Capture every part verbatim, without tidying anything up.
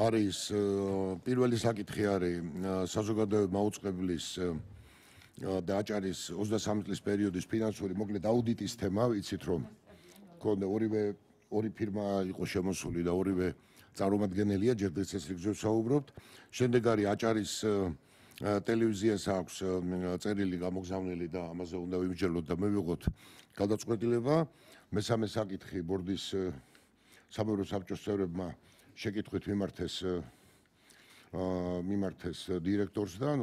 არის პირველი საკითხი არის საზოგადოებრივი მაუწყებლის და აჭარის ოცდასამი წლის პერიოდის ფინანსური მოკლედ აუდიტის თემა, ვიცით რომ ქონდა ორივე ორი ფირმა იყო შემოსული და ორივე წარმომადგენელია, ჯერ დღეს რიგზე ვსაუბრობთ. შემდეგ არის აჭარის ტელევიზიას აქვს წერილი გამოგზავნილი და ამაზე უნდა ვიმსჯელოთ და მივიღოთ გადაწყვეტილება. მესამე საკითხი ბორდის საბჭოს საბჭოს წევრებმა შეკითხვით მიმართეს მიმართეს დირექტორს და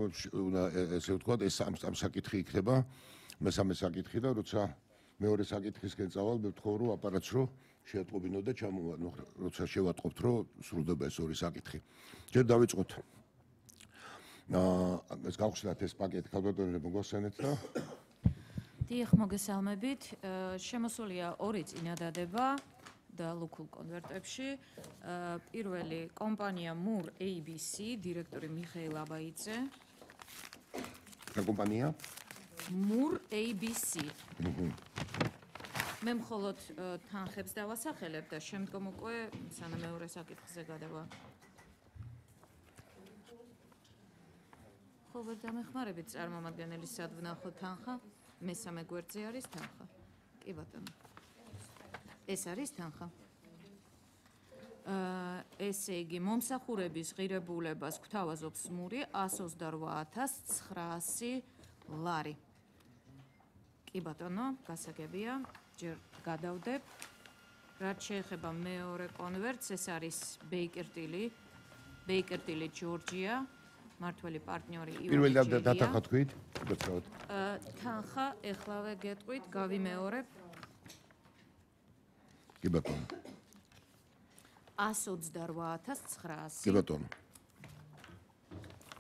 ესე ვთქვათ ეს ამ საკითხი იქნება მესამე საკითხი და როცა მეორე საკითხისკენ წავალ მეთხოვ რომ აპარატს რო შეატყობინო და ჩამოვა როცა შევატყობთ რომ სრულდება ეს ორი საკითხი. ჯერ დავიწყოთ ეს გავხსნათ ეს პაკეტი ქალბატონებო მოგვასწენეთ და დიახ მოგესალმებით. შემოსულია ორი წინადადება და ლუქულ კონვერტებში. პირველი კომპანია მურ ეი ბი სი, დირექტორი მიხეილ აბაიძე. რა კომპანია? მურ ეი ბი სი. მე მხოლოდ თანხებს დავასახელებ და შემდგომ უკვე სანამ მეორე საკითხზე გადავა. ხო ვერ დამეხმარებით წარმომადგენლის სადვნახო თანხა, მესამე გვერდზე არის თანხა. კი ბატონო. ეს არის თანხა. ესე იგი, მომსახურების ღირებულებას გვთავაზობს მური ას ოცდარვა ათას ცხრაასი ლარი. კი ბატონო, გასაგებია, ჯერ გადავდებ. რაც შეეხება მეორე კონვერტს, ეს არის ბეიკერტილი, ბეიკერტილი ჯორჯია, მართველი პარტნიორი ივანე პირველი დათანხა თქვით? თანხა ეხლავე გეტყვით, გავიმეორებ. კი ბატონო. ას ოცდარვა ათას ცხრაასი. კი ბატონო.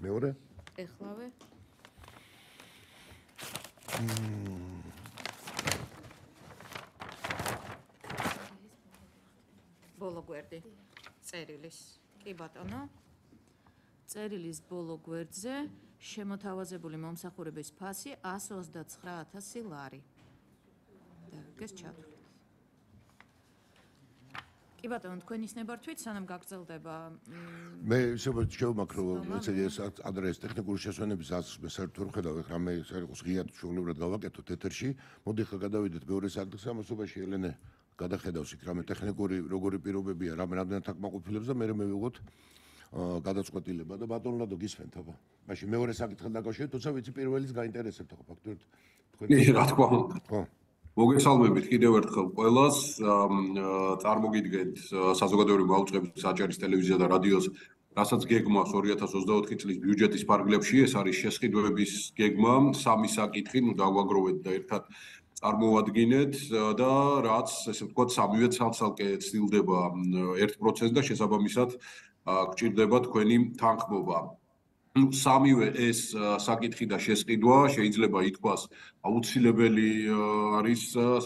მეორე? ეხლავე. ბოლო გვერდი წერილის. კი ბატონო. წერილის ბოლო გვერდზე შემოთავაზებული მომსახურების ფასი ას ოცდაცხრა ათასი ლარი. და ეს ჩათვლით. კი ბატონო, თქვენ ისნებართვით, სანამ გაგრძელდება. მე შევმაქრო ეს ადრეს ტექნიკური შესვენების ასლს საერთოდ ხედავ ეხლა მე საერთოდ ღიად ჩვეულებრივად გავაკეთოთ ეთერში. მოდი ხა გადავიდეთ მეორე საკითხს, ამასობაში ელენე გადახედავს იქ რამე ტექნიკური როგორი პირობებია, რამე რამდენად აკმაყოფილებს და მე მივიღოთ გადაწყვეტილება და ბატონო ლადო გისმენთ აბა. მაშინ მეორე საკითხთან დაკავშირებით, თუმცა ვიცი პირველის გაინტერესებთ ხო ფაქტობრივად თქვენ. რა თქმა უნდა. ხო. მოგესალმებით კიდევ ერთხელ ყველას. წარმოგიდგენთ საზოგადოებრივი მაუწყებლის აჭარის ტელევიზია და რადიოს, რასაც გეგმავს ორი ათას ოცდაოთხი წლის ბიუჯეტის ფარგლებში. ეს არის შესყიდვების გეგმა, სამი საკითხი, ნუ დავაგროვეთ და ერთად წარმოვადგინეთ და რაც ესე ვთქვათ სამივე ცალ-ცალკე ცდილდება ერთ პროცენტს და შესაბამისად გჭირდება თქვენი თანხმობა. სამივე ეს საკითხი და შესყიდვა შეიძლება ითქვას აუცილებელი არის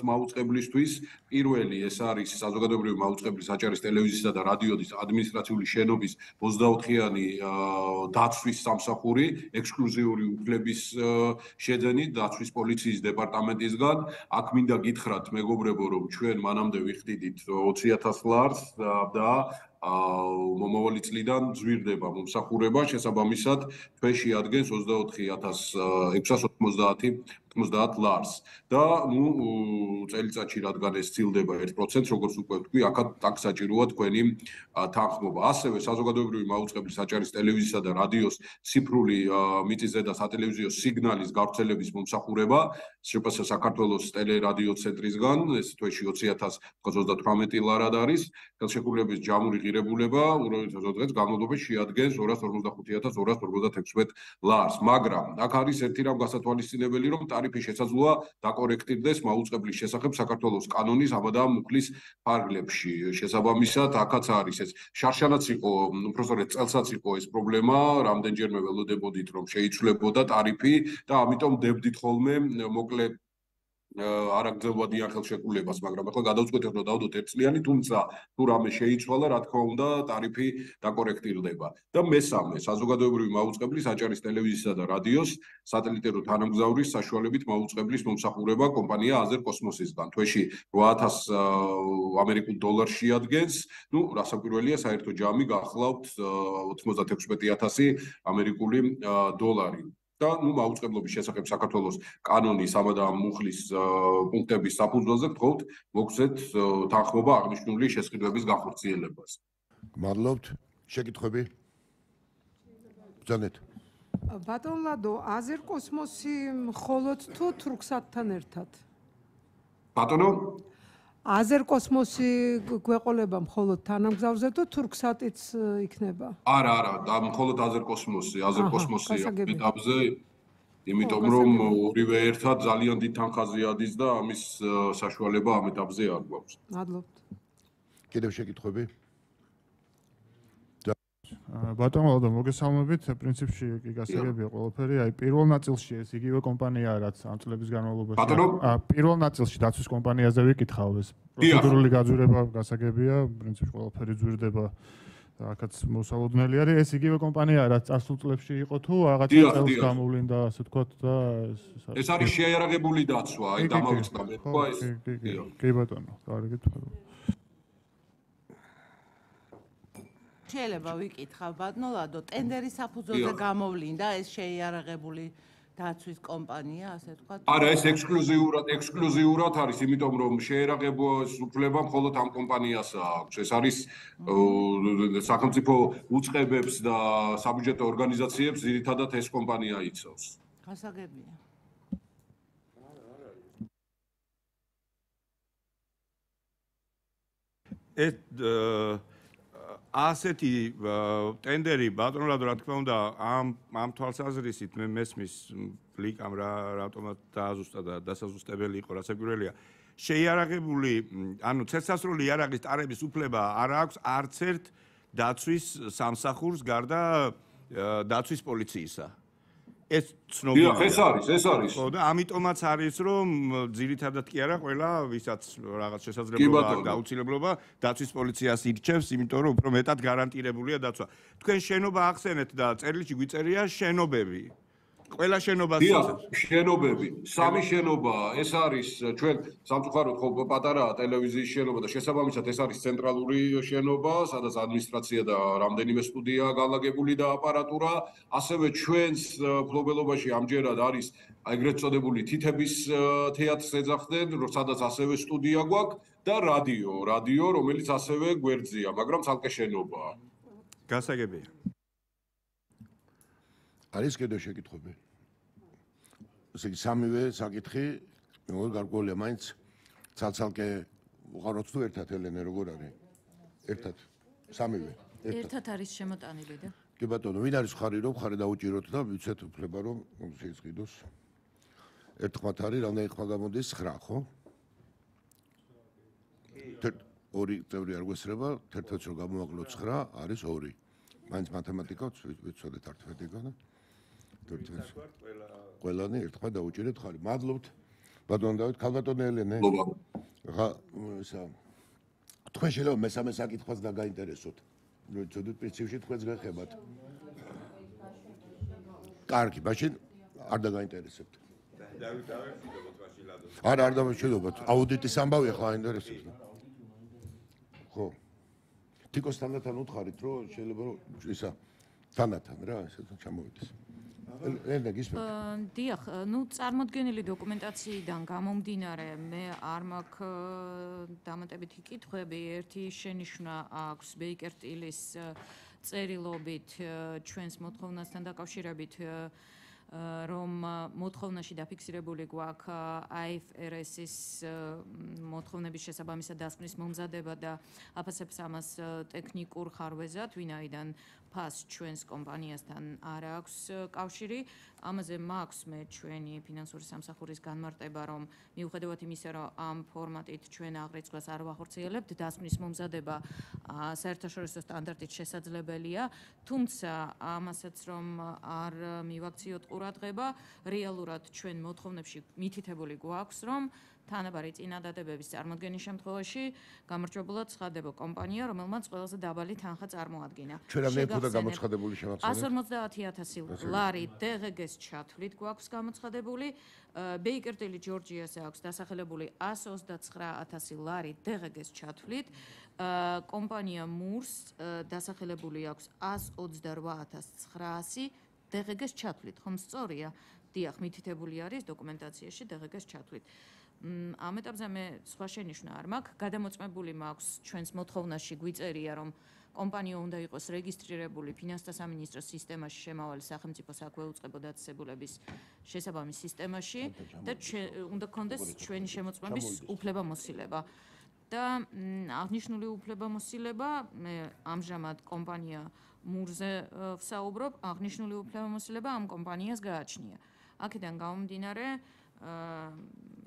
მაუწყებლისთვის. პირველი ეს არის საზოგადოებრივი მაუწყებლის აჭარის ტელევიზიისა და რადიოს ადმინისტრაციული შენობის ოცდაოთხიანი დაცვის სამსახური, ექსკლუზიური უფლების შეძენით დაცვის პოლიციის დეპარტამენტისგან. აქ მინდა გითხრათ მეგობრებო, რომ ჩვენ მანამდე ვიხდიდით ოცი ათას ლარს და მომავალი წლიდან ზვირდება მომსახურება, შესაბამისად თვეში ადგენს ოცდაოთხი ათას ექვსას ოცდაათი ლარს და ნუ წელიწადში რადგან ეს ცილდება ერთ პროცენტს, როგორც უკვე ვთქვი, აქაც აქ საჭიროა თქვენი თანხმობა. ასევე საზოგადოებრივი მაუწყებლის აჭარის ტელევიზიისა და რადიოს ციფრული მიწისზედა და სატელევიზიო სიგნალის გავრცელების მომსახურება, შპს საქართველოს ტელერადიო ცენტრისგან, ეს თვეში ოცი ათას ოცდათვრამეტი ლარად არის. ხელშეკრულების ჯამური ღირებულება ურავითო დღეს განმავლობაში შეადგენს ორას ორმოცდახუთი ათას ორას ორმოცდათექვსმეტ ლარს, მაგრამ აქ არის ერთი რამ გასათვალისწინებელი, რომ ტარიფი შესაძლოა დაკორექტირდეს მაუწყებლის შესახებ საქართველოს კანონის აბადა მუხლის ფარგლებში. შესაბამისად, აქაც არის ეს შარშანაც იყო, უბრალოდ წელსაც იყო ეს პრობლემა, რამდენჯერმე ველოდებოდით, რომ შეიცვლებოდა ტარიფი და ამიტომ დებდით ხოლმე მოკლე არაგრძელვადიან ხელშეკრულებას, მაგრამ ახლა გადავწყვეტეთ, რომ დავდოთ ერთწლიანი, თუმცა თუ რამე შეიცვალა, რა თქმა უნდა, ტარიფი დაკორექტირდება. და მესამე, საზოგადოებრივი მაუწყებლის, აჭარის ტელევიზიისა და რადიოს სატელიტური თანამგზავრის საშუალებით მაუწყებლის მომსახურება კომპანია აზერკოსმოსისგან. თვეში რვა ათას ამერიკულ დოლარს შეადგენს, ну, რასაკვირველია, საერთო ჯამი გახლავთ ოცდაექვსმეტი ათასი ამერიკული დოლარი. და ნუ მაუწყებლობის შესახებ საქართველოს კანონის ამადა მუხლის პუნქტების საფუძველზე გთხოვთ მოგცეთ თანხმობა აღნიშნული შესყიდვების განხორციელებას. მადლობთ. შეკითხვები? ბრძანეთ. ბატონ ლადო, აზერკოსმოსი მხოლოდ თუ თურქსატთან ერთად? ბატონო? აზერკოსმოსი გვეყოლება მხოლოდ თანამგზავრზე თუ თურქსატიც იქნება? არა, არა, და მხოლოდ აზერკოსმოსი, აზერკოსმოსია მეტაბზე, იმიტომ რომ ორივე ერთად ძალიან დიდ თანხაზე ადის და ამის საშუალება ამ ეტაპზე არ გვაქვს. მადლობთ. კიდევ შეკითხვები? ბატონო ლადო, მოგესალმებით, პრინციპში კი გასაგებია ყველაფერი, აი პირველ ნაწილში ეს იგივე კომპანიაა, რაც ამ წლების განმავლობაში. ბატონო? პირველ ნაწილში დაცვის კომპანიაზე ვიკითხავ, ეს პროცედურული გაძვირება გასაგებია, პრინციპში ყველაფერი ძვირდება. აქაც მოსალოდნელი არის, ეს იგივე კომპანიაა, რაც წარსულ წლებში იყო თუ რაღაცა წელს გამოვლინდა, ასე ვთქვათ და ეს არის შეიარაღებული დაცვა, აი დამავიწყდა მე თქვა ეს. კი ბატონო, კარგი თქვა. შეიძლება ვიკითხავ ბატონო ლადო, ტენდერის საფუძველზე გამოვლინდა ეს შეიარაღებული დაცვის კომპანია, ასე ვთქვათ. არა, ეს ექსკლუზიურად, ექსკლუზიურად არის, იმიტომ რომ შეერაღებოს უფლება მხოლოდ ამ კომპანიას აქვს. ეს არის სახელმწიფო უწყებებს და საბუჯეტო ორგანიზაციებს ძირითადად ეს კომპანია იცავს. გასაგებია. ეს ასეთი ტენდერი ბატონო ლადო, რა თქმა უნდა, ამ ამ თვალსაზრისით მე მესმის ლიკამ რა რატომაც დააზუსტა და დასაზუსტებელი იყო, რასაკვირველია. შეიარაღებული, ანუ ცეცხლსასროლი იარაღის ტარების უფლება არ აქვს არც ერთ დაცვის სამსახურს გარდა დაცვის პოლიციისა. ეს ცნობილია. დიახ, ეს არის, ეს არის. ხო და ამიტომაც არის, რომ ძირითადად კი არა, ყველა ვისაც რაღაც შესაძლებლობა აქვს გაუცილებლობა დაცვის პოლიციას ირჩევს, იმიტომ რომ უფრო მეტად გარანტირებულია დაცვა. თქვენ შენობა ახსენეთ და წერილში გვიწერია შენობები. ყველა შენობას დიახ, შენობები, სამი შენობა, ეს არის ჩვენ სამწუხაროდ ხო პატარაა ტელევიზიის შენობა და შესაბამისად ეს არის ცენტრალური შენობა, სადაც ადმინისტრაცია და რამდენიმე სტუდია განლაგებული და აპარატურა, ასევე ჩვენს ფლობელობაში ამჯერად არის ეგრეთ წოდებული თითების თეატრს ეძახდნენ, სადაც ასევე სტუდია გვაქვს და რადიო, რადიო, რომელიც ასევე გვერდზეა, მაგრამ ცალკე შენობაა. გასაგებია. არის კიდევ შეკითხვები? ესე იგი სამივე საკითხი, როგორ გარკვეულია, მაინც ცალ-ცალკე უყაროთ თუ ერთად ელენე როგორ არის? ერთად. სამივე. ერთად არის შემოტანილი და. კი ბატონო, ვინ არის ხარი რომ ხარი დაუჭიროთ და ვიცეთ უფლება რომ შეიწყიდოს. ერთხმათ არის, რამდენი ხმა გამოდის? ცხრა, ხო? ორი წევრი არ გვესრება, თერთმეტს რომ გამოვაკლოთ ცხრა, არის ორი. მაინც მათემატიკა ვიცოდეთ ართმეტიკა და ყველანი ერთხმად დაუჭირეთ ხარი. მადლობთ. ბატონო დავით, ქალბატონი ელენე. ხა ისა თქვენ შეიძლება მესამე საკითხვას დაგაინტერესოთ. რომ იცოდეთ პრინციპში თქვენს გეხებათ. კარგი, მაშინ არ დაგაინტერესებთ. არა, არ დავშედობთ. აუდიტის ამბავი ხა აინტერესებს. ხო. თიკოსთანთან უთხარით, რომ შეიძლება რომ ისა თანათან რა, ესე ჩამოვიდეს. ელენე გისმენთ? დიახ, ну წარმოდგენილი დოკუმენტაციიდან გამომდინარე, მე არ მაქვს დამატებითი კითხვები. ერთი შენიშვნა აქვს ბეიკერ-ტილის წერილობით ჩვენს მოთხოვნასთან დაკავშირებით, რომ მოთხოვნაში დაფიქსირებული გვაქვს აი ეფ არ ეს-ის მოთხოვნების შესაბამისად დასკვნის მომზადება და აფასებს ამას ტექნიკურ ხარვეზად, ვინაიდან ფას ჩვენს კომპანიასთან არ აქვს კავშირი. ამაზე მაქვს მე ჩვენი ფინანსური სამსახურის განმარტება, რომ მიუხედავად იმისა, რომ ამ ფორმატით ჩვენ აღრიცხვას არ ვახორციელებთ, დასკვნის მომზადება საერთაშორისო სტანდარტით შესაძლებელია, თუმცა ამასაც რომ არ მივაქციოთ ყურადღება. რეალურად ჩვენ მოთხოვნებში მითითებული გვაქვს, რომ თანაბარი წინადადებების წარმოქმნის შემთხვევაში გამარჯვებულად ცხადდება კომპანია, რომელმაც ყველაზე დაბალი თანხა წარმოადგინა. ჩვენ რამდენი ფუთა გამოცხადებული შემახსენეთ? 백 ორმოცდაათი ათასი ლარი დე ღე გეს ჩათვლით გვაქვს გამოცხადებული. ბეიკერტილი ჯორჯიას აქვს დასახელებული εκατს ოცდაცხრა ათასი ლარი დე ღე გეს ჩათვლით. კომპანია მურს დასახელებული აქვს εκατს ოცდარვა ათას ცხრაასი დე ღე გეს ჩათვლით. ხომ სწორია? დიახ, მითითებული არის დოკუმენტაციაში დე ღე გეს ჩათვლით. ამ ეტაპზე მე სხვა შენიშვნა არ მაქვს. გადამოწმებული მაქვს ჩვენს მოთხოვნაში გვიწერია, რომ კომპანია უნდა იყოს რეგისტრირებული ფინანსთა სამინისტროს სისტემაში შემავალი სახელმწიფო საქმე უწყებო დაწესებულების შესაბამის სისტემაში და უნდა გქონდეს ჩვენი შემოწმების უფლებამოსილება. და აღნიშნული უფლებამოსილება მე ამჟამად კომპანია მურზე ვსაუბრობ, აღნიშნული უფლებამოსილება ამ კომპანიას გააჩნია. აქედან გამომდინარე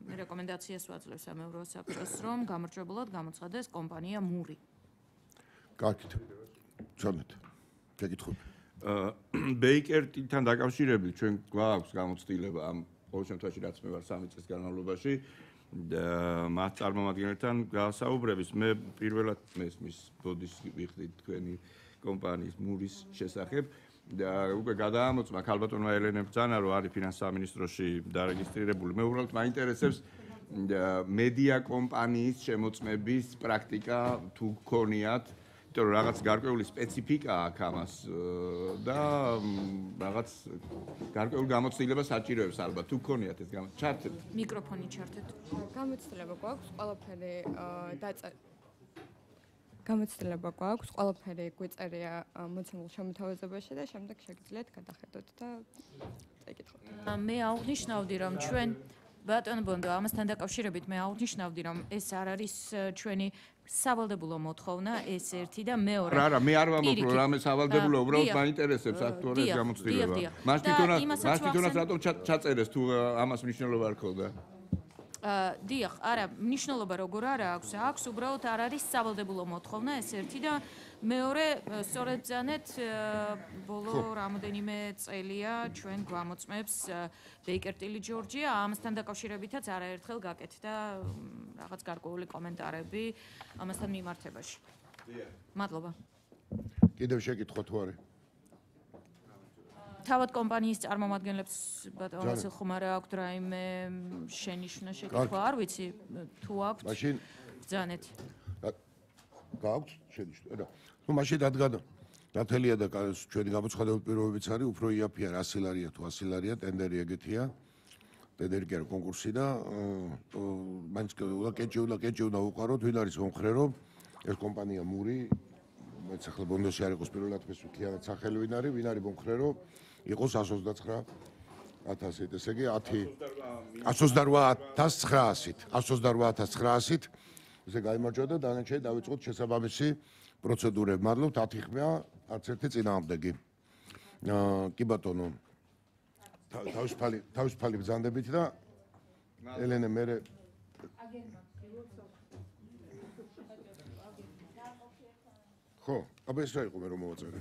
მე რეკომენდაციას ვაძლევ სამეურვეო საბჭოს, რომ გამარჯვებულად გამოცხადდეს კომპანია მური. კარგით. ჩონეთ. შეკითხები. ბეიკერტთან დაკავშირებით ჩვენ გვაქვს გამოცდილება ამ ყოველ შემთხვევაში რაც მე ვარ სამი წლის განმავლობაში და მათ წარმომადგენელთან გასაუბრების მე პირველად მესმის ბოდის ვიხდი თქვენი კომპანიის მურის შესახებ და უკვე გადაამოწმა ქალბატონმა ელენე ბრძანა რომ არის ფინანსთა სამინისტროში დარეგისტრირებული. მე უბრალოდ მაინტერესებს მედია კომპანიის შემოწმების პრაქტიკა თუ გქონიათ, იმიტომ რომ რაღაც გარკვეული სპეციფიკა აქვს ამას და რაღაც გარკვეულ გამოცდილებას საჭიროებს ალბათ თუ გქონიათ ეს ჩართეთ. მიკროფონი ჩართეთ. გამოცდილება გვაქვს ყველაფერი დაწერ გამოცდილება გვაქვს ყველაფერი გვიწერია მოცემულ შემოთავაზებაში და შემდეგ შეგიძლიათ გადახედოთ და წაიკითხოთ. მე აღნიშნავდი რომ ჩვენ ბატონ ბონდო ამასთან დაკავშირებით მე აღნიშნავდი რომ ეს არ არის ჩვენი სავალდებულო მოთხოვნა ეს ერთი და მეორე. რა რა მე არ ვამბობ რომ რამე სავალდებულო უბრალოდ მაინტერესებს აქტუალურ გამოცდილება. მას თვითონაც მას თვითონაც რატომ ჩაწერეს თუ ამას მნიშვნელობა არ ქონდა? დიახ, არა, მნიშვნელობა როგორ არა აქვს, აქვს უბრალოდ არ არის სავალდებულო მოთხოვნა ეს ერთი და მეორე სწორედ ძანეთ ბოლო რამოდენიმე წელია ჩვენ გვამოწმებს ბეიკერტილი ჯორჯია ამასთან დაკავშირებითაც არაერთხელ გაკეთდა რაღაც გარკვეული კომენტარები ამასთან მიმართებაში. მადლობა. კიდევ შეკითხვა თუ არის? თავად კომპანიის წარმომადგენლებს ბატონ ვასილ ხუმარა აქვთ რაიმე შენიშვნა შეკითხვა არ ვიცი თუ აქვთ მაშინ ბრძანეთ გააქვთ შენიშვნა რა ну მაშინ რადგან ნათელია და ჩვენი გამოცხადებული პირობებიც არის უფრო იაფია რა სილარია თუ ასილარია ტენდერი ეგეთია ტენდერი კი არა კონკურსი და მაინც უნდა კეჭი უნდა კეჭი უნდა უყაროთ ვინ არის მომხრე რომ ეს კომპანია მური მეც ახლა ბონდოში არ იყოს პირველად ეს ვიქიანად სახელი ვინ არის ვინ არის მომხრე რომ იყოს εκατს ოცდაცხრა ათასით, ესე იგი εκατს ოცდარვა ათას ცხრაასით, εκατს ოცდარვა ათას ცხრაასით ესე გაიმარჯვა და დანარჩენი დავიწყოთ შესაბამისი პროცედურები. მადლობთ, ათი ხმია, არც ერთი წინააღმდეგი. კი ბატონო. თავისუფალი თავისუფალი ბრძანდებით და ელენე მერე ხო, აბა ეს რა იყო მე რომ მოვაწერე?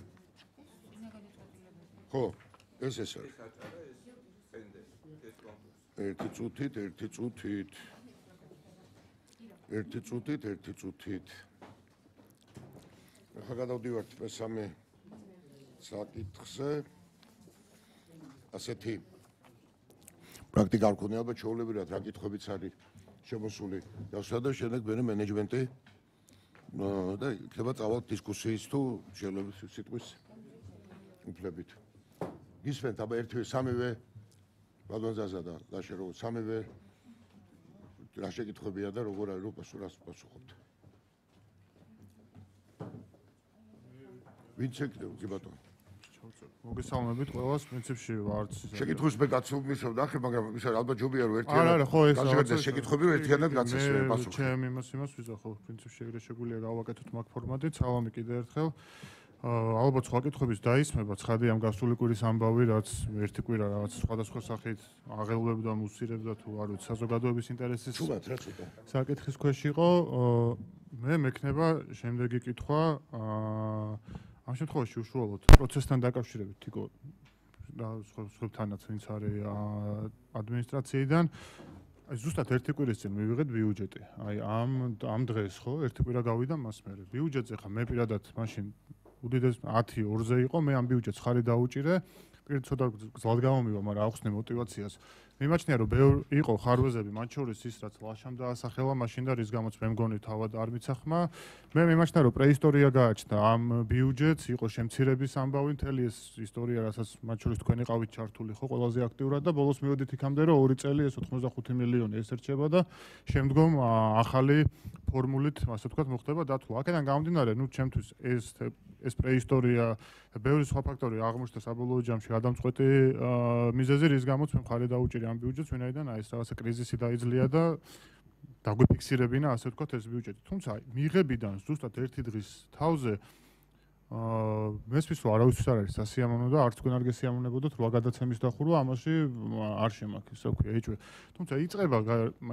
ხო, ეს ეს არის. ერთი წუთით, ერთი წუთით. ერთი წუთით, ერთი წუთით. ახლა გადავდივართ მესამე საკითხზე. ასეთი პრაქტიკა არ ქონია, ალბათ ჩვეულებრივად რა კითხვებიც არის შემოსული. დავსვლა და შემდეგ მე მენეჯმენტი და იქნება წავალთ დისკუსიის თუ შეიძლება სიტყვის უფლებით. გისმენთ აბა ერთივე სამივე ბატონზაზა და ლაშერო სამივე რა შეკითხებია და როგორ არის რო პასუხობთ. ვინც ეკითხება კი ბატონო. მოგესალმებით ყველას პრინციპში ვარც შეკითხვის მე გაცნობისავ და ახლა მაგრამ ის არის ალბათ ჯობია რომ ერთიანად არა არა ხო ეს გასაგებია შეკითხები რომ ერთიანად გაცესვენ პასუხი. ჩემ იმას იმას ვიზახო პრინციპში ეგრე შეგვიძლია გავაკეთოთ მაგ ფორმატით. სალამი კიდე ერთხელ. ალბათ სხვა კითხვების დაისმება ცხადი ამ გასული კვირის ამბავი რაც ერთი კვირა რაღაც სხვადასხვა სახით აღელვებდა მუსირებდა თუ არ ვიცი საზოგადოების ინტერესის თუმცა რა ცოტა საკითხის ქვეშ იყო მე მექნება შემდეგი კითხვა ამ შემთხვევაში უშუალოდ პროცესთან დაკავშირებით თიკო სხვებთანაც ვინც არის ადმინისტრაციიდან აი ზუსტად ერთი კვირის წინ მივიღეთ ბიუჯეტი. აი ამ ამ დღეს ხო ერთი კვირა გავიდა მას მერე. ბიუჯეტზე ხა მე პირადად მაშინ უდიდეს ათი ორზე იყო, მე ამ ბიუჯეტს ხარი დაუჭირე. პირ ცოტა გზად გამომივა, მაგრამ აუხსნე мотиваციას. მიმაჩნია რომ ბევრი იყო ხარვეზები, მათ შორის ის რაც ლაშამ დაასახელა მაშინ და რის გამოც მე მგონი თავად არ მიცახმა. მე მიმაჩნია რომ პრეისტორია გააჩნდა ამ ბიუჯეტს, იყო შემცირების ამბავი, მთელი ეს ისტორია, რასაც მათ შორის თქვენი ყავით ჩართული ხო ყველაზე აქტიურად და ბოლოს მივედით იქამდე რომ ორი წელი ეს ოცდახუთი მილიონი ესერჩება და შემდგომ ახალი ფორმულით, ასე ვთქვათ, მოხდება დათვლა. აქედან გამომდინარე, ნუ ჩემთვის ეს ეს პრეისტორია, ბევრი სხვა ფაქტორი აღმოჩნდა საბოლოო ჯამში გადამწყვეტი მიზეზი, რის გამოც მე მხარი დაუჭირე ამ ბიუჯეტს, ვინაიდან აი ეს რაღაცა კრიზისი დაიძლია და დაგვიფიქსირებინა, ასე ვთქვათ, ეს ბიუჯეტი. თუმცა მიღებიდან ზუსტად ერთი დღის თავზე აა მესმის რომ არავისთვის არ არის სასიამოვნო და არც თქვენ არ გესიამოვნებოდოთ რა გადაცემის დახურვა ამაში არ შემაქ ისე ვქვია ეჭვი. თუმცა იწყება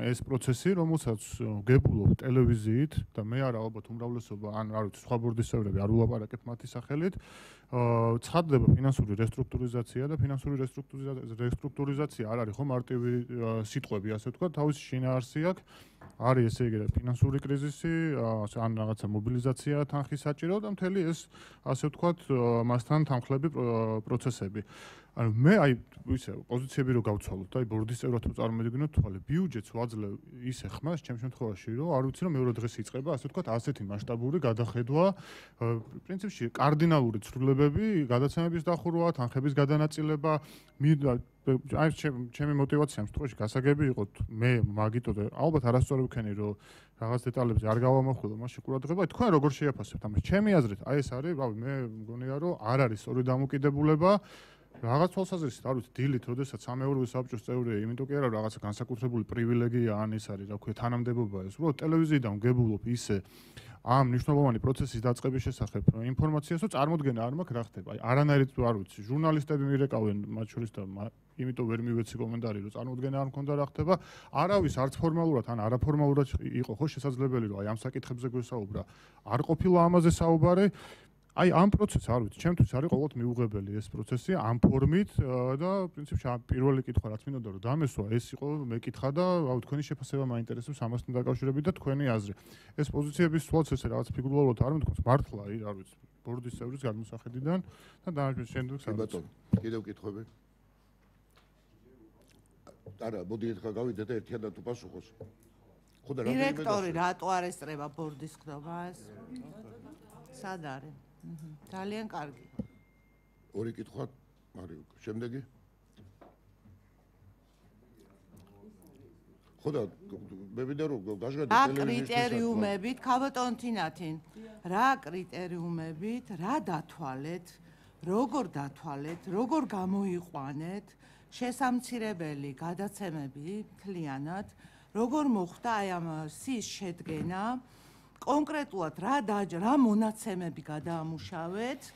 ეს პროცესი, რომელსაც გებულობ ტელევიზიით და მე არა ალბათ უმრავლესობა ან არ ვიცი სხვა ბორდის წევრები არ ულაპარაკეთ მათი სახელით. აა ცხადდება ფინანსური რესტრუქტურიზაცია და ფინანსური რესტრუქტურიზაცია არ არის ხო მარტივი სიტყვები, ასე ვთქვათ, თავისი შინაარსი აქვს. არის ესე იგი ფინანსური კრიზისი, ან რაღაცა მობილიზაცია თანხის საჭირო და მთელი ეს ასე ვთქვათ მასთან თანხლები პროცესები. ანუ მე აი ისე პოზიციები რო გავცვალოთ, აი ბორდის წევრად რო წარმოვიდგინოთ თვალე, ბიუჯეტს ვაძლევ ისე ხმას ჩემ შემთხვევაში, რომ არ ვიცი რომ მეორე დღეს იწყება, ასე ვთქვათ, ასეთი მასშტაბური გადახედვა, პრინციპში კარდინალური ცვლილებები, გადაცემების დახურვა, თანხების გადანაწილება, აი ჩემი мотиваცია ამ შემთხვევაში გასაგები იყო მე მაგიტო ალბათ არასწორი ვქენი რომ რაღაც დეტალებზე არ გავამახვილო მაშინ ყურადღება თქვენ როგორ შეაფასებთ ამას ჩემი აზრით აი ეს არის რავი მე მგონია რომ არ არის სწორი დამოკიდებულება რაღაც თვალსაზრისით არ ვიცი დილით როდესაც სამეურვეო საბჭოს წევრია იმიტომ კი არა რაღაცა განსაკუთრებული პრივილეგია ან ეს არის რა ქვია თანამდებობა ეს უბრალოდ ტელევიზიიდან გებულობ ისე ამ მნიშვნელოვანი პროცესის დაწყების შესახებ ინფორმაციას რომ წარმოდგენა არ მაქვს რა ხდება აი არანაირად არ ვიცი ჟურნალისტები მირეკავენ მათ შორის და იმიტომ ვერ მივეცი კომენტარი რომ წარმოდგენა არ მქონდა რა ხდება არავის არც ფორმალურად ან არაფორმალურად იყო ხო შესაძლებელი რომ აი ამ საკითხებზე გვესაუბრა არ ყოფილა ამაზე საუბარი აი ამ პროცესს არ ვიცი, ჩემთვის არის ყოველთ მიუღებელი ეს პროცესი ამ ფორმით და პრინციპში პირველი კითხვა რაც მინდოდა რომ დამესვა ეს იყო მეკითხა და აუ თქვენი შეფასება მაინტერესებს ამასთან დაკავშირებით და თქვენი აზრი. ეს პოზიციების სულაც ესე რაღაც ფიგურალურად არ მithქვს მართლა აი არ ვიცი ბორდის წევრის გადმოსახედიდან და დანარჩენ შემდეგ საბატონო კიდევ კითხვები? არა, მოდი ერთხელ გავიდეთ და ერთიანად უპასუხოს. ხო და რა დირექტორი რატო არ ესწრება ბორდის ხდომას? სად არის? ძალიან კარგი. ორი კითხვა არის. შემდეგი? ხო და მე ვიდა რომ გაჟღერდა ტელევიზიის კრიტერიუმებით, ქაბატონ თინათინ, რა კრიტერიუმებით, რა დათვალეთ, როგორ დათვალეთ, როგორ გამოიყვანეთ შესამცირებელი გადაცემები მთლიანად, როგორ მოხდა აი ამ სის შედგენა კონკრეტულად რა დაჯა რა მონაცემები გადაამუშავეთ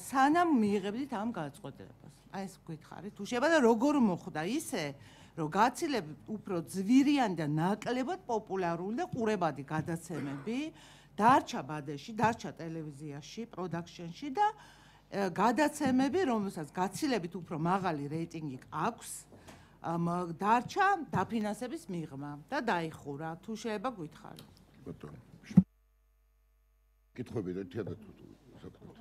სანამ მიიღებდით ამ გადაწყვეტილებას. აი ეს გითხარით, თუ შეიძლება და როგორ მოხდა ისე, რომ გაცილებით უფრო ძვირიანი და ნაკლებად პოპულარული და ყურებადი გადაცემები დარჩა ბადეში, დარჩა ტელევიზიაში, პროდაქშენში და გადაცემები, რომელსაც გაცილებით უფრო მაღალი რეიტინგი აქვს, დარჩა დაფინანსების მიღმა და დაიხურა. თუ შეიძლება გითხარით. ბატონო. კითხვები ერთადად საქმეთ.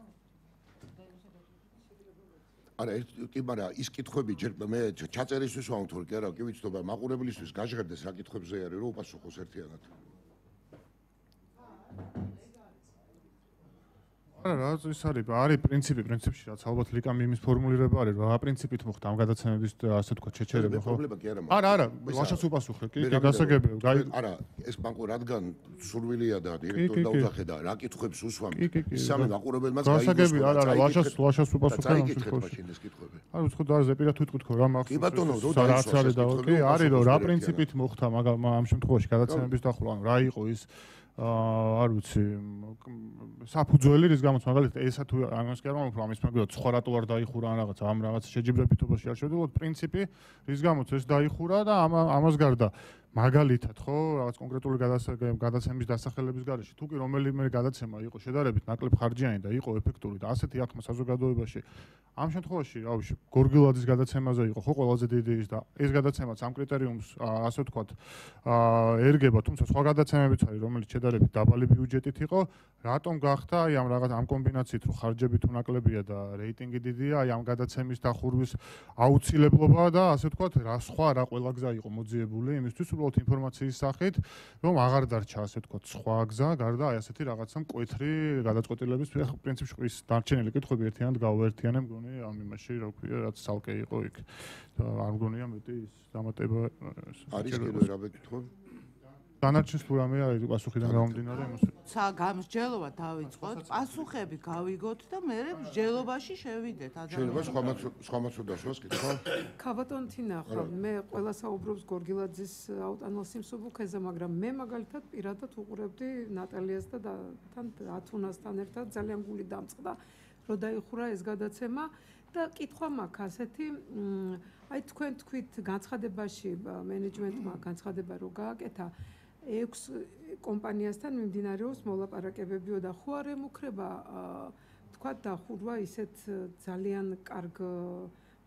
არა, კი, მაგრამ ის კითხვები ჯერ მე ჩაწერისთვის ვამთვალ, კი არა, კი ვიცნობ, მაყურებლისთვის გაჟღერდეს რა კითხვებზე არის, რომ უპასუხოს ერთიანად. არა, რა ის არის, არის პრინციპი, პრინციპში რაც ალბათ ლიკამ იმის ფორმულირება არის, რა პრინციპით მოხდა ამ გადაცემების ასე თქვა ჩეჩერება, ხო? პრობლემა კი არა. არა, არა, ვაშას უპასუხე, კი, კი, გასაგებია. არა, ეს ბანკო რადგან სურვილია და დირექტორი დაუძახე და რა კითხვებს უსვამთ, სამი მაყურებელმაც გაიგოს. გასაგებია, არა, არა, ვაშას ვაშას უპასუხე ამ შემთხვევაში. მაშინ ეს კითხვები. არა, ვთქვი და ზეპირად ვიტყვით, ხო, რა მაქვს. კი ბატონო, რო რაც არის და კი, არის რომ რა პრინციპით მოხდა ამ შემთხვევაში გადაცემების დახურვა, ანუ რა იყო ის არ ვიცი საფუძველი რის გამოც მაგალითად ესა თუ ამას კი არ მომფრო ამის მაგალითად სხვა რატო არ დაიხურა ან რაღაც ამ რაღაც შეჯიბრებითობაში არ შევდივართ პრინციპი რის გამოც ეს დაიხურა და ამ ამას გარდა მაგალითად ხო რაღაც კონკრეტული გადაცემის დასახელების გარეშე თუ კი რომელიმე გადაცემა იყო შედარებით ნაკლებ ხარჯიანი და იყო ეფექტური და ასეთი აღქმა საზოგადოებაში ამ შემთხვევაში რავი გორგილაძის გადაცემაზე იყო ხო ყველაზე დიდი ის და ეს გადაცემაც ამ კრიტერიუმს ასე ვთქვათ ერგება თუმცა სხვა გადაცემებიც არის რომელიც შედარებით დაბალი ბიუჯეტით იყო რატომ გახდა აი ამ რაღაც ამ კომბინაციით რომ ხარჯები თუ ნაკლებია და რეიტინგი დიდია აი ამ გადაცემის დახურვის აუცილებლობა და ასე ვთქვათ რა სხვა რა ყველა გზა იყო მოძიებული იმისთვის უბრალოდ ინფორმაციის სახით რომ აღარ დარჩა ასე ვთქვათ სხვა გზა გარდა აი ასეთი რაღაცა მკვეთრი გადაწყვეტილების პრინციპში ის დარჩენილი კითხვები ერთიანად გავაერთიანე მგონი ამ იმაში რა ქვია რაც ცალკე იყო იქ და არ მგონია მეტი ის დამატება არის კიდევ რა ვეკითხო დანარჩენს თუ რამე არის პასუხიდან გამომდინარე იმას ცა გამსჯელობა დავიწყოთ პასუხები გავიგოთ და მე მსჯელობაში შევიდეთ შეიძლება სხვა სხვა მასუდაშოს კითხვა ქაბატონთინა ხო მე ყველა საუბრობს გორგილაძის აუტანელ სიმსუბუქეზე მაგრამ მე მაგალითად პირადად უყურებდი ნატალიას და თან ათუნასთან ერთად ძალიან გული დამწყდა რომ დაიხურა ეს გადაცემა და კითხვა მაქვს ასეთი აი თქვენ თქვით განცხადებაში მენეჯმენტმა განცხადება რო გააკეთა ექვს კომპანიასთან მიმდინარეობს მოლაპარაკებებიო და ხო არ ემუქრება თქვა დახურვა ისეთ ძალიან კარგ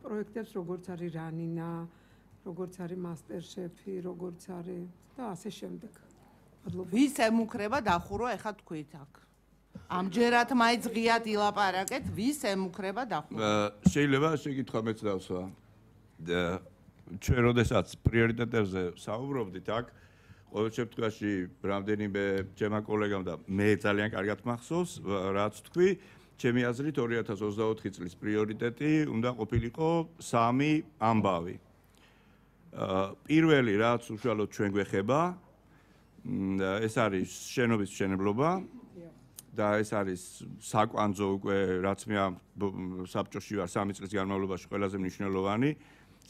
პროექტებს როგორც არის რანინა როგორც არის მასტერშეფი როგორც არის და ასე შემდეგ ვის ემუქრება დახურვა ეხა თქვით აქ ამჯერად მაინც ღიად ილაპარაკეთ ვის ემუქრება დახურვა შეიძლება შეკითხვა მეც დავსვა ჩვენ როდესაც პრიორიტეტებზე საუბრობდით აქ ყოველ შემთხვევაში რამდენიმე ჩემმა კოლეგამ და მე ძალიან კარგად მახსოვს რაც თქვი ჩემი აზრით ორი ათას ოცდაოთხი წლის პრიორიტეტი უნდა ყოფილიყო სამი ამბავი პირველი რაც უშუალოდ ჩვენ გვეხება ეს არის შენობის მშენებლობა და ეს არის საკვანძო უკვე რაც მე ამ საბჭოში ვარ სამი წლის განმავლობაში ყველაზე მნიშვნელოვანი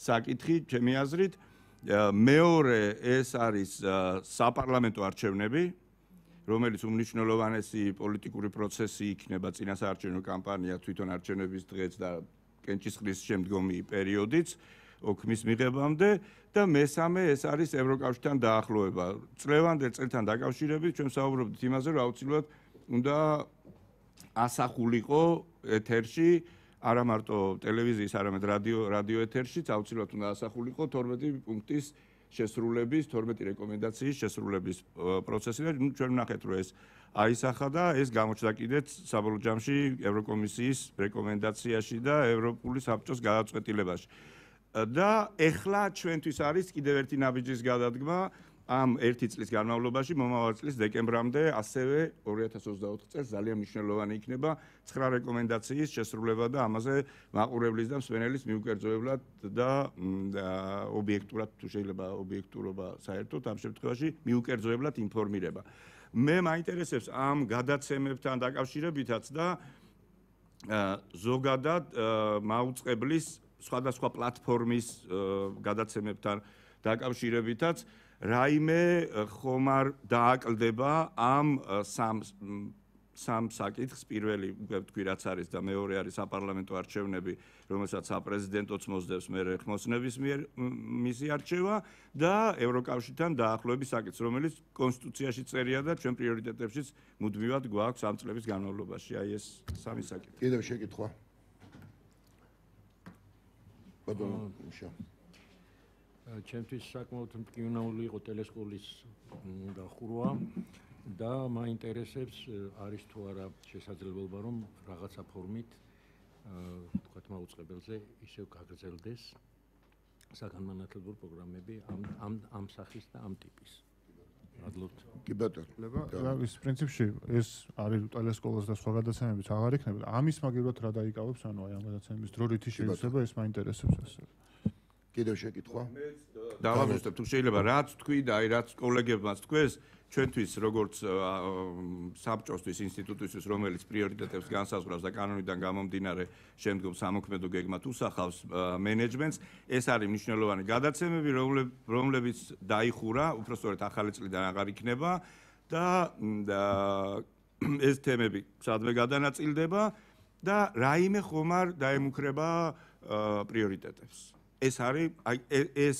საკითხი ჩემი აზრით მეორე ეს არის საპარლამენტო არჩევნები რომელიც უმნიშვნელოვანესი პოლიტიკური პროცესი იქნება წინასაარჩევნო კამპანია თვითონ არჩევნების დღეც და კენჭისყრის შემდგომი პერიოდიც ოქმის მიღებამდე და მესამე ეს არის ევროკავშირთან დაახლოება წლევანდელ წელთან დაკავშირებით ჩვენ საუბრობთ იმაზე რომ აუცილებლად უნდა ასახულიყო ეთერში არა მარტო ტელევიზიის, არამედ რადიო რადიო ეთერშიც აუცილებლად უნდა ასახულიყო თორმეტი პუნქტის შესრულების, თორმეტი რეკომენდაციის შესრულების პროცესი და ჩვენ ვნახეთ რომ ეს აისახა და ეს გამოჩნდა კიდეც საბოლოო ჯამში ევროკომისიის რეკომენდაციაში და ევროპული საბჭოს გადაწყვეტილებაში. და ეხლა ჩვენთვის არის კიდევ ერთი ნაბიჯის გადადგმა ამ ერთი წლის განმავლობაში მომავალ წლის დეკემბრამდე ასევე ორი ათას ოცდაოთხ წელს ძალიან მნიშვნელოვანი იქნება ცხრა რეკომენდაციის შესრულება და ამაზე მაყურებლის და მსმენელის მიუკერძოებლად და ობიექტურად თუ შეიძლება ობიექტურობა საერთოდ ამ შემთხვევაში მიუკერძოებლად ინფორმირება. მე მაინტერესებს ამ გადაცემებთან დაკავშირებითაც და ზოგადად მაუწყებლის სხვადასხვა პლატფორმის გადაცემებთან დაკავშირებითაც რაიმე ხომ არ დააკლდება ამ სამ სამ საკითხს პირველი თქვი რაც არის და მეორე არის საპარლამენტო არჩევნები რომელსაც საპრეზიდენტოც მოსდევს მე ხმოსნების მიერ მისი არჩევა და ევროკავშირთან დაახლოების საკითხს რომელიც კონსტიტუციაში წერია და ჩვენ პრიორიტეტებშიც მუდმივად გვაქვს ამ წლების განმავლობაში აი ეს სამი საკითხი კიდევ შეკითხვა ბატონო მიშა ჩემთვის საკმაოდ მტკივნეული იყო ტელესკოლის დახურვა და მაინტერესებს არის თუ არა შესაძლებლობა რომ რაღაცა ფორმით თქვათ მაუწყებელზე ისევ გაგრძელდეს საგანმანათლებლო პროგრამები ამ ამ ამ სახის და ამ ტიპის მადლობთ კი ბატონო და ის პრინციპში ეს არის ტელესკოლას და სხვა გადაცემებიც აღარ იქნება ამის მაგივრად რა დაიკავებს ანუ აი ამ გადაცემების დრო რითი შეიძლება ეს მაინტერესებს ასე კიდევ შეკითხვა დავამოწმებ თუ შეიძლება რაც თქვი და აი რაც კოლეგებმაც თქვეს ჩვენთვის როგორც საბჭოსთვის ინსტიტუტისთვის რომელიც პრიორიტეტებს განსაზღვრავს და კანონიდან გამომდინარე შემდგომ სამოქმედო გეგმად უსახავს მენეჯმენტს ეს არის მნიშვნელოვანი გადაცემები რომლებიც დაიხურა უბრალოდ ახალი წლიდან აღარ იქნება და ეს თემები სადმე გადანაწილდება და რაიმე ხომ არ დაემუქრება პრიორიტეტებს ეს არის აი ეს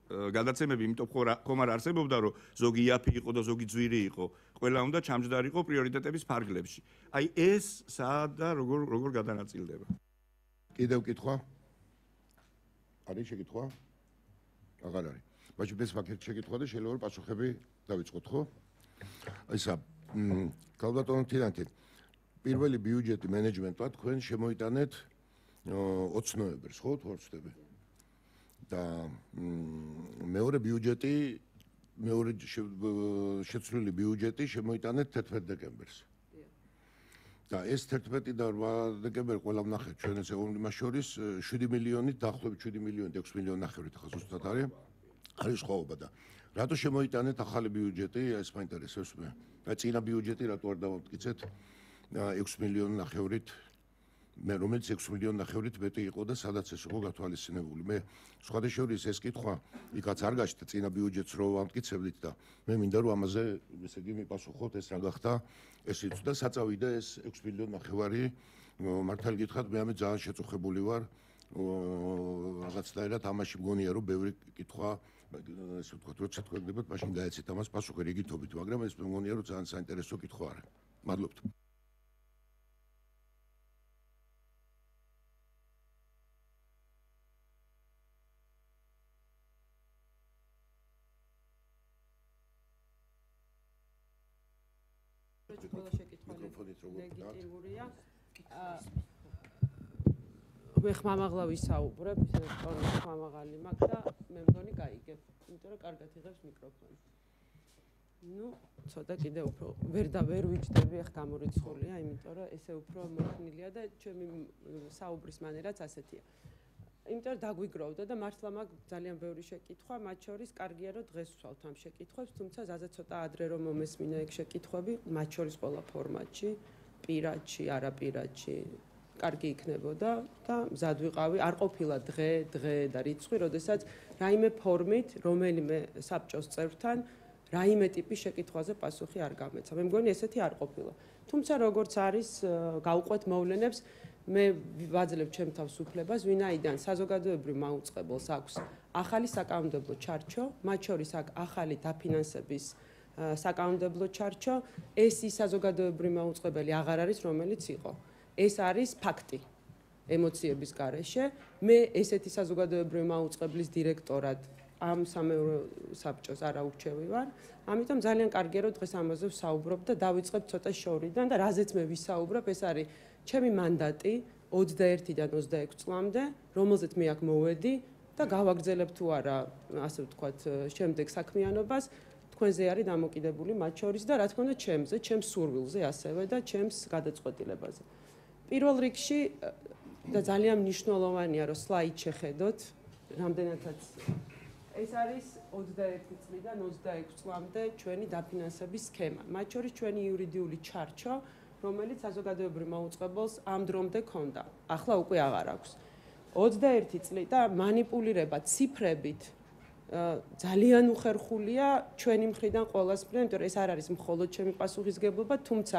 გადაცემები იმიტომ ხომ არ არსებობდა, რომ ზოგი იაფი იყო და ზოგი ძვირი იყო. ყველა უნდა ჩამჯდარიყო პრიორიტეტების ფარგლებში. აი ეს სად და როგორ როგორ გადანაწილდება? კიდევ კითხვა? არის შეკითხვა? აღარ არის. მაგრამ ეს ფაქტი შეკითხვა და შეიძლება პასუხები დავიწყოთ, ხო? ისა, კალბატონო თირანტი, პირველი ბიუჯეტი მენეჯმენტად თქვენ შემოიტანეთ ოცნოებრს, ხო, თუ არ ვცდები? და მეორე ბიუჯეტი, მეორე შეცვლილი ბიუჯეტი შემოიტანეთ თერთმეტ დეკემბერს. და ეს თერთმეტი და რვა დეკემბერი ყველა ვნახეთ ჩვენ ეს იმას შორის შვიდი მილიონით დაახლოებით შვიდი მილიონით ექვსი მილიონი ნახევრით ახლა ზუსტად არის არის სხვაობა და რატო შემოიტანეთ ახალი ბიუჯეტი ეს მაინტერესებს მე და წინა ბიუჯეტი რატო არ დავამტკიცეთ ექვსი მილიონი ნახევრით მე რომელიც ექვსი მილიონი ნახევრით მეტი იყო და სადაც ეს იყო გათვალისწინებული მე სხვადასხვა ეს კითხვა იქაც არ გაჩნდა წინა ბიუჯეტს რო ვამტკიცებდით და მე მინდა რომ ამაზე ესე იგი მიპასუხოთ ეს რა გახდა ეს იცოდა და საწავიდა ეს ექვსი მილიონი ნახევარი მართალი გითხრათ მე ამით ძალიან შეწუხებული ვარ რაღაცნაირად ამაში მგონია რომ ბევრი კითხვა ესე ვთქვათ როცა თქვენდებათ მაშინ გაეცეთ ამას პასუხი რიგითობით მაგრამ ეს მგონია რომ ძალიან საინტერესო კითხვა არის მადლობთ მე ხმამაღლა ვისაუბრებ, ისე რომ ხმამაღალი მაქვს და მე მგონი გაიგებ, იმიტომ რომ კარგად იღებს მიკროფონი. ნუ, ცოტა კიდე უფრო ვერ და ვერ ვიჯდები, ახ გამორიცხულია, იმიტომ რომ ესე უფრო მოხნილია და ჩემი საუბრის მანერაც ასეთია. იმიტომ რომ დაგვიგროვდა და მართლა მაქვს ძალიან ბევრი შეკითხვა, მათ შორის კარგია რომ დღეს ვსვავთ ამ შეკითხვებს, თუმცა ზაზე ცოტა ადრე რომ მომესმინა ეგ შეკითხვები, მათ შორის ყველა ფორმატში, პირადში, არაპირადში კარგი იქნებოდა და მზად ვიყავი, არ ყოფილა დღე, დღე და რიცხვი, როდესაც რაიმე ფორმით, რომელიმე საბჭოს წევრთან რაიმე ტიპის შეკითხვაზე პასუხი არ გამეცა. მე მგონი ესეთი არ ყოფილა. თუმცა როგორც არის, გავყვეთ მოვლენებს, მე ვაძლევ ჩემ თავს უფლებას, ვინაიდან საზოგადოებრივ მაუწყებელს აქვს ახალი საკანონმდებლო ჩარჩო, მათ შორის აქვს ახალი დაფინანსების საკანონმდებლო ჩარჩო, ეს ის საზოგადოებრივი მაუწყებელი აღარ არის, რომელიც იყო. ეს არის ფაქტი ემოციების გარეშე. მე ესეთი საზოგადოებრივი მაუწყებლის დირექტორად ამ სამეურვე საბჭოს არ აურჩევი ვარ. ამიტომ ძალიან კარგია რომ დღეს ამაზე ვსაუბრობ და დავიწყებ ცოტა შორიდან და რაზეც მე ვისაუბრებ, ეს არის ჩემი მანდატი ოცდაერთიდან ოცდაექვსი წლამდე, რომელზეც მე აქ მოვედი და გავაგრძელებ თუ არა, ასე ვთქვათ, შემდეგ საქმიანობას. თქვენზე არის დამოკიდებული მათ შორის და რა თქმა უნდა ჩემზე, ჩემს სურვილზე ასევე და ჩემს გადაწყვეტილებაზე. პირველ რიგში და ძალიან მნიშვნელოვანია რომ სლაიდ შეხედოთ, რამდენადაც ეს არის ოცდაერთი წლიდან ოცდაექვსი წლამდე ჩვენი დაფინანსების სქემა. მათ შორის ჩვენი იურიდიული ჩარჩო, რომელიც საზოგადოებრივ მაუწყებელს ამ დრომდე ქონდა. ახლა უკვე აღარ აქვს. ოცდაერთი წელი და манипуლირება ციფრებით ძალიან უხერხულია ჩვენი მხრიდან ყოველას მხრიდან, იმიტომ რომ ეს არ არის მხოლოდ ჩემი პასუხისგებლობა, თუმცა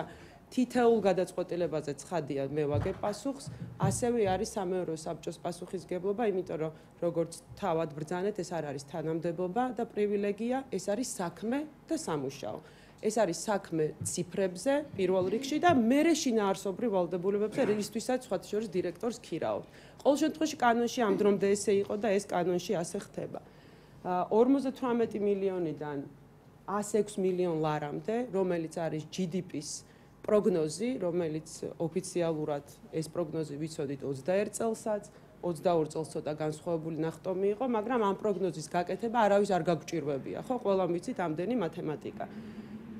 თითოეულ გადაწყვეტილებაზე ცხადია მე ვაგებ პასუხს, ასევე არის სამეურვეო საბჭოს პასუხისგებლობა, იმიტომ რომ როგორც თავად ბრძანეთ, ეს არ არის თანამდებობა და პრივილეგია, ეს არის საქმე და სამუშაო. ეს არის საქმე ციფრებზე პირველ რიგში და მერე შინაარსობრივ ვალდებულებებზე, რისთვისაც სხვა შორის დირექტორს ქირავ. ყოველ შემთხვევაში კანონში ამ დრომდე ესე იყო და ეს კანონში ასე ხდება. ორმოცდათვრამეტი მილიონიდან ასი ექვსი მილიონ ლარამდე, რომელიც არის ჯი დი პის პროგნოზი, რომელიც ოფიციალურად ეს პროგნოზი ვიცოდით ოცდაერთ წელსაც, ოცდაორ წელს ცოტა განსხვავებული ნახტომი იყო, მაგრამ ამ პროგნოზის გაკეთება არავის არ გაგჭირვებია, ხო, ყველამ ვიცით ამდენი მათემატიკა.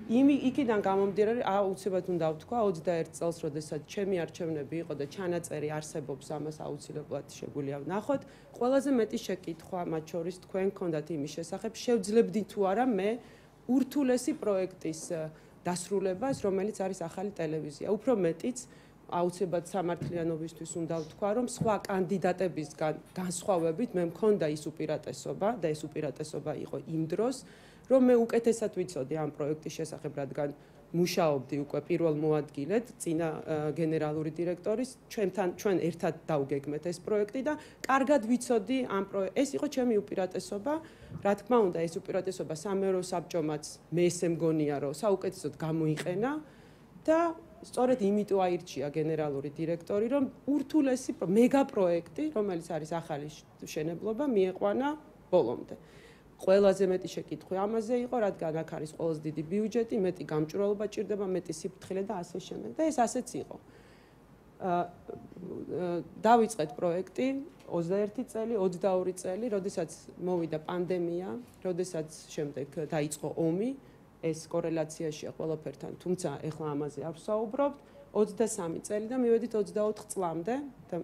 იმი იქიდან გამომდინარე, აუცილებლად უნდა ვთქვა, ოცდაერთ წელს, როდესაც ჩემი არჩევნები იყო და ჩანაწერი არსებობს, ამას აუცილებლად შეგვიძლია ვნახოთ. ყველაზე მეტი შეკითხვა, მათ შორის თქვენ გქონდათ იმის შესახებ, შევძლებდი თუ არა მე ურთულესი პროექტის დასრულებას, რომელიც არის ახალი ტელევიზია. უფრო მეტიც, აუცილებლად სამართლიანობისთვის უნდა ვთქვა, რომ სხვა კანდიდატებისგან განსხვავებით მე მქონდა ის უპირატესობა და ეს უპირატესობა იყო იმ დროს, რომ მე უკეთესად ვიცოდი ამ პროექტის შესახებ, რადგან მუშაობდი უკვე პირველ მოადგილედ წინა გენერალური დირექტორის ჩვენთან ჩვენ ერთად დავგეგმეთ ეს პროექტი და კარგად ვიცოდი ამ პროექტს ეს იყო ჩემი უპირატესობა რა თქმა უნდა ეს უპირატესობა სამეურნეო საბჭომაც მე ესე მგონია რომ საუკეთესოდ გამოიყენა და სწორედ იმიტომ აირჩია გენერალური დირექტორი რომ ურთულესი მეგა პროექტი რომელიც არის ახალი მშენებლობა მieყვანა ბოლომდე ყველაზე მეტი შეკითხვი ამაზე იყო, რადგან აქ არის ყველაზე დიდი ბიუჯეტი, მეტი გამჭვირვალობა ჭირდება, მეტი სიფრთხილე და ასე შემდეგ. და ეს ასეც იყო. დავიწყეთ პროექტი ოცდაერთი წელი, ოცდაორი წელი, როდესაც მოვიდა პანდემია, როდესაც შემდეგ დაიწყო ომი, ეს კორელაციაშია ყველაფერთან, თუმცა ეხლა ამაზე არ ვსაუბრობთ. ოცდასამი წელი და მივედით ოცდაოთხ წლამდე და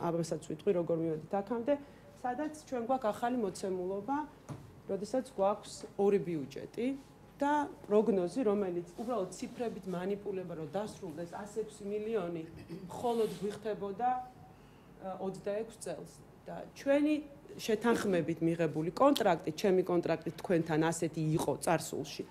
ამასაც ვიტყვი როგორ მივედით აქამდე, სადაც ჩვენ გვაქვს ახალი მოცემულობა როდესაც გვაქვს ორი ბიუჯეტი და პროგნოზი, რომელიც უბრალოდ ციფრებით манипуლება, რომ დასრულდეს ასი ექვსი მილიონი, მხოლოდ გვიხდებოდა ოცდაექვსი წელს. და ჩვენი შეთანხმებით მიღებული კონტრაქტი, ჩემი კონტრაქტი თქვენთან ასეთი იყო წარსულში,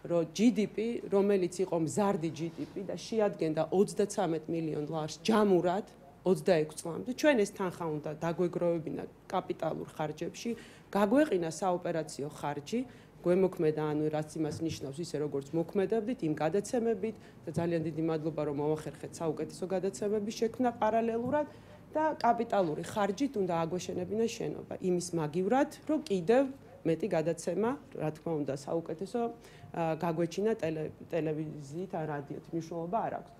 რომ ჯი დი პი, რომელიც იყო მზარდი ჯი დი პი და შეადგენდა ოცდაცამეტ მილიონ ლარს ჯამურად ოცდაექვსი წლამდე, ჩვენ ეს თანხა უნდა დაგვეგროვებინა კაპიტალურ ხარჯებში, გაგვეყინა საოპერაციო ხარჯი, გვემოქმედა, ანუ რაც იმას ნიშნავს, ისე როგორც მოქმედებდით, იმ გადაცემებით და ძალიან დიდი მადლობა, რომ მოახერხეთ საუკეთესო გადაცემების შექმნა პარალელურად და კაპიტალური ხარჯით უნდა აგვეშენებინა შენობა. იმის მაგივრად, რომ კიდევ მეტი გადაცემა, რა თქმა უნდა, საუკეთესო გაგვეჩინა ტელევიზიით ან რადიოთ, მნიშვნელობა არ აქვს.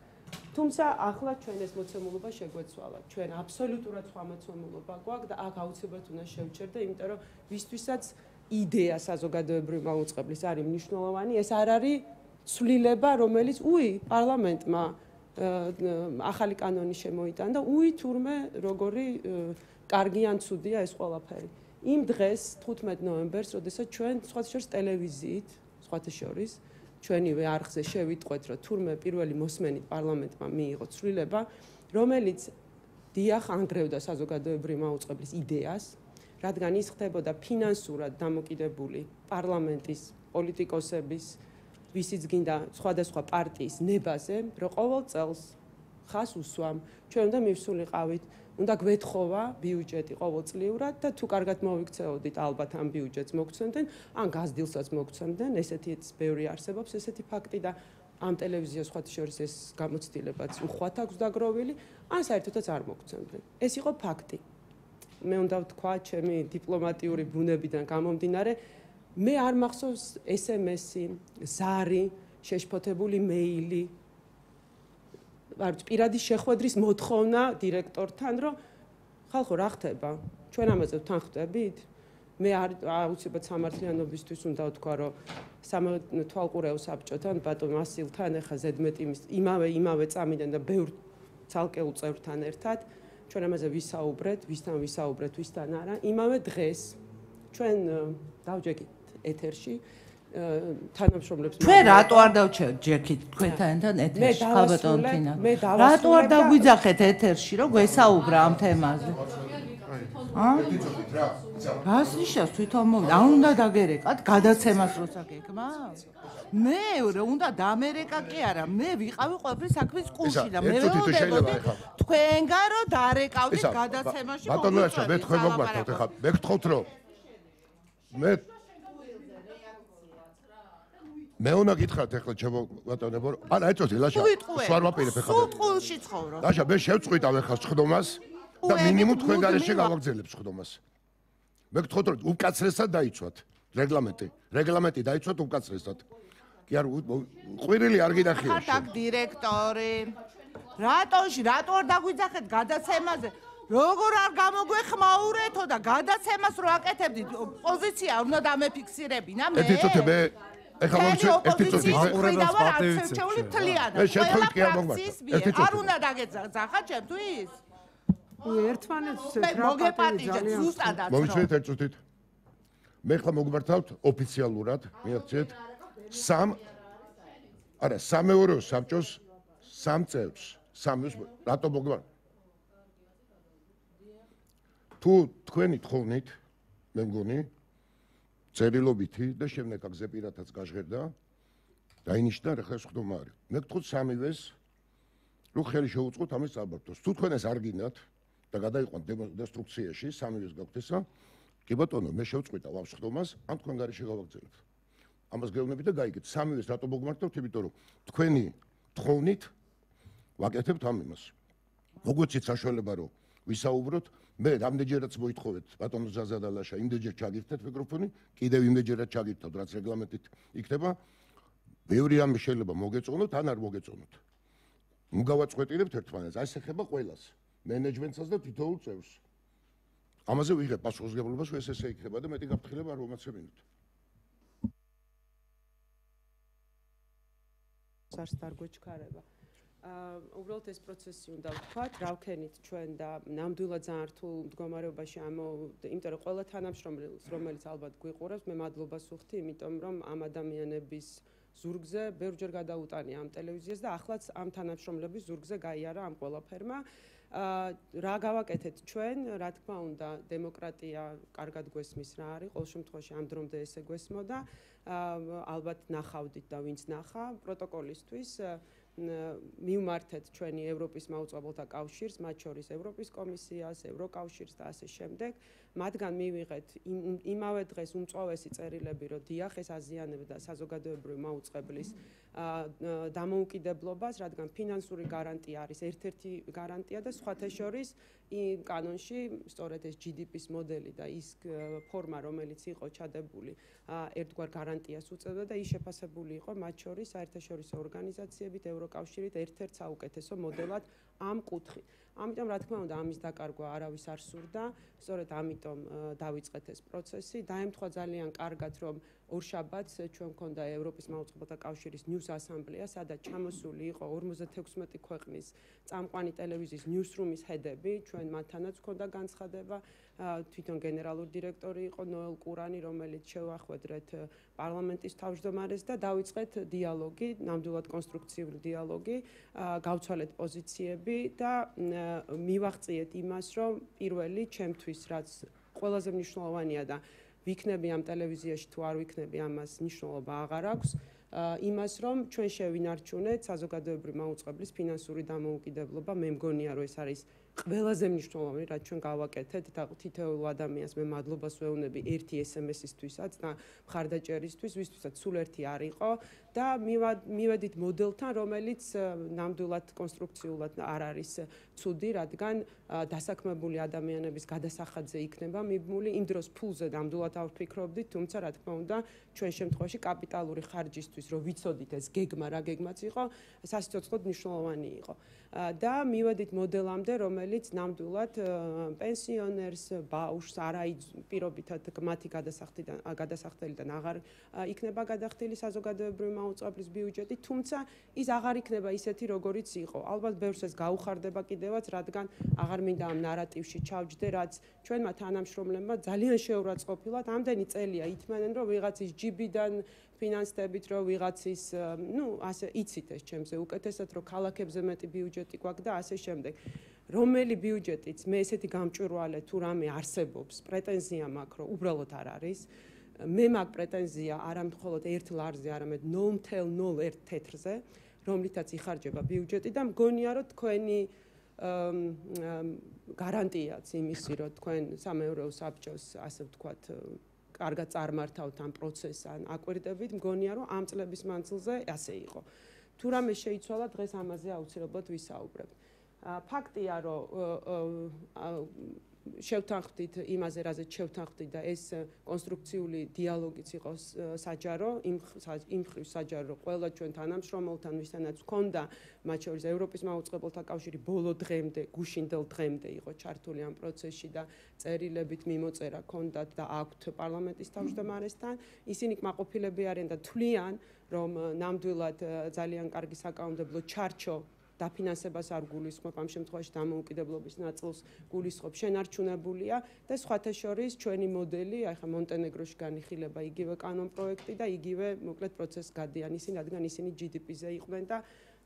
თუმცა ახლა ჩვენ ეს მოცემულობა შეგვეცვალა. ჩვენ აბსოლუტურად სხვა მოცემულობა გვაქვს და აქ აუცილებლად უნდა შევჩერდე, იმიტომ რომ ვისთვისაც იდეა საზოგადოებრივი მაუწყებლის არის მნიშვნელოვანი, ეს არ არის ცვლილება, რომელიც უი პარლამენტმა ახალი კანონი შემოიტანა და უი თურმე როგორი კარგი ან ცუდია ეს ყველაფერი. იმ დღეს თხუთმეტ ნოემბერს, როდესაც ჩვენ სხვათა შორის ტელევიზიით, სხვათა შორის ჩვენივე არხზე შევიტყვეთ, რომ თურმე პირველი მოსმენით პარლამენტმა მიიღო ცვლილება, რომელიც დიახ ანგრევდა საზოგადოებრივი მაუწყებლის იდეას, რადგან ის ხდებოდა ფინანსურად დამოკიდებული პარლამენტის პოლიტიკოსების, ვისიც გინდა სხვადასხვა პარტიის ნებაზე, რომ ყოველ წელს ხას უსვამ, ჩვენ უნდა მივსულიყავით, უნდა გვეთხოვა ბიუჯეტი ყოველწლიურად და თუ კარგად მოვიქცეოდით, ალბათ ამ ბიუჯეტს მოგცემდნენ, ან გაზრდილსაც მოგცემდნენ, ესეთიც ბევრი არსებობს, ესეთი ფაქტი და ამ ტელევიზიას სხვათა შორის ეს გამოცდილებაც უხვად აქვს დაგროვილი, ან საერთოდაც არ მოგცემდნენ. ეს იყო ფაქტი. მე უნდა ვთქვა, ჩემი დიპლომატიური ბუნებიდან გამომდინარე, მე არ მახსოვს ეს ემ ესი, ზარი, შეშფოთებული მეილი, პირადი შეხვედრის მოთხოვნა დირექტორთან, რომ ხალხო რა ხდება? ჩვენ ამაზე ვთანხმდებით? მე აუცილებლად სამართლიანობისთვის უნდა ვთქვა, რომ სამეთვალყურეო საბჭოთან, ბატონ ასილთან, ეხა ზედმეტი იმავე იმავე წამიდან და ბევრ ცალკეულ წევრთან ერთად, ჩვენ ამაზე ვისაუბრეთ, ვისთან ვისაუბრეთ, ვისთან არა, იმავე დღეს ჩვენ დავჯექით ეთერში თანამშრომლებს ჩვენ რატო არ დავჯექით თქვენთან ეთერში ხალბატონ თინა რატო არ დაგვიძახეთ ეთერში რომ გვესაუბრა ამ თემაზე ა რას ნიშნავს თვითონ მოვიდა არ უნდა დაგერეკათ გადაცემას როცა გეკმა მეორე უნდა დამერეკა კი არა მე ვიყავი ყველაფრის საქმის კუში და მე ვეუბნებოდი თქვენგან რომ დარეკავდით გადაცემაში ბატონო რაცა მე თქვენ მოგმართოთ ეხლა მე გთხოვთ რომ მე მე უნდა გითხრათ ეხლა ჩემო ბატონებო არა ეწოდი ლაშა სვარ ვაპირებ ეხლა სუტყულში ცხოვრობ ლაშა მე შევწყვიტავ ეხლა სხდომას და მინიმუმ თქვენ გარეშე გავაგზავნებ სხდომას მე გთხოვთ რომ უკაცრესად დაიცვათ რეგლამენტი რეგლამენტი დაიცვათ უკაცრესად კი არ ყვირილი არ გინახია ხართ აქ დირექტორი რატოში რატო არ დაგვიძახეთ გადაცემაზე როგორ არ გამოგვეხმაურეთო და გადაცემას რო აკეთებდით პოზიცია უნდა დამეფიქსირებინა მე ერთი წუთი მე ეხლა მოვიცე ერთი წუთი მაყურებელს პატივიცე მე შეხვით კი არ მოგმართ არ უნდა დაგეძახა ჩემთვის ერთმანეთს მოგეპატიჟეთ ზუსტადაც მოვიცეთ ერთი წუთით მე ხლა მოგმართავთ ოფიციალურად მიაღწიეთ სამ არა სამეურვეო საბჭოს სამ წევრს სამს რატო მოგმართ თუ თქვენი თხოვნით მე მგონი წერილობითი და შემდეგ აგზე პირადაც გაჟღერდა დაინიშნა რა ხარ ხდომა არის. მე გთხოვთ სამივეს რო ხელი შეუწყოთ ამის წაბართოს. თუ თქვენ ეს არ გინდათ და გადაიყვანთ დესტრუქციაში, სამივეს გაქვთ ესა, კი ბატონო, მე შევწყვიტა ამ ხდომას, ან თქვენ გარეშე გავაგრძელებთ. ამას გეუბნებით და გაიგეთ, სამივეს რატო მოგმართებთ, იმიტომ რომ თქვენი თხოვნით ვაკეთებთ ამ იმას. მოგვეცით საშუალება რომ ვისაუბროთ, მე რამდენჯერაც მოითხოვეთ ბატონო ზაზადალაშა, იმდენჯერ ჩაგირთეთ მიკროფონი, კიდევ იმდენჯერაც ჩაგირთოთ, რაც რეგლამენტით იქნება. ბევრი რამე შეიძლება მოგეწონოთ, ან არ მოგეწონოთ. ნუ გავაწყვეტილებთ ერთმანეთს, ეს ეხება ყველას, მენეჯმენტსაც და თითოეულ წევრს. ამაზე ვიღებ პასუხისმგებლობას, რომ ეს ესე იქნება და მეტი გაფრთხილება არ მომაცემინოთ. სარს დარგვეჩქარება. აა უბრალოდ ეს პროცესი უნდა ვთქვათ, რა ვქენით ჩვენ და ნამდვილად ძალიან რთულ მდგომარეობაში ამ იმიტომ რომ ყველა თანამშრომელს, რომელიც ალბათ გვიყურებს, მე მადლობას ვუხდი, იმიტომ რომ ამ ადამიანების ზურგზე ბევრჯერ გადაუტანია ამ ტელევიზიას და ახლაც ამ თანამშრომლების ზურგზე გაიარა ამ ყველაფერმა. აა რა გავაკეთეთ ჩვენ, რა თქმა უნდა, დემოკრატია კარგად გვესმის რა არის, ყოველ შემთხვევაში ამ დრომდე ესე გვესმოდა. აა ალბათ ნახავდით და ვინც ნახა პროტოკოლისთვის მივმართეთ ჩვენი ევროპის მაუწყებელთა კავშირს, მათ შორის ევროპის კომისიას, ევროკავშირს და ასე შემდეგ. მათგან მივიღეთ იმავე დღეს უმწვავესი წერილები, რომ დიახ, ეს აზიანებდა საზოგადოებრივი მაუწყებლის დამოუკიდებლობას, რადგან ფინანსური გარანტია არის ერთ-ერთი გარანტია და სხვათა შორის კანონში სწორედ ეს ჯი დი პის მოდელი და ის ფორმა, რომელიც იყო ჩადებული, ერთგვარ გარანტიას უწევდა და ის შეფასებული იყო მათ შორის საერთაშორისო ორგანიზაციებით, ევროკავშირით ერთ-ერთ საუკეთესო მოდელად ამ კუთხით. ამიტომ რა თქმა უნდა ამის დაკარგვა არავის არ სურდა, სწორედ ამიტომ დავიწყეთ ეს პროცესი. დაემთხვა ძალიან კარგად, რომ ორშაბათს ჩვენ მქონდა ევროპის მაუწყებელთა კავშირის ნიუს ასამბლეა, სადაც ჩამოსული იყო ორმოცდათექვსმეტი ქვეყნის წამყვანი ტელევიზიის ნიუსრუმის ჰედები, ჩვენ მათთანაც მქონდა განცხადება, თვითონ გენერალური დირექტორი იყო ნოელ კურანი, რომელიც შევახვედრეთ პარლამენტის თავმჯდომარეს და დავიწყეთ დიალოგი, ნამდვილად კონსტრუქციული დიალოგი, გავცვალეთ პოზიციები და მივაღწიეთ იმას, რომ პირველი ჩემთვის რაც ყველაზე მნიშვნელოვანია და ვიქნები ამ ტელევიზიაში თუ არ ვიქნები ამას მნიშვნელობა აღარ აქვს იმას რომ ჩვენ შევინარჩუნეთ საზოგადოებრივი მაუწყებლის ფინანსური დამოუკიდებლობა მე მგონია რომ ეს არის ყველაზე მნიშვნელოვანი რაც ჩვენ გავაკეთეთ და თითოეულ ადამიანს მე მადლობას ვეუბნები ერთი ეს ემ ეს-ისთვისაც და მხარდაჭერისთვის ვისთვისაც სულ ერთი არ იყო და მივედით მოდელთან რომელიც ნამდვილად კონსტრუქციულად არ არის ცუდი რადგან დასაქმებული ადამიანების გადასახადზე იქნება მიბმული იმ დროს ფულზე ნამდვილად არ ვფიქრობდით თუმცა რა თქმა უნდა ჩვენ შემთხვევაში კაპიტალური ხარჯისთვის რომ ვიცოდით ეს გეგმა რა გეგმაც იყო სასიცოცხლოდ მნიშვნელოვანი იყო და მივედით მოდელამდე რომელიც ნამდვილად პენსიონერს ბაუშს არაი პირობითად მათი გადასახდიდან გადასახდელიდან აღარ იქნება გადახდილი საზოგადოებრივი მაუწყებლის ბიუჯეტი თუმცა ის აღარ იქნება ისეთი როგორიც იყო ალბათ ბევრს ეს გაუხარდება კიდევაც რადგან აღარ მინდა ამ ნარატივში ჩავჯდე რაც ჩვენმა თანამშრომლებმა ძალიან შეურაცხყოფილად ამდენი წელია ითმენენ რომ ვიღაცის ჯიბიდან ფინანსებით რომ ვიღაცის ნუ ასე იცით ეს ჩემზე უკეთესად რომ ქალაქებზე მეტი ბიუჯეტი გვაქვს და ასე შემდეგ რომელი ბიუჯეტიც მე ესეთი გამჭვირვალე თუ რამე არსებობს პრეტენზია მაქვს რომ უბრალოდ არ არის მე მაქვს პრეტენზია არა მხოლოდ ერთ ლარზე არამედ ნულ მთელ ნულ ერთ თეთრზე რომლითაც იხარჯება ბიუჯეტი და მგონია რომ თქვენი გარანტიაც იმისი რომ თქვენ სამეურვეო საბჭოს ასე ვთქვათ კარგად წარმართავთ ამ პროცესს ან აკვირდებით მგონია რომ ამ წლების მანძილზე ასე იყო თუ რამე შეიცვალა დღეს ამაზე აუცილებლად ვისაუბრებთ ფაქტია რომ შევთანხმდით იმაზე რაზეც შევთანხმდით და ეს კონსტრუქციული დიალოგიც იყოს საჯარო იმ იმ ხრივ საჯარო რომ ყველა ჩვენ თანამშრომელთან ვისთანაც ჰქონდა მათ შორის ევროპის მაუწყებელთა კავშირი ბოლო დღემდე გუშინდელ დღემდე იყო ჩართული ამ პროცესში და წერილებით მიმოწერა ჰქონდათ და აქვთ პარლამენტის თავმჯდომარესთან ისინი კმაყოფილები არიან და თვლიან რომ ნამდვილად ძალიან კარგი საკანონმდებლო ჩარჩო დაფინანსებას არ გულისხმობ ამ შემთხვევაში დამოუკიდებლობის ნაწილს გულისხმობ შენარჩუნებულია და სხვათა შორის ჩვენი მოდელი აი ხა მონტენეგროში განიხილება იგივე კანონ პროექტი და იგივე მოკლედ პროცესს გადიან ისინი რადგან ისინი ჯი დი პი-ზე იყვნენ და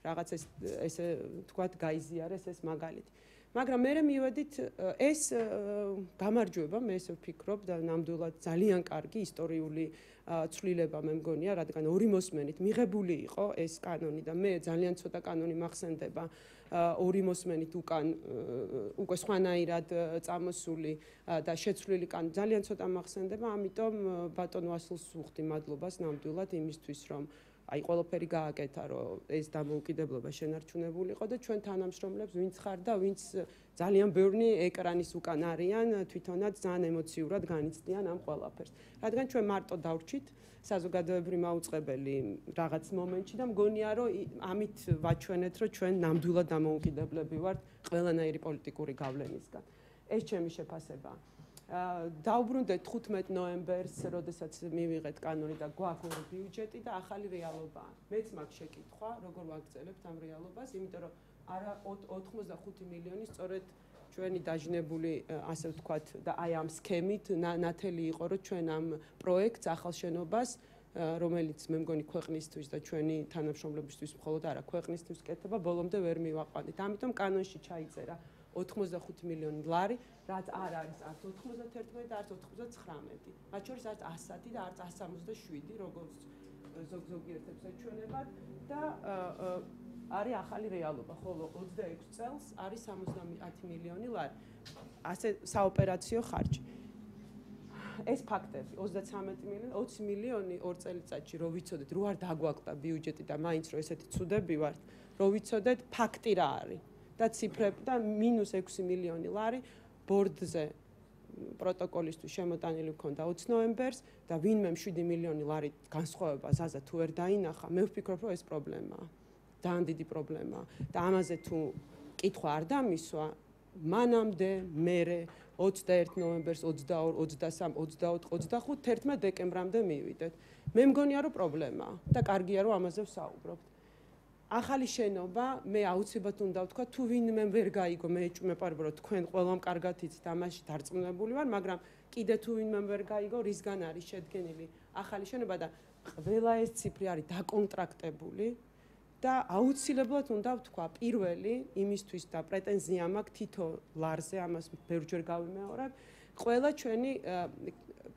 რაღაც ეს ესე თქვათ გაიზიარეს ეს მაგალითი მაგრამ მე მივედით ეს გამარჯვება, მე ესე ვფიქრობ და ნამდვილად ძალიან კარგი ისტორიული ცვლილება მე მგონია, რადგან ორი მოსმენით მიღებული იყო ეს კანონი და მე ძალიან ცოტა კანონი მახსენდება ორი მოსმენით უკან უკვე სხვანაირად წამოსული და შეცვლილი კანონი ძალიან ცოტა მახსენდება, ამიტომ ბატონ ვასილს ვუხდი მადლობას ნამდვილად იმისთვის, რომ აი ყველაფერი გააკეთა, რომ ეს დამოუკიდებლობა შენარჩუნებულიყო და ჩვენ თანამშრომლებს ვინც ხარ და ვინც ძალიან ბევრი ეკრანის უკან არიან, თვითონაც ძალიან ემოციურად განიცდიან ამ ყველაფერს. რადგან ჩვენ მარტო დავრჩით საზოგადოებრივი მაუწყებელი რაღაც მომენტში და მგონია, რომ ამით ვაჩვენეთ, რომ ჩვენ ნამდვილად დამოუკიდებლები ვართ ყველანაირი პოლიტიკური გავლენისგან. ეს ჩემი შეფასება. დაუბრუნდეთ ხუთმეტ ნოემბერს, როდესაც მივიღეთ კანონი და გვაქვს ორი ბიუჯეტი და ახალი რეალობაა. მეც მაქვს შეკითხვა, როგორ ვაგრძელებთ ამ რეალობას, იმიტომ რომ არა ოთხმოცდახუთი მილიონი სწორედ ჩვენი დაჟინებული, ასე ვთქვათ, და აი ამ სქემით ნათელი იყო, რომ ჩვენ ამ პროექტს ახალ შენობას, რომელიც მე მგონი ქვეყნისთვის და ჩვენი თანამშრომლებისთვის მხოლოდ არა, ქვეყნისთვის კეთება, ბოლომდე ვერ მივაყვანით. ამიტომ კანონში ჩაიწერა ოთხმოცდახუთი მილიონი ლარი, რაც არ არის არც ოთხმოცდაერთმეტი და არც ოთხმოცდაცხრამეტი. მათ შორის არც ასათი და არც ასს სამოცდაშვიდი, როგორც ზოგ-ზოგიერთებს ეჩვენებათ და არის ახალი რეალობა, ხოლო ოცდაექვსი წელს არის სამოცდაათი მილიონი ლარი. ასე საოპერაციო ხარჯი. ეს ფაქტები, ოცდაცამეტი მილიონი, ოცი მილიონი ორ წელიწადში რო ვიცოდეთ, რო არ დაგვაკლდა ბიუჯეტი და მაინც რო ესეთი ცუდები ვართ, რო ვიცოდეთ ფაქტი რა არის. და ციფრები და მინუს ექვსი მილიონი ლარი ბორდზე პროტოკოლისთვის შემოტანილი მქონდა ოცი ნოემბერს და ვინმე შვიდი მილიონი ლარი განსხვავება ზაზა თუ ვერ დაინახა, მე ვფიქრობ, რომ ეს პრობლემაა. ძალიან დიდი პრობლემაა და ამაზე თუ კითხვა არ დამისვა, მანამდე მერე ოცდაერთი ნოემბერს, ოცდაორი, ოცდასამი, ოცდაოთხი, ოცდახუთი, თერთმეტი დეკემბრამდე მივიდეთ. მე მგონია, რომ პრობლემაა და კარგია, რომ ამაზე ვსაუბრობთ. ახალი შენობა, მე აუცილებლად უნდა ვთქვა, თუ ვინმე ვერ გაიგო, მე ეჭვმეპარება, რომ თქვენ ყველამ კარგად იცით, ამაში დარწმუნებული ვარ, მაგრამ კიდე თუ ვინმე ვერ გაიგო, რისგან არის შედგენილი ახალი შენობა და ყველა ეს ციფრი არის დაკონტრაქტებული და აუცილებლად უნდა ვთქვა, პირველი იმისთვის და პრეტენზია მაქვს თითო ლარზე, ამას ბევრჯერ გავიმეორებ, ყველა ჩვენი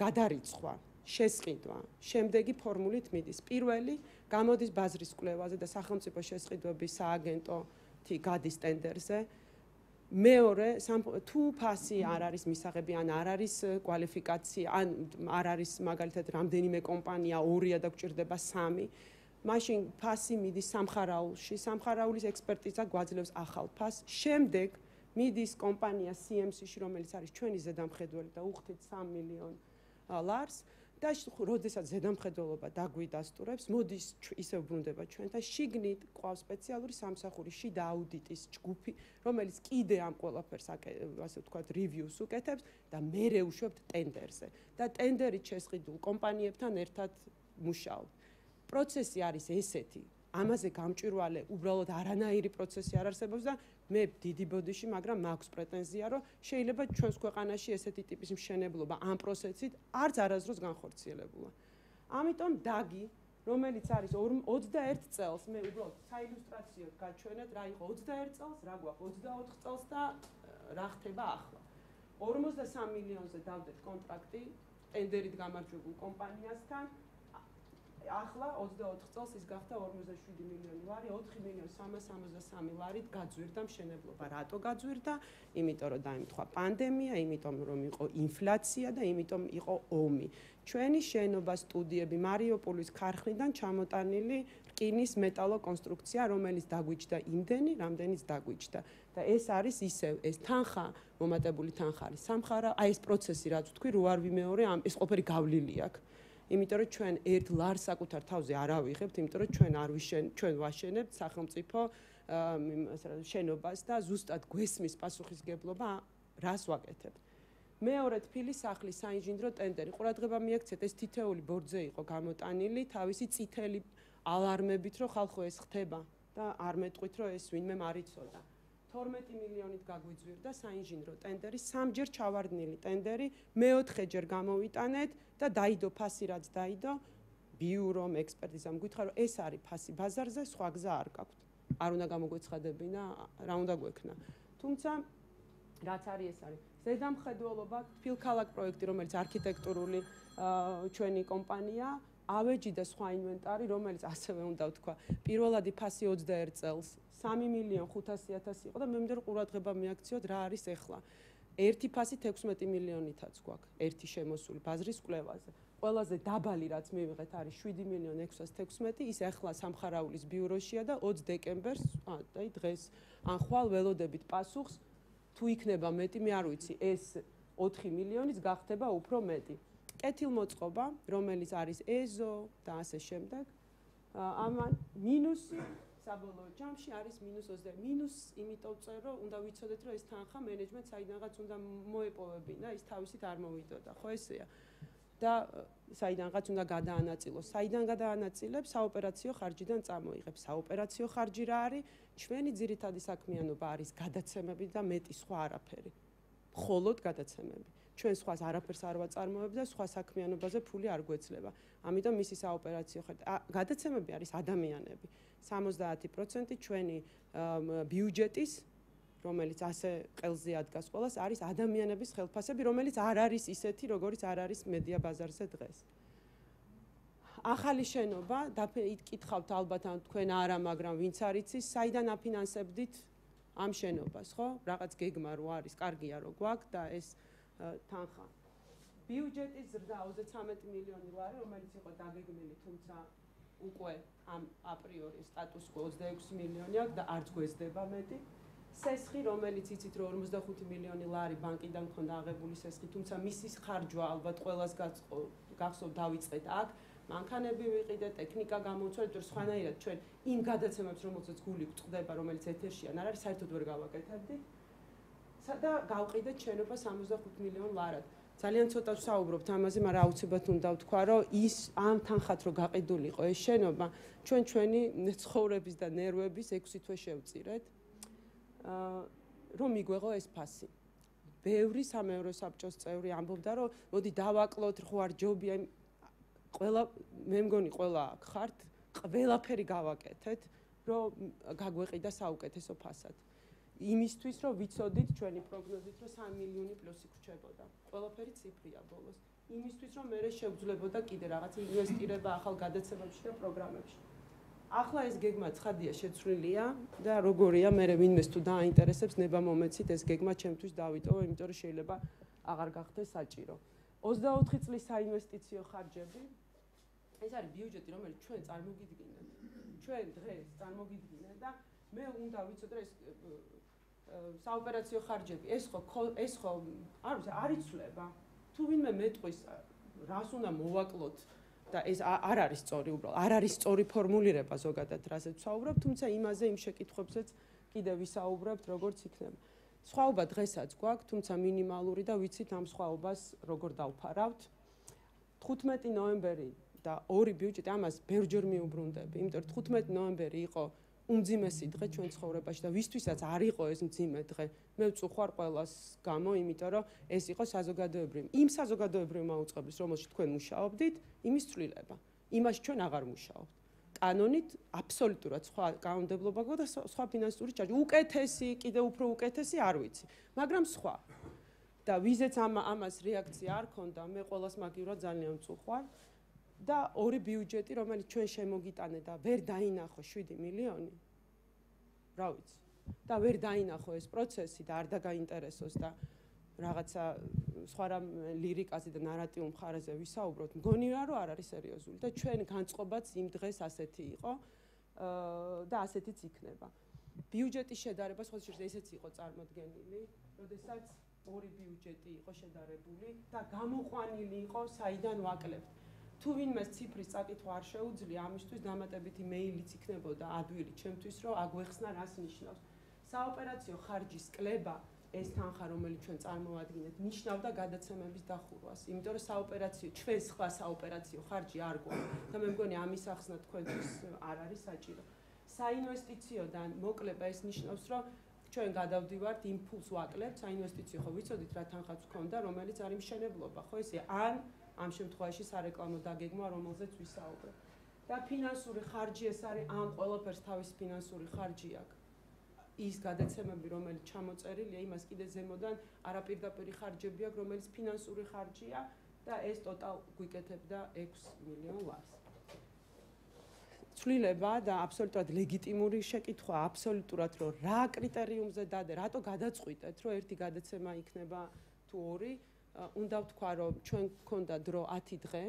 გადარიცხვა, შესყიდვა, შემდეგი ფორმულით მიდის. პირველი გამოდის ბაზრის კვლევაზე და სახელმწიფო შესყიდვების სააგენტოთი გადის ტენდერზე. მეორე, თუ ფასი არ არის მისაღები, ან არ არის კვალიფიკაცია, ან არ არის მაგალითად რამდენიმე კომპანია, ორია და გვჭირდება სამი, მაშინ ფასი მიდის სამხარაულში, სამხარაულის ექსპერტიზა გვაძლევს ახალ ფასს. შემდეგ მიდის კომპანია სი ემ სი-ში, რომელიც არის ჩვენი ზედამხედველი და უხდით სამი მილიონ ლარს. და როდესაც ზედამხედველობა დაგვიდასტურებს, მოდის ისევ ბრუნდება ჩვენთან, შიგნით ყავს სპეციალური სამსახური შიდა აუდიტის ჯგუფი, რომელიც კიდე ამ ყველაფერს ასე ვთქვათ რივიუს უკეთებს და მერე უშვებთ ტენდერზე და ტენდერით შესყიდულ კომპანიებთან ერთად მუშაობთ. პროცესი არის ესეთი, ამაზე გამჭვირვალე უბრალოდ არანაირი პროცესი არ არსებობს და მე დიდი ბოდიში, მაგრამ მაქვს პრეტენზია, რომ შეიძლება ჩვენს ქვეყანაში ესეთი ტიპის მშენებლობა ამ პროცესით არც არასდროს განხორციელებულა. ამიტომ დაგი, რომელიც არის ოცდაერთი წელს, მე უბრალოდ საილუსტრაციოდ გაჩვენეთ, რა იყო ოცდაერთი წელს, რა გვაქვს ოცდაოთხი წელს და რა ხდება ახლა. ორმოცდასამი მილიონზე დავდეთ კონტრაქტი ტენდერით გამარჯვებულ კომპანიასთან. ახლა ოცდაოთხი წელს ის გახდა ორმოცდაშვიდი მილიონი ლარი, ოთხი მილიონი სამას სამოცდასამი ლარით გაძვირდა მშენებლობა. რატო გაძვირდა? იმიტომ რომ დაემთხვა პანდემია, იმიტომ რომ იყო ინფლაცია და იმიტომ იყო ომი. ჩვენი შენობა სტუდიები მარიუპოლის ქარხნიდან ჩამოტანილი რკინის მეტალოკონსტრუქცია, რომელიც დაგვიჯდა იმდენი, რამდენიც დაგვიჯდა. და ეს არის ისევ, ეს თანხა, მომატებული თანხა არის სამხარა, აი ეს პროცესი რაც ვთქვი, რო არ ვიმეორე, ეს ყველაფერი გავლილი აქვს. იმიტომ რომ ჩვენ ერთ ლარს საკუთარ თავზე არ ავიღებთ, იმიტომ რომ ჩვენ არ ვიშენ, ჩვენ ვაშენებთ სახელმწიფო შენობას და ზუსტად გვესმის პასუხისგებლობა რას ვაკეთებთ. მეორე თბილის სახლის საინჟინრო ტენდერი. ყურადღება მიაქცეთ, ეს თითეული ბორძე იყო გამოტანილი თავისი წითელი ალარმებით, რომ ხალხო ეს ხდება და არ მეტყვით, რომ ეს ვინმე არ იცოდა. თორმეტი მილიონით გაგვიძვირდა საინჟინრო ტენდერი, სამჯერ ჩავარდნილი ტენდერი, მეოთხეჯერ გამოვიტანეთ და დაიდო ფასი რაც დაიდო, ბიურომ, ექსპერტიზამ გითხრა, რომ ეს არის ფასი ბაზარზე, სხვა გზა არ გაქვთ. არ უნდა გამოგვეცხადებინა, რა უნდა გვექნა. თუმცა რაც არის ეს არის ზედამხედველობა თბილქალაქ პროექტი, რომელიც არქიტექტურული ჩვენი კომპანია, ავეჯი და სხვა ინვენტარი, რომელიც ასევე უნდა ვთქვა, პირველადი ფასი ოცდაერთ წელს სამი მილიონი ხუთასი ათასი იყო და მე მინდა რომ ყურადღება მიაქციოთ რა არის ახლა. ერთი ფასი თექვსმეტი მილიონითაც გვაქვს, ერთი შემოსული ბაზრის კვლევაზე. ყველაზე დაბალი რაც მივიღეთ არის შვიდი მილიონი ექვსას თექვსმეტი, ის ახლა სამხარაულის ბიუროშია და ოცი დეკემბერს, აი დღეს ან ხვალ ველოდებით პასუხს, თუ იქნება მეტი, მე არ ვიცი, ეს ოთხი მილიონიც გახდება უფრო მეტი. კეთილმოწყობა, რომელიც არის ეზო და ასე შემდეგ, ამან მინუსი საბოლოო ჯამში არის მინუს ოცდაერთი. მინუს იმიტომ წერ, რომ უნდა ვიცოდეთ, რომ ეს თანხა მენეჯმენტს საიდანღაც უნდა მოეპოვებინა, ის თავისით არ მოვიდოდა, ხო ესეა. და საიდანღაც უნდა გადაანაწილოს. საიდან გადაანაწილებს? საოპერაციო ხარჯიდან წამოიღებს. საოპერაციო ხარჯი რა არის? ჩვენი ძირითადი საქმიანობა არის გადაცემები და მეტი სხვა არაფერი. მხოლოდ გადაცემები. ჩვენ სხვას არაფერს არ ვაწარმოებთ და სხვა საქმიანობაზე ფული არ გვეძლება. ამიტომ მისი საოპერაციო ხარჯი გადაცემები არის ადამიანები. სამოცდაათი პროცენტი ჩვენი ბიუჯეტის, რომელიც ასე ყელზე ადგას ყველას, არის ადამიანების ხელფასები, რომელიც არ არის ისეთი, როგორც არ არის მედია ბაზარზე დღეს. ახალი შენობა, იკითხავთ ალბათ ან თქვენ არა, მაგრამ ვინც არ იცის, საიდან აფინანსებდით ამ შენობას, ხო? რაღაც გეგმა რო არის, კარგია რო გვაქვს და ეს თანხა. ბიუჯეტის ზრდა ოცდათვრამეტი მილიონი ლარი, რომელიც იყო დაგეგმილი, თუმცა უკვე ამ აპრიორი სტატუს კო ოცდაექვსი მილიონი აქვს და არც გვესდება მეტი. სესხი, რომელიც იცით რომ ორმოცდახუთი მილიონი ლარი ბანკიდან მქონდა აღებული სესხი, თუმცა მისის ხარჯვა ალბათ ყველას გახსოვთ დავიწყეთ აქ, მანქანები ვიყიდეთ, ტექნიკა გამოვცვალეთ, თუ სხვანაირად ჩვენ იმ გადაცემებს, რომელსაც გული გვწყდება, რომელიც ეთერშია, არ არის საერთოდ ვერ გავაკეთებდით. და გავყიდეთ შენობა სამოცდახუთ მილიონ ლარად. ძალიან ცოტა ვსაუბრობთ ამაზე, მაგრამ აუცილებლად უნდა ვთქვა, რომ ის ამ თანხად რო გაყიდული იყო ეს შენობა, ჩვენ ჩვენი ცხოვრების და ნერვების ექვსი თვე შევწირეთ. რომ მიგვეღო ეს ფასი. ბევრი სამეურვეო საბჭოს წევრი ამბობდა, რომ მოდი დავაკლოთ, ხო არ ჯობია, ყველა მე მგონი ყველა აქ ხართ, ყველაფერი გავაკეთეთ, რომ გაგვეყიდა საუკეთესო ფასად. იმისთვის, რომ ვიცოდით ჩვენი პროგნოზით, რომ სამი მილიონი პლუსი გრჩებოდა. ყველაფერი ციფრია ბოლოს. იმისთვის, რომ მე შევძლებოდა კიდე რაღაც ინვესტირება ახალ გადაცემებში და პროგრამებში. ახლა ეს გეგმა ცხადია შეცვლილია და როგორია მე ვინმეს თუ დააინტერესებს ნება მომეცით ეს გეგმა ჩემთვის დავიტოვო, იმიტომ რომ შეიძლება აღარ გახდეს საჭირო. ოცდაოთხი წლის საინვესტიციო ხარჯები ეს არის ბიუჯეტი, რომელიც ჩვენ წარმოგიდგინეთ. ჩვენ დღეს წარმოგიდგინეთ და მე უნდა ვიცოდე ეს საოპერაციო ხარჯები, ეს ხო ეს ხო არ ვიცი, არ იცვლება. თუ ვინმე მეტყვის რას უნდა მოვაკლოთ და ეს არ არის სწორი უბრალოდ, არ არის სწორი ფორმულირება ზოგადად, რასაც ვსაუბრობ, თუმცა იმაზე იმ შეკითხვებზეც კიდე ვისაუბრებთ, როგორც იქნება. სხვაობა დღესაც გვაქვს, თუმცა მინიმალური და ვიცით ამ სხვაობას როგორ დავფარავთ. თხუთმეტი ნოემბერი და ორი ბიუჯეტი ამას ბევრჯერ მიუბრუნდები, იმიტომ რომ თხუთმეტი ნოემბერი იყო უმძიმესი დღე ჩვენ ცხოვრებაში და ვისთვისაც არ იყო ეს მძიმე დღე. მე ვწუხარ ყველას გამო, იმიტომ რომ ეს იყო საზოგადოებრივი. იმ საზოგადოებრივი მაუწყებლის, რომელშიც თქვენ მუშაობდით, იმის ცვლილება. იმაში ჩვენ აღარ მუშაობთ. კანონით აბსოლუტურად სხვა კანონმდებლობა გვაქვს და სხვა ფინანსური ჩარჯი. უკეთესი, კიდე უფრო უკეთესი არ ვიცი, მაგრამ სხვა. და ვიზეც ამ ამას რეაქცია არ ქონდა, მე ყველას მაგივრად ძალიან ვწუხარ. და ორი ბიუჯეტი, რომელიც ჩვენ შემოგიტანე და ვერ დაინახო შვიდი მილიონი. რა ვიცი. და ვერ დაინახო ეს პროცესი და არ დაგაინტერესოს და რაღაცა სხვა რამ ლირიკაზე და ნარატიულ მხარეზე ვისაუბროთ. მგონია რომ არ არის სერიოზული და ჩვენ განწყობაც იმ დღეს ასეთი იყო და ასეთიც იქნება. ბიუჯეტის შედარება სხვა შეიძლება ესეც იყო წარმოდგენილი, როდესაც ორი ბიუჯეტი იყო შედარებული და გამოყვანილი იყო საიდან ვაკლებთ. თუ ვინმეს ციფრის წაკითხვა არ შეუძლია, ამისთვის დამატებითი მეილიც იქნებოდა ადვილი ჩემთვის, რომ აგვეხსნა რას ნიშნავს. საოპერაციო ხარჯის კლება, ეს თანხა, რომელიც ჩვენ წარმოვადგინეთ, ნიშნავდა გადაცემების დახურვას, იმიტომ რომ საოპერაციო, ჩვენ სხვა საოპერაციო ხარჯი არ გვაქვს და მე მგონი ამის ახსნა თქვენთვის არ არის საჭირო. საინვესტიციოდან მოკლება ეს ნიშნავს, რომ ჩვენ გადავდივართ იმპულს ვაკლებთ, საინვესტიციო ხო ვიცოდით რა თანხაც გქონდა, რომელიც არის მშენებლობა, ხო ესე ან ამ შემთხვევაში სარეკლამო დაგეგმა, რომელზეც ვისაუბრებ. და ფინანსური ხარჯი ეს არის ამ ყველაფერს თავის ფინანსური ხარჯი აქვს. ის გადაცემები, რომელიც ჩამოწერილია, იმას კიდე ზემოდან არაპირდაპირი ხარჯები აქვს, რომელიც ფინანსური ხარჯია და ეს ტოტალ გვიკეთებდა ექვს მილიონ ლარს. ცვლილება და აბსოლუტურად ლეგიტიმური შეკითხვა, აბსოლუტურად რომ რა კრიტერიუმზე დადე, რატო გადაწყვიტეთ, რომ ერთი გადაცემა იქნება თუ ორი, უნდა ვთქვა, რომ ჩვენ გქონდა დრო ათი დღე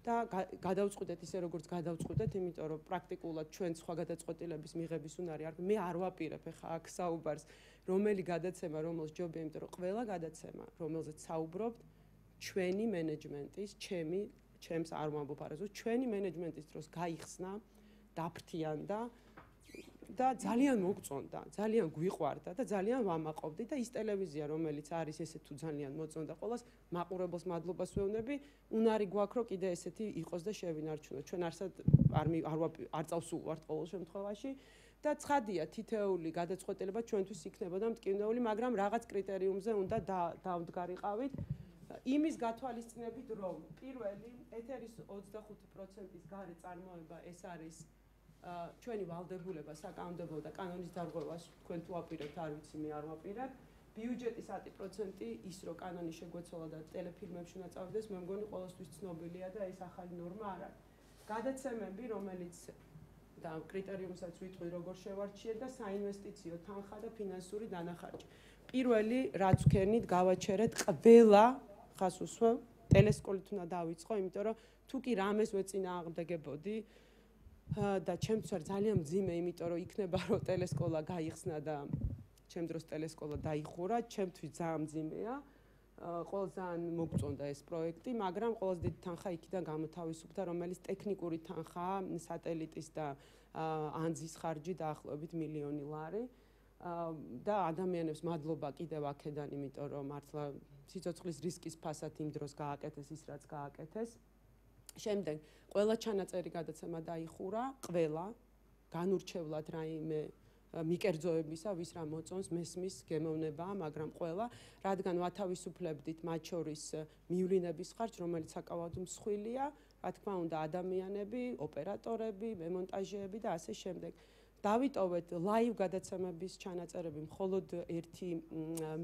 და გადავწყვიტეთ ისე როგორც გადავწყვიტეთ, იმიტომ რომ პრაქტიკულად ჩვენ სხვა გადაწყვეტილების მიღების უნარი არ მე არ ვაპირებ ახლა აქ საუბარს, რომელი გადაცემა, რომელს ჯობია, იმიტომ რომ ყველა გადაცემა, რომელზეც საუბრობთ, ჩვენი მენეჯმენტის, ჩემი, ჩემს არ ვამბობ არასდროს, ჩვენი მენეჯმენტის დროს გაიხსნა, დაფრთიანდა და ძალიან მოგწონდა, ძალიან გვიყვარდა და ძალიან ვამაყობდი და ის ტელევიზია, რომელიც არის ესე თუ ძალიან მოწონდა ყოველას, მაყურებელს მადლობას ვეუბნები, უნარი გვაქვს, რომ კიდე ესეთი იყოს და შევინარჩუნოთ. ჩვენ არსად არ არ არ წავსულვართ ყოველ შემთხვევაში და ცხადია, თითეული გადაწყვეტილება ჩვენთვის იქნებოდა მტკივნეული, მაგრამ რაღაც კრიტერიუმზე უნდა დავდგარიყავით. იმის გათვალისწინებით, რომ პირველი ეთერის ოცდახუთი პროცენტის გარე წარმოება ეს არის ჩვენი ვალდებულება საკანონმდებლო და კანონის დარღვევას თქვენ თუ აპირებთ, არ ვიცი, მე არ ვაპირებ. ბიუჯეტის ათი პროცენტი ის რომ კანონი შეგვეცვალა და ტელეფილმებში უნდა წავიდეს, მე მგონი ყოველთვის ცნობილია და ეს ახალი ნორმა არ არის. გადაცემები, რომელიც და კრიტერიუმსაც ვიტყვი, როგორ შევარჩიეთ და საინვესტიციო თანხა და ფინანსური დანახარჯი. პირველი, რაც ვქენით, გავაჩერეთ ყველა ხას უსვევ, ტელესკოლით უნდა დავიწყო, იმიტომ რომ თუ კი რამეს ვეწინააღმდეგებოდი და ჩემთვის არის ძალიან მძიმე, იმიტომ რომ იქნება რომ ტელესკოლა გაიხსნა და ჩემ დროს ტელესკოლა დაიხურა, ჩემთვის ძალიან მძიმეა. ყოველ ძალიან მოგწონდა ეს პროექტი, მაგრამ ყველაზე დიდი თანხა იქიდან გამოთავისუფლდა, რომელიც ტექნიკური თანხაა, სატელიტის და ანძის ხარჯი დაახლოებით მილიონი ლარი. და ადამიანებს მადლობა კიდევ აქედან, იმიტომ რომ მართლა სიცოცხლის რისკის ფასად იმ დროს გააკეთეს ის, რაც გააკეთეს. შემდეგ ყველა ჩანაწერი გადაცემა დაიხურა, ყველა განურჩევლად რაიმე მიკერძოებისა, ვის რა მოწონს, მესმის გემოვნებაა, მაგრამ ყველა, რადგან ვათავისუფლებდით მათ შორის მივლინების ხარჯს, რომელიც საკავად მსხვილია, რა თქმა უნდა, ადამიანები, ოპერატორები, მემონტაჟეები და ასე შემდეგ. დავიტოვეთ ლაივ გადაცემების ჩანაწერები მხოლოდ ერთი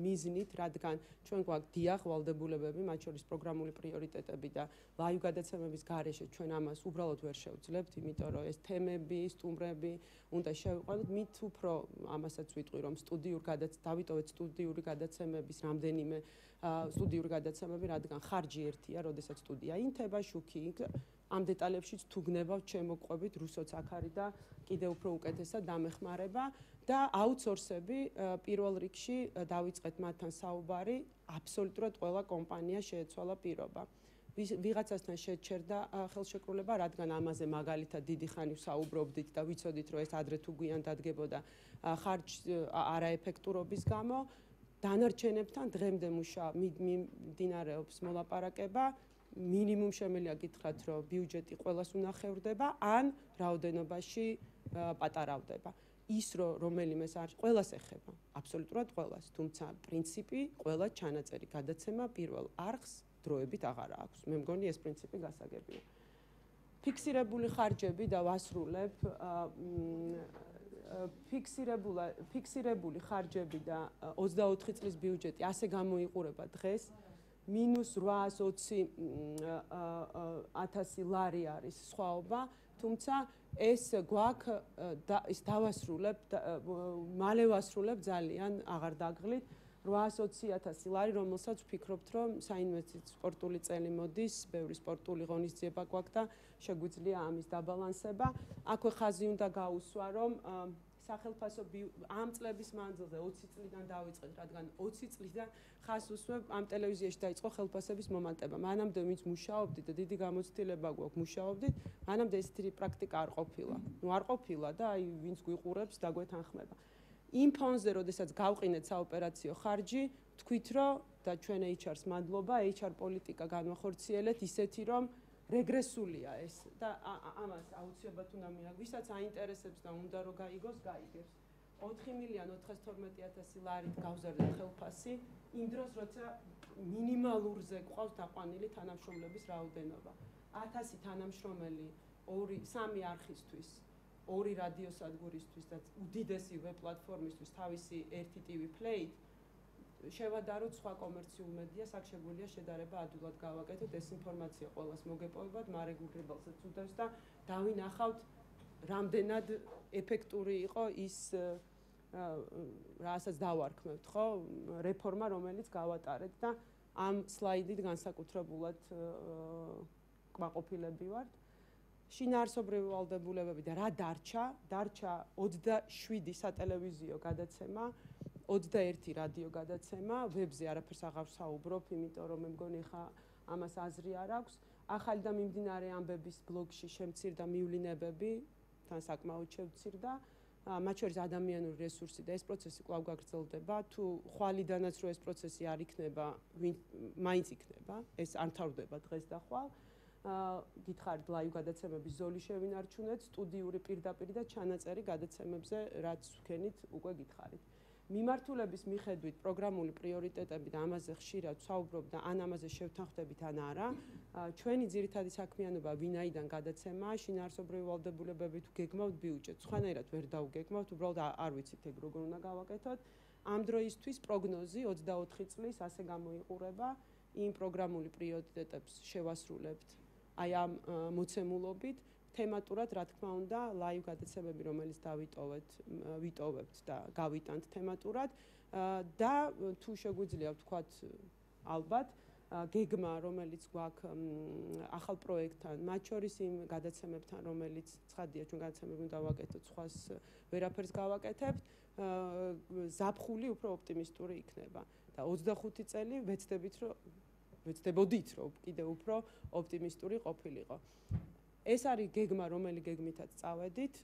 მიზნით, რადგან ჩვენ გვაქვს დიახ ვალდებულებები, მათ შორის პროგრამული პრიორიტეტები და ლაივ გადაცემების გარეშე ჩვენ ამას უბრალოდ ვერ შევძლებთ, იმიტომ რომ ეს თემები, სტუმრები უნდა შევიყვანოთ, მით უფრო ამასაც ვიტყვი, რომ სტუდიურ გადაცემებს დავიტოვეთ სტუდიური გადაცემების რამდენიმე სტუდიური გადაცემები, რადგან ხარჯი ერთია, როდესაც სტუდია ინთება, შუქი იქ ამ დეტალებშიც თუ გნებავთ, შემოგყვებით, რუსოც აქ არის და კიდევ უფრო უკეთესად დამეხმარება და აუთსორსები პირველ რიგში დავიწყეთ მათთან საუბარი, აბსოლუტურად ყველა კომპანია შეეცვალა პირობა. ვიღაცასთან შეჩერდა ხელშეკრულება, რადგან ამაზე მაგალითად დიდი ხანი საუბრობდით და ვიცოდით, რომ ეს ადრე თუ გვიან დადგებოდა ხარჯ არაეფექტურობის გამო, დანარჩენებთან დღემდე მუშა მიმდინარეობს მოლაპარაკება. მინიმუმ შემიძლია გითხრათ, რომ ბიუჯეტი ყველას უნახევრდება, ან რაოდენობაში პატარავდება. ის რომ რომელიმეს არის ყველას ეხება, აბსოლუტურად ყველას, თუმცა პრინციპი ყველა ჩანაწერი გადაცემა პირველ არხს დროებით აღარ აქვს. მე მგონი ეს პრინციპი გასაგებია. ფიქსირებული ხარჯები და ვასრულებ ფიქსირებული ფიქსირებული ხარჯები და ოცდაოთხი წლის ბიუჯეტი ასე გამოიყურება დღეს. მინუს რვაას ოცი ათასი ლარი არის სხვაობა, თუმცა ეს გვაქვს ის დავასრულებ, მალე ვასრულებ ძალიან აღარ დაგღლით რვაას ოცი ათასი ლარი, რომელსაც ვფიქრობთ, რომ საინვესტიციო სპორტული წელი მოდის, ბევრი სპორტული ღონისძიება გვაქვს და შეგვიძლია ამის დაბალანსება. აქვე ხაზი უნდა გაუსვა, რომ სახელმწიფო ამ წლების მანძილზე ოცი წლიდან დავიწყეთ, რადგან ოცი წლიდან ხას უსვებ ამ ტელევიზიაში დაიწყო ხელფასების მომატება. მანამდე ვინც მუშაობდით და დიდი გამოცდილება გვაქვს მუშაობდით, მანამდე ესეთი პრაქტიკა არ ყოფილა. ნუ არ ყოფილა და აი ვინც გვიყურებს დაგვეთანხმება. იმ ფონზე, როდესაც გავყინეთ საოპერაციო ხარჯი, თქვით რომ და ჩვენ ეიჩ არს მადლობა, ეიჩ არ პოლიტიკა განვახორციელეთ ისეთი, რომ რეგრესულია ეს და ამას აუცილებლად უნდა მიაგ, ვისაც აინტერესებს და უნდა რომ გაიგოს, გაიგებს. ოთხი მილიონი ოთხსათორმეტი ათასი ლარით გავზარდეთ ხელფასი, იმ დროს როცა მინიმალურზე გვყავს დაყვანილი თანამშრომლების რაოდენობა. ათასი თანამშრომელი ორი სამი არხისთვის ორი რადიოსადგურისთვის და უდიდესი ვებ პლატფორმისთვის თავისი ერთი ტივი Play შევადაროთ სხვა კომერციულ მედიას, აქ შეგვიძლია შედარება ადვილად გავაკეთოთ, ეს ინფორმაცია ყველას მოგეპოვებათ, მარეგულირებელსაც უდევს და დავინახავთ რამდენად ეფექტური იყო ის რასაც დავარქმევთ, ხო, რეფორმა, რომელიც გავატარეთ და ამ სლაიდით განსაკუთრებულად კმაყოფილები ვართ. შინაარსობრივი ვალდებულებები და რა დარჩა? დარჩა ოცდაშვიდი სატელევიზიო გადაცემა, ოცდაერთი რადიო გადაცემა, ვებზე არაფერს აღარ ვსაუბრობ, იმიტომ რომ მე მგონი ხა ამას აზრი არ აქვს. ახალი და მიმდინარე ამბების ბლოგში შემცირდა მივლინებები, თან საკმაოდ შევცირდა. მათ შორის ადამიანური რესურსი და ეს პროცესი კვლავ გაგრძელდება. თუ ხვალიდანაც რო ეს პროცესი არ იქნება, მაინც იქნება, ეს არ მთავრდება დღეს და ხვალ. გითხარით ლაივ გადაცემების ზოლი შევინარჩუნეთ, სტუდიური პირდაპირ და ჩანაწერი გადაცემებზე, რაც ვქენით, უკვე გითხარით. მიმართულების მიხედვით პროგრამული პრიორიტეტები და ამაზე ხშირად ვსაუბრობ და ან ამაზე შევთანხმდებით ან არა. ჩვენი ძირითადი საქმიანობა ვინაიდან გადაცემაა, შინაარსობრივი ვალდებულებები თუ გეგმავთ ბიუჯეტს. სხვანაირად ვერ დავგეგმავთ, უბრალოდ არ ვიცით ეგ როგორ უნდა გავაკეთოთ. ამ დროისთვის პროგნოზი ოცდაოთხი წლის ასე გამოიყურება, იმ პროგრამული პრიორიტეტებს შევასრულებთ აი ამ მოცემულობით. თემატურად, რა თქმა უნდა, ლაივ გადაცემები, რომელიც დავიტოვეთ, ვიტოვებთ და გავიტანთ თემატურად და თუ შეგვიძლია ვთქვათ, ალბათ, გეგმა, რომელიც გვაქვს ახალ პროექტთან, მათ შორის იმ გადაცემებთან, რომელიც ცხადია, ჩვენ გადაცემები უნდა ვაკეთოთ, სხვას ვერაფერს გავაკეთებთ, ზაფხული უფრო ოპტიმისტური იქნება და ოცდახუთი წელი ვეცდებით, რომ ვეცდებოდით, რომ კიდევ უფრო ოპტიმისტური ყოფილიყო. ეს არის გეგმა, რომელი გეგმითაც წავედით.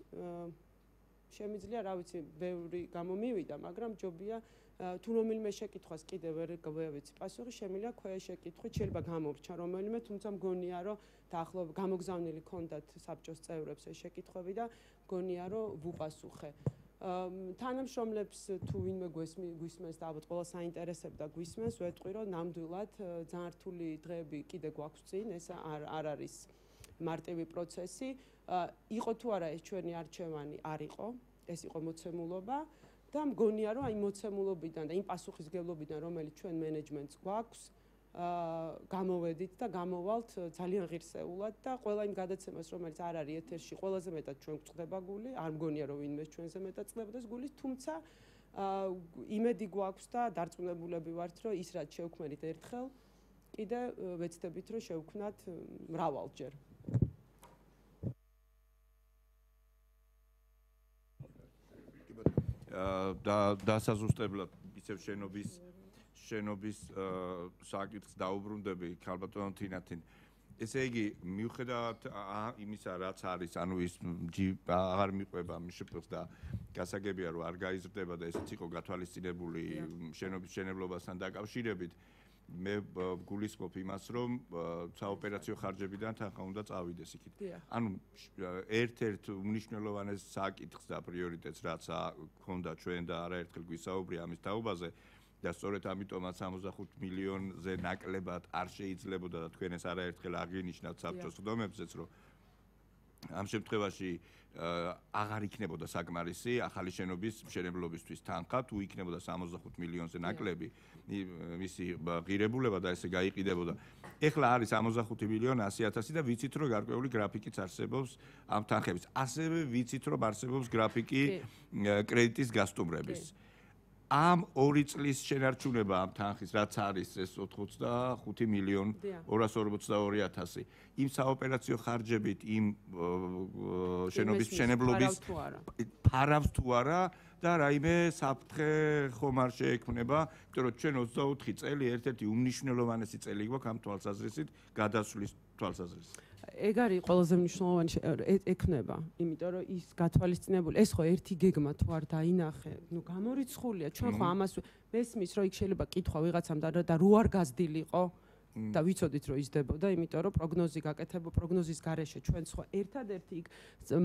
შემიძლია, რა ვიცი, ბევრი გამომივიდა, მაგრამ ჯობია თუ რომელიმე შეკითხვას კიდევ ვერ გავეცი პასუხი, შემიძლია ქვეშ შეკითხვით, შეიძლება გამორჩა რომელიმე, თუმცა მგონია, რომ დაახლოებით გამოგზავნილი ქონდათ საბჭოს წევრებს ეს შეკითხვები და მგონია, რომ ვუპასუხე. თანამშრომლებს თუ ვინმე გვისმენს და ალბათ ყველა საინტერესებდა გვისმენს, ვეტყვი, რომ ნამდვილად ძალიან რთული დღეები კიდე გვაქვს წინ, ეს არ არის მარტივი პროცესი. იყო თუ არა ეს ჩვენი არჩევანი, არ იყო, ეს იყო მოცემულობა და მგონია, რომ აი მოცემულობიდან და იმ პასუხისგებლობიდან, რომელიც ჩვენ მენეჯმენტს გვაქვს, გამოვედით და გამოვალთ ძალიან ღირსეულად და ყველა იმ გადაცემას, რომელიც არ არის ეთერში, ყველაზე მეტად ჩვენ გვწყდება გული, არ მგონია, რომ ვინმე ჩვენზე მეტად წდებდეს გულის, თუმცა იმედი გვაქვს და დარწმუნებულები ვართ, რომ ის რაც შევქმნით ერთხელ, კიდე ვეცდებით, რომ შევქმნათ მრავალჯერ. და დასაზუსტებლად ისევ შენობის შენობის საკითხს დაუბრუნდები ქალბატონ თინათინ. ესე იგი, მიუხედავად იმისა, რაც არის, ანუ ის აღარ მიყვება მშპ-ს და გასაგებია, რომ არ გაიზრდება და ესეც იყო გათვალისწინებული შენობის მშენებლობასთან დაკავშირებით, მე გულისხმობ იმას, რომ საოპერაციო ხარჯებიდან თანხა უნდა წავიდეს იქით. ანუ ერთ-ერთ უმნიშვნელოვანეს საკითხს და პრიორიტეტს, რაც ჰქონდა ჩვენ და არაერთხელ გვისაუბრია ამის თაობაზე და სწორედ ამიტომაც სამოცდახუთ მილიონზე ნაკლებად არ შეიძლებოდა და თქვენ ეს არაერთხელ აღინიშნავთ საბჭოს ხდომებზეც, რომ ამ შემთხვევაში აღარ იქნებოდა საკმარისი ახალი შენობის მშენებლობისთვის თანხა, თუ იქნებოდა სამოცდახუთ მილიონზე ნაკლები მისი ღირებულება და ესე გაიყიდებოდა. ეხლა არის სამოცდახუთი მილიონი ასი ათასი და ვიცით, რომ გარკვეული გრაფიკიც არსებობს ამ თანხების. ასევე ვიცით, რომ არსებობს გრაფიკი კრედიტის გასტუმრების. ამ ორი წლის შენარჩუნება ამ თანხის, რაც არის ეს ოთხმოცდახუთი მილიონი ორას ორმოცდაორი ათასი. იმ საოპერაციო ხარჯებით, იმ შენობის მშენებლობის ფარავს თუ არა და რაიმე საფრთხე ხომ არ შეექმნება, იმიტომ რომ ჩვენ ოცდაოთხი წელი ერთ-ერთი უმნიშვნელოვანესი წელი გვაქვს ამ თვალსაზრისით, გადასვლის თვალსაზრისით. ეგ არის ყველაზე მნიშვნელოვანი ექნება, იმიტომ რომ ის გათვალისწინებული, ეს ხო ერთი გეგმა თუ არ დაინახე, ნუ გამორიცხულია, ჩვენ ხო ამას მესმის, რომ იქ შეიძლება კითხვა ვიღაცამ და რო არ გაზრდილიყო, და ვიცოდით რომ იზრდებოდა, იმიტომ რომ პროგნოზი გაკეთებო, პროგნოზის გარეშე ჩვენ სხვა ერთადერთი იქ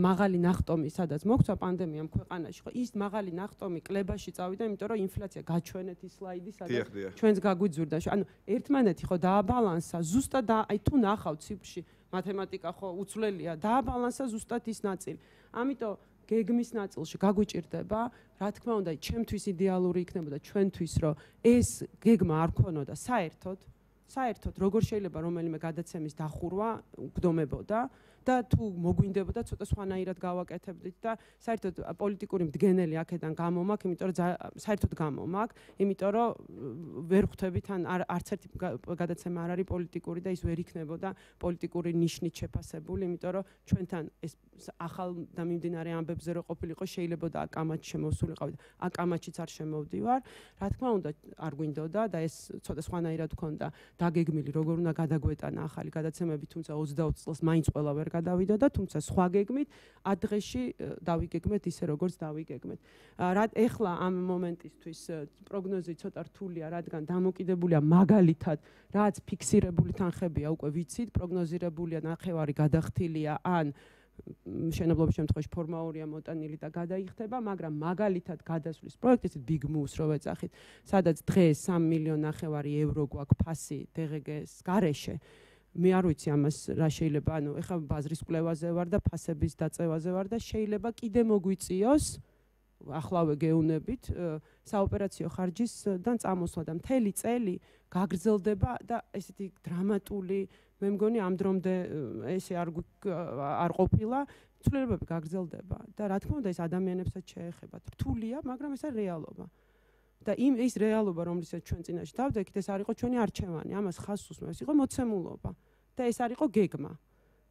მაღალი ნახტომი, სადაც მოგვცა პანდემიამ ქვეყანაში, ხო ის მაღალი ნახტომი კლებაში წავიდა, იმიტომ რომ ინფლაცია გაჩვენეთ ის სლაიდი, სადაც ჩვენს გაგვიძურდა. ანუ ერთმანეთი ხო დააბალანსა, ზუსტად აი თუ ნახავთ ციფრში, მათემატიკა ხო უცვლელია, დააბალანსა ზუსტად ის ნაწილი. ამიტომ გეგმის ნაწილში გაგვიჭირდება, რა თქმა უნდა, ჩემთვის იდეალური იქნებოდა ჩვენთვის, რომ ეს გეგმა არ ქონოდა საერთოდ საერთოდ როგორ შეიძლება რომელიმე გადაცემის დახურვა გვდომებოდა და თუ მოგვინდებოდა ცოტა სხვანაირად გავაკეთებდით და საერთოდ პოლიტიკური მდგენელი აქედან გამომაქვს, იმიტომ რომ საერთოდ გამომაქვს, იმიტომ რომ ვერ ხვდებით ან არც ერთი გადაცემა არ არის პოლიტიკური და ის ვერ იქნებოდა პოლიტიკური ნიშნით შეფასებული, იმიტომ რომ ჩვენთან ეს ახალ და მიმდინარე ამბებზე რო ყოფილიყო, შეიძლება და აკამაჩი შემოსულიყავი და აკამაჩიც არ შემოვდივარ. რა თქმა უნდა, არ გვინდოდა და ეს ცოტა სხვანაირად ქონდა დაგეგმილი, როგორ უნდა გადაგვეტანა ახალი გადაცემები, თუმცა ოცდაოთხ წელს მაინც ყველა ვერ გადავიდა და თუმცა სხვა გეგმით ათ დღეში დავიგეგმეთ ისე როგორც დავიგეგმეთ. რა ეხლა ამ მომენტისთვის პროგნოზი ცოტა რთულია, რადგან დამოკიდებულია მაგალითად, რაც ფიქსირებული თანხებია უკვე ვიცით, პროგნოზირებულია ნახევარი გადახდილია ან მშენებლობის შემთხვევაში ფორმაურია მოტანილი და გადაიხდება, მაგრამ მაგალითად გადასვლის პროექტის Big Moves რო ვეძახით, სადაც დღეს სამი მილიონი ნახევარი ევრო გვაქვს ფასი დე ღე გეს გარეშე. მე არ ვიცი ამას რა შეიძლება, ანუ ეხლა ბაზრის კვლევაზე ვარ და ფასების დაწევაზე ვარ და შეიძლება კიდე მოგვიწიოს ახლავე გეუნებით საოპერაციო ხარჯისგან წამოსვლა და მთელი წელი გაგრძელდება და ესეთი დრამატული მე მგონი ამ დრომდე ესე არ არ ყოფილა, ცვლილებები გაგრძელდება და რა თქმა უნდა ეს ადამიანებსაც შეეხება. რთულია, მაგრამ ეს არის რეალობა. და იმ ის რეალობა, რომლითაც ჩვენ წინაშე დავდექით, ეს არ იყო ჩვენი არჩევანი, ამას ხაზს უსმევ, ეს იყო მოცემულობა და ეს არ იყო გეგმა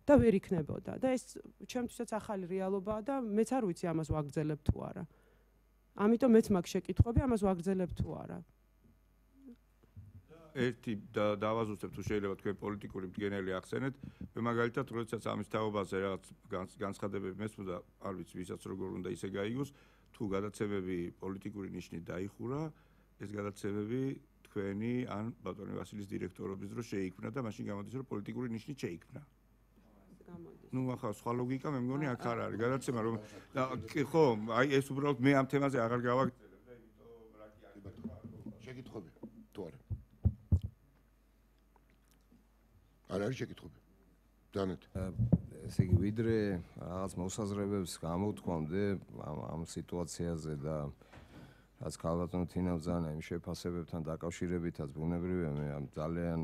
და ვერ იქნებოდა და ეს ჩემთვისაც ახალი რეალობაა და მეც არ ვიცი ამას ვაგრძელებ თუ არა. ამიტომ მეც მაქვს შეკითხვები, ამას ვაგრძელებ თუ არა. ერთი დავაზუსტებ თუ შეიძლება თქვენ პოლიტიკური მდგენელი ახსენეთ, მე მაგალითად როდესაც ამის თაობაზე რაღაც განცხადებები მესმოდა, არ ვიცი ვისაც როგორ უნდა ისე გაიგოს, თუ გადაცემები პოლიტიკური ნიშნით დაიხურა, ეს გადაცემები თქვენი ან ბატონი ვასილის დირექტორობის დროს შეიქმნა და მაშინ გამოდის რომ პოლიტიკური ნიშნით შეიქმნა. ნუ ახლა სხვა ლოგიკა მე მგონი აქ არ არის გადაცემა რომ ხო, აი ეს უბრალოდ მე ამ თემაზე აღარ გავაგრძელებ და იმიტომ რა კი არის შეკითხვები თუ არა არ არის შეკითხვები. დანეთ. ესე იგი, ვიდრე რაღაც მოსაზრებებს გამოვთქვამდე ამ ამ სიტუაციაზე და რაც ქალბატონო თინამ ზანა იმ შეფასებებთან დაკავშირებითაც ბუნებრივია, მე ამ ძალიან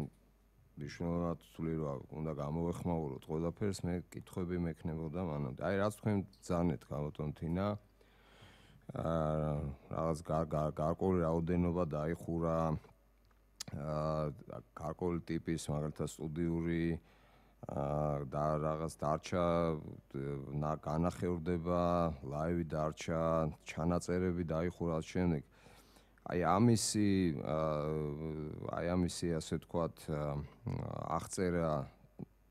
მნიშვნელოვნად ვთვლი, რომ უნდა გამოვეხმაუროთ ყველაფერს, მე კითხვები მექნებოდა მანამდე. აი რაც თქვენ ზანეთ ქალბატონო თინა, აა რაღაც გარკვეული რაოდენობა დაიხურა აა გარკვეული ტიპის მაგალითად სტუდიური აა და რაღაც დარჩა განახევრდება, ლაივი დარჩა, ჩანაწერები დაიხურა ამ შემდეგ. აი ამისი აი ამისი ასე ვთქვათ აღწერა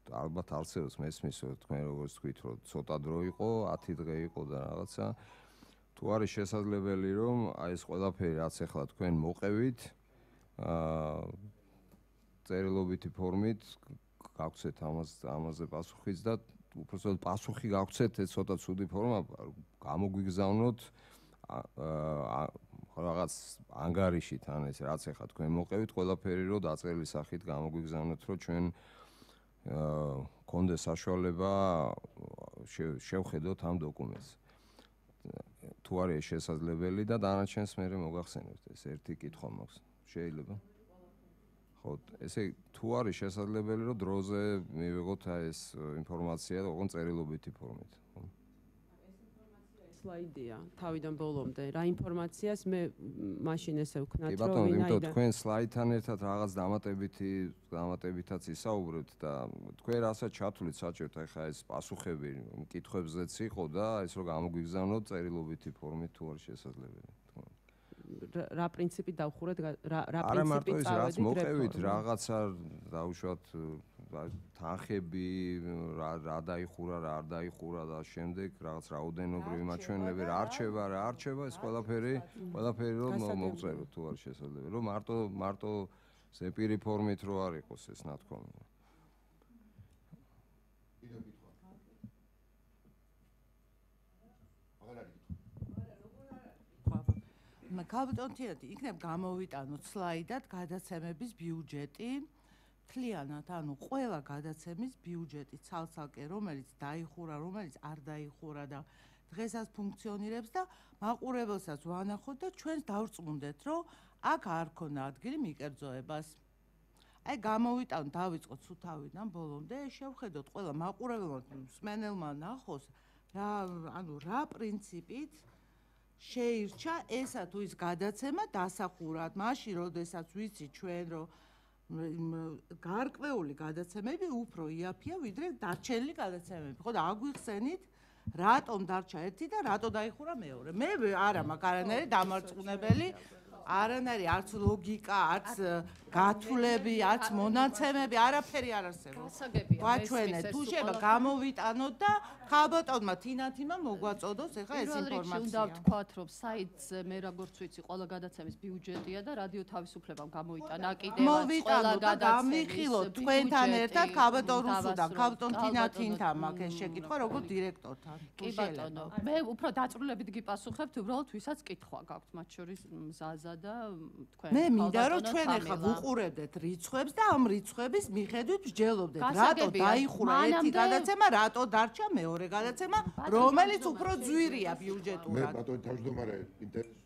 ალბათ არცერს მესმის თქვენ როგორც თქვით რომ ცოტა დრო იყო, ათი დღე იყო და რაღაცა თუ არის შესაძლებელი რომ აი ეს ყველაფერი რაც ახლა თქვენ მოყევით აა წერილობითი ფორმით გავცეთ ამას ამაზე პასუხიც და უბრალოდ პასუხი გავცეთ ეს ცოტა ცუდი ფორმა გამოგვიგზავნოთ აა რაღაც ანგარიშით ან ეს რაც ახლა თქვენ მოყევით ყველაფერი რომ დაწერილი სახით გამოგვიგზავნოთ რომ ჩვენ აა კონდეს საშუალება შევხედოთ ამ დოკუმენტს თუ არის შესაძლებელი და დანარჩენს მე მოგახსენებთ ეს ერთი კითხვა მაქვს შეიძლება ხო ესე თუ არის შესაძლებელი რომ დროზე მივიღოთ ეს ინფორმაცია ოღონდ წერილობითი ფორმით სლაიდია თავიდან ბოლომდე რა ინფორმაციას მე მაშინ ესე ვქნათ რომ ვინაიდან კი ბატონო იმიტომ თქვენ სლაიდთან ერთად რაღაც დამატებითი დამატებითაც ისაუბრებთ და თქვენ რასაც ჩათვლით საჭიროდ ახლა ეს პასუხები მკითხვებზეც იყო და ეს რომ გამოგვიგზავნოთ წერილობითი ფორმით თუ არის შესაძლებელი რა პრინციპი დავხურეთ რა რა პრინციპი წავედით არა მარტო ის რაც მოყევით რაღაცა დაუშვათ თანხები რა რა დაიხურა რა არ დაიხურა და შემდეგ რაღაც რაოდენობრივი მაჩვენებლები რა არჩევა რა არჩევა ეს ყველაფერი ყველაფერი რომ მოგწეროთ თუ არის შესაძლებელი რომ მარტო მარტო ზეპირი ფორმით რო არ იყოს ეს ნათქვამი. კაპიტონთიანთი იქნებ გამოვიტანოთ სლაიდად გადაცემების ბიუჯეტი მთლიანად, ანუ ყველა გადაცემის ბიუჯეტი ცალ-ცალკე, რომელიც დაიხურა, რომელიც არ დაიხურა და დღესაც ფუნქციონირებს და მაყურებელსაც ვანახოთ და ჩვენს დავწმუნდეთ, რომ აქ არ ქონა ადგილი მიკერძოებას. აი გამოვიტანოთ, დავიწყოთ სუთავიდან ბოლომდე, შევხედოთ ყველა მაყურებელმა, მსმენელმა ნახოს რა, ანუ რა პრინციპით შეირჩა ესა თუ ის გადაცემა დასახურად, მაშინ როდესაც ვიცი ჩვენ რომ გარკვეული გადაცემები უფრო იაფია ვიდრე დარჩენილი გადაცემები. ხო და აგვიხსენით რატომ დარჩა ერთი და რატო დაიხურა მეორე. მე არა მაქვს არანაირი დამარწმუნებელი, არანაირი არც ლოგიკა, არც გათვლები, არც მონაცემები, არაფერი არ არსებობს. გვაჩვენეთ, თუ შეიძლება გამოვიტანოთ და ხალბატონმა თინათიმა მოგვაწოდოს ახლა ეს ინფორმაცია. უნდა ვთქვათ, რომ საიტზე მე როგორც ვიცი, ყველა გადაცემის ბიუჯეტია და რადიო თავისუფლებამ გამოიტანა კიდევაც ყველა გადაცემის გამიხილოთ თქვენთან ერთად ხალბატონ რუსუდან, ხალბატონ თინათინთან მაქვს ეს შეკითხვა როგორც დირექტორთან. კი ბატონო, მე უფრო დაწვრილებით გიპასუხებთ, უბრალოდ ვისაც კითხვა გაქვთ, მათ შორის მზაზა და თქვენ. მე მინდა რომ ჩვენ ახლა ვუყურებდეთ რიცხვებს და ამ რიცხვების მიხედვით ვსჯელობდეთ, რატო დაიხურა ერთი გადაცემა, რატო დარჩა მეორე გადაცემა, რომელიც უფრო ძვირია ბიუჯეტურად. მე ბატონო თავმჯდომარე ინტერესს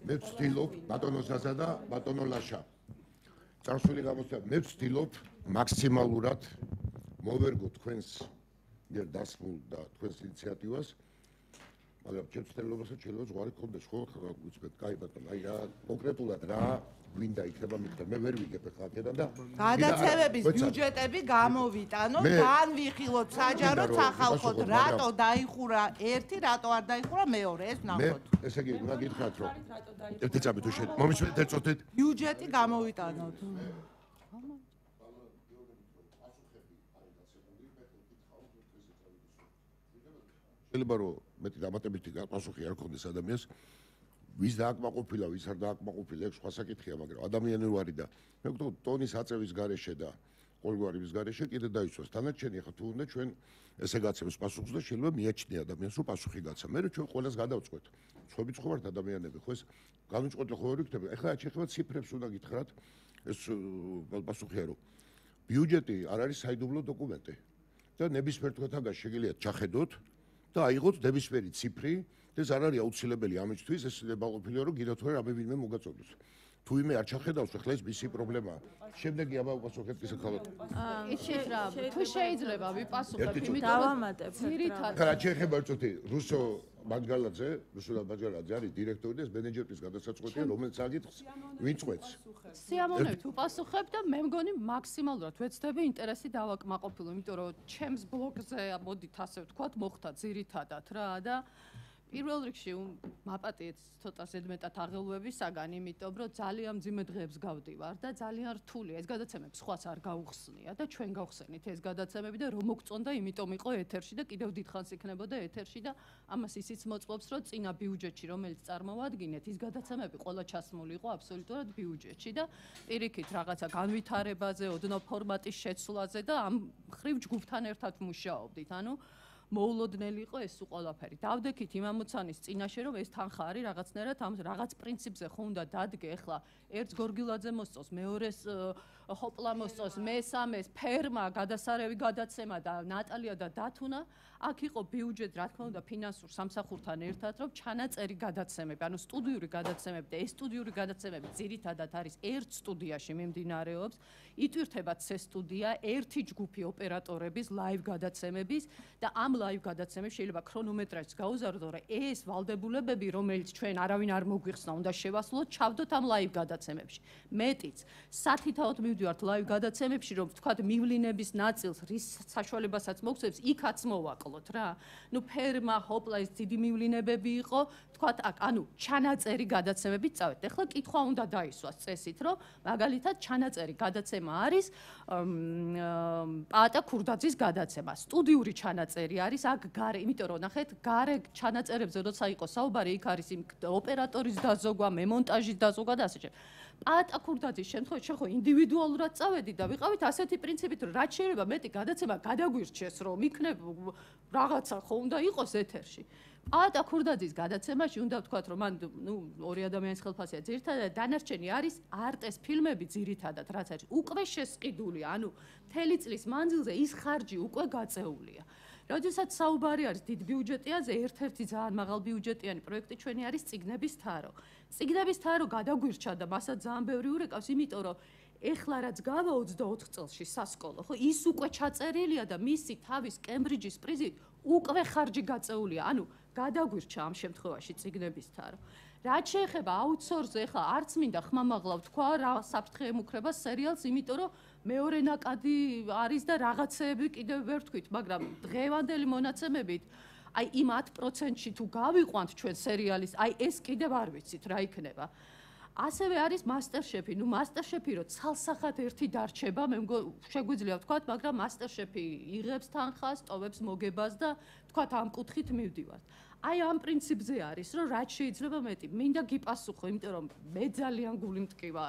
მე ვცდილობ ბატონო ზაზა და ბატონო ლაშა. წარსული გამოცდილება მე ვცდილობ მაქსიმალურად მოვერგო თქვენს მიერ დასმულ და თქვენს ინიციატივას. მაგრამ ჩემს ცდილობასაც შეიძლება ზღვარი გქონდეს ხო უცბეთ კაი ბატონო აი რა კონკრეტულად რა გვინდა იქნება მითხარ მე ვერ ვიგებ ახლა აქედან და გადაცემების ბიუჯეტები გამოვიტანოთ განვიხილოთ საჯაროდ სახალხოდ რატო დაიხურა ერთი რატო არ დაიხურა მეორე ეს ნახოთ მე ესე იგი უნდა გითხრათ რომ ერთი წამი თუ შე მომისმენთ ეწოდეთ ბიუჯეტი გამოვიტანოთ შეიძლება რომ მეტი დამატებითი პასუხი არ ქონდეს ადამიანს ვის დააკმაყოფილა ვის არ დააკმაყოფილა ეს სხვა საკითხია მაგრამ ადამიანი ვარი და მე ვგონი ტონის აწევის გარეშე და ყოველგვარის გარეშე კიდე დაიცვას თანაჩენი ხა თუ უნდა ჩვენ ესე გაცემს პასუხს და შეიძლება მიაჩნია ადამიანს რომ პასუხი გაცა მე რომ ჩვენ ყველას გადავწყვეტ სხვები ხო ვართ ადამიანები ხო ეს განუწყვეტლო ხო ვერ იქნება ეხლა შეიძლება ციფრებს უნდა გითხრათ ეს პასუხია რომ ბიუჯეტი არ არის საიდუმლო დოკუმენტი და ნებისმიერ თქვენთაგან შეგიძლიათ ჩახედოთ და აიღოთ ნებისმიერი ციფრი და ეს არ არის აუცილებელი ამისთვის ეს ნებაყოფილია რომ გინდათ რომ რამე ვინმე მოგაწოდოს თუ იმე არ ჩახედავს ახლა ეს მისი პრობლემაა შემდეგი აბა უპასუხეთ ისე ხალხ იცით რა თუ შეიძლება ვიპასუხებ იმიტომ დავამატებ ძირითადად ხარა შეიძლება ვწუთი რუსო ბანჯგალაძე რუსო ბანჯგალაძე არის დირექტორი და ეს მენეჯერის გადასაწყვეტია რომელიც აგიტყს ვინ წყვეტს სიამოვნებით ვუპასუხებ და მე მგონი მაქსიმალურად ვეცდები ინტერესი დავაკმაყოფილო იმიტომ რომ ჩემს ბლოგზე მოდით ასე ვთქვათ მოხდა ძირითადად რა და პირველ რიგში მაპატიეთ ცოტა ზედმეტად აღელვებისაგან, იმიტომ რომ ძალიან მძიმე დღეებს გავდივარ და ძალიან რთულია ეს გადაცემები სხვას არ გაუხსნია და ჩვენ გავხსენით ეს გადაცემები და რომ მოგწონდა, იმიტომ იყო ეთერში და კიდევ დიდხანს იქნებოდა ეთერში და ამას ისიც მოწმობს, რომ წინა ბიუჯეტში, რომელიც წარმოვადგინეთ, ის გადაცემები ყველა ჩასმული იყო აბსოლუტურად ბიუჯეტში და პირიქით რაღაცა განვითარებაზე, ოდნავ ფორმატის შეცვლაზე და ამ ხრივ ჯგუფთან ერთად მუშაობდით, ანუ მოულოდნელი იყო ეს ყველაფერი. დავდექით იმ ამოცანის წინაშე რომ ეს თანხა არის რაღაცნაირად ამ რაღაც პრინციპზე ხო უნდა დადგე ახლა ერთს გორგილაძე მოსწოს, მეორეს ჰოპლა მოსწოს, მესამეს ფერმა გადასარევი გადაცემა და ნატალია და დათუნა აქ იყო ბიუჯეტი რა თქმა უნდა ფინანსურ სამსახურთან ერთად რომ ჩანაწერი გადაცემები, ანუ სტუდიური გადაცემები და ეს სტუდიური გადაცემები ძირითადად არის ერთ სტუდიაში მიმდინარეობს, იტვირთება ცე სტუდია, ერთი ჯგუფი ოპერატორების ლაივ გადაცემების და ამ ლაივ გადაცემებს შეიძლება ქრონომეტრაჟს გაუზარდო, რომ ეს ვალდებულებები, რომელიც ჩვენ არავინ არ მოგვიხსნა, უნდა შევასრულოთ, ჩავდოთ ამ ლაივ გადაცემებში. მეტიც, სათითაოდ მივდივართ ლაივ გადაცემებში, რომ ვთქვათ, მივლინების ნაწილს, რის საშუალებასაც მოგცემს, იქაც მოვაკლოთ რა. ნუ ფერმა, ჰოპლა ეს დიდი მივლინებები იყო, ვთქვათ, აქ, ანუ ჩანაწერი გადაცემებით წავეთ. ეხლა კითხვა უნდა დაისვას წესით, რომ მაგალითად ჩანაწერი გადაცემა არის პაატა ქურდაძის გადაცემა. სტუდიური ჩანაწერი არის აქ გარე, იმიტომ რომ ნახეთ, გარე ჩანაწერებზე როცა იყო საუბარი, იქ არის იმ ოპერატორის დაზოგვა, მემონტაჟის დაზოგვა და ასე შემდეგ. პაატა ქურდაძის შემთხვევაში შეხო ინდივიდუალურად წავედით და ვიყავით ასეთი პრინციპით, რომ რაც შეიძლება მეტი გადაცემა გადაგვირჩეს, რომ იქნებ რაღაცა ხო უნდა იყოს ეთერში. პაატა ქურდაძის გადაცემაში უნდა ვთქვათ, რომ მან ნუ ორი ადამიანის ხელფასია ძირითადად, დანარჩენი არის არტეს ფილმები ძირითადად, რაც არის უკვე შესყიდული, ანუ მთელი წლის მანძილზე ის ხარჯი უკვე გაწეულია. როდესაც საუბარი არის დიდ ბიუჯეტიანზე, ერთ-ერთი ძალიან მაღალ ბიუჯეტიანი პროექტი ჩვენი არის წიგნების თარო. წიგნების თარო გადაგვირჩა და მასაც ძალიან ბევრი ურეკავს, იმიტომ რომ ეხლა რაც გავა ოცდაოთხ წელში სასკოლო, ხო, ის უკვე ჩაწერილია და მისი თავის კემბრიჯის პრიზით უკვე ხარჯი გაწეულია. ანუ გადაგვირჩა ამ შემთხვევაში წიგნების თარო. რაც შეეხება აუთსორსზე, ეხლა არც მინდა ხმამაღლა ვთქვა რა საფრთხე ემუქრება სერიალს, იმიტომ რომ მეორე ნაკადი არის და რაღაცეები კიდევ ვერ თქვით, მაგრამ დღევანდელი მონაცემებით აი იმ ათ პროცენტში თუ გავიყვანთ ჩვენ სერიალის, აი ეს კიდევ არ ვიცით რა იქნება. ასევე არის მასტერშეფი, ნუ მასტერშეფი რო ცალსახად ერთი დარჩება, მე შეგვიძლია ვთქვათ, მაგრამ მასტერშეფი იღებს თანხას, ტოვებს მოგებას და ვთქვათ ამ კუთხით მივდივართ. აი ამ პრინციპზე არის, რომ რაც შეიძლება მეტი. მინდა გიპასუხო, იმიტომ რომ მე ძალიან გული მტკივა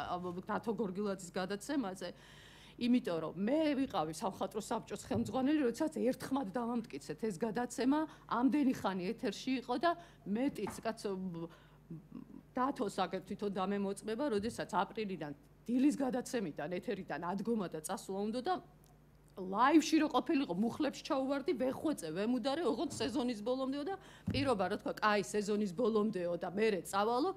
დათო გორგილაძის გადაცემაზე. იმიტომ რომ მე ვიყავი სამხატვრო საბჭოს ხელმძღვანელი, როდესაც ერთხმად დავამტკიცეთ ეს გადაცემა, ამდენი ხანი ეთერში იყო და მეტიც კაცო დათოს აგერ თვითონ დამემოწმება, როდესაც აპრილიდან დილის გადაცემიდან ეთერიდან ადგომა და წასვლა უნდა და ლაივში რო ყოფილიყო, მუხლებს ჩაუვარდი, ვეხვეწე, ვემუდარე, ოღონდ სეზონის ბოლომდეო და პირობა რა თქვა, კაი სეზონის ბოლომდეო და მერე წავალო.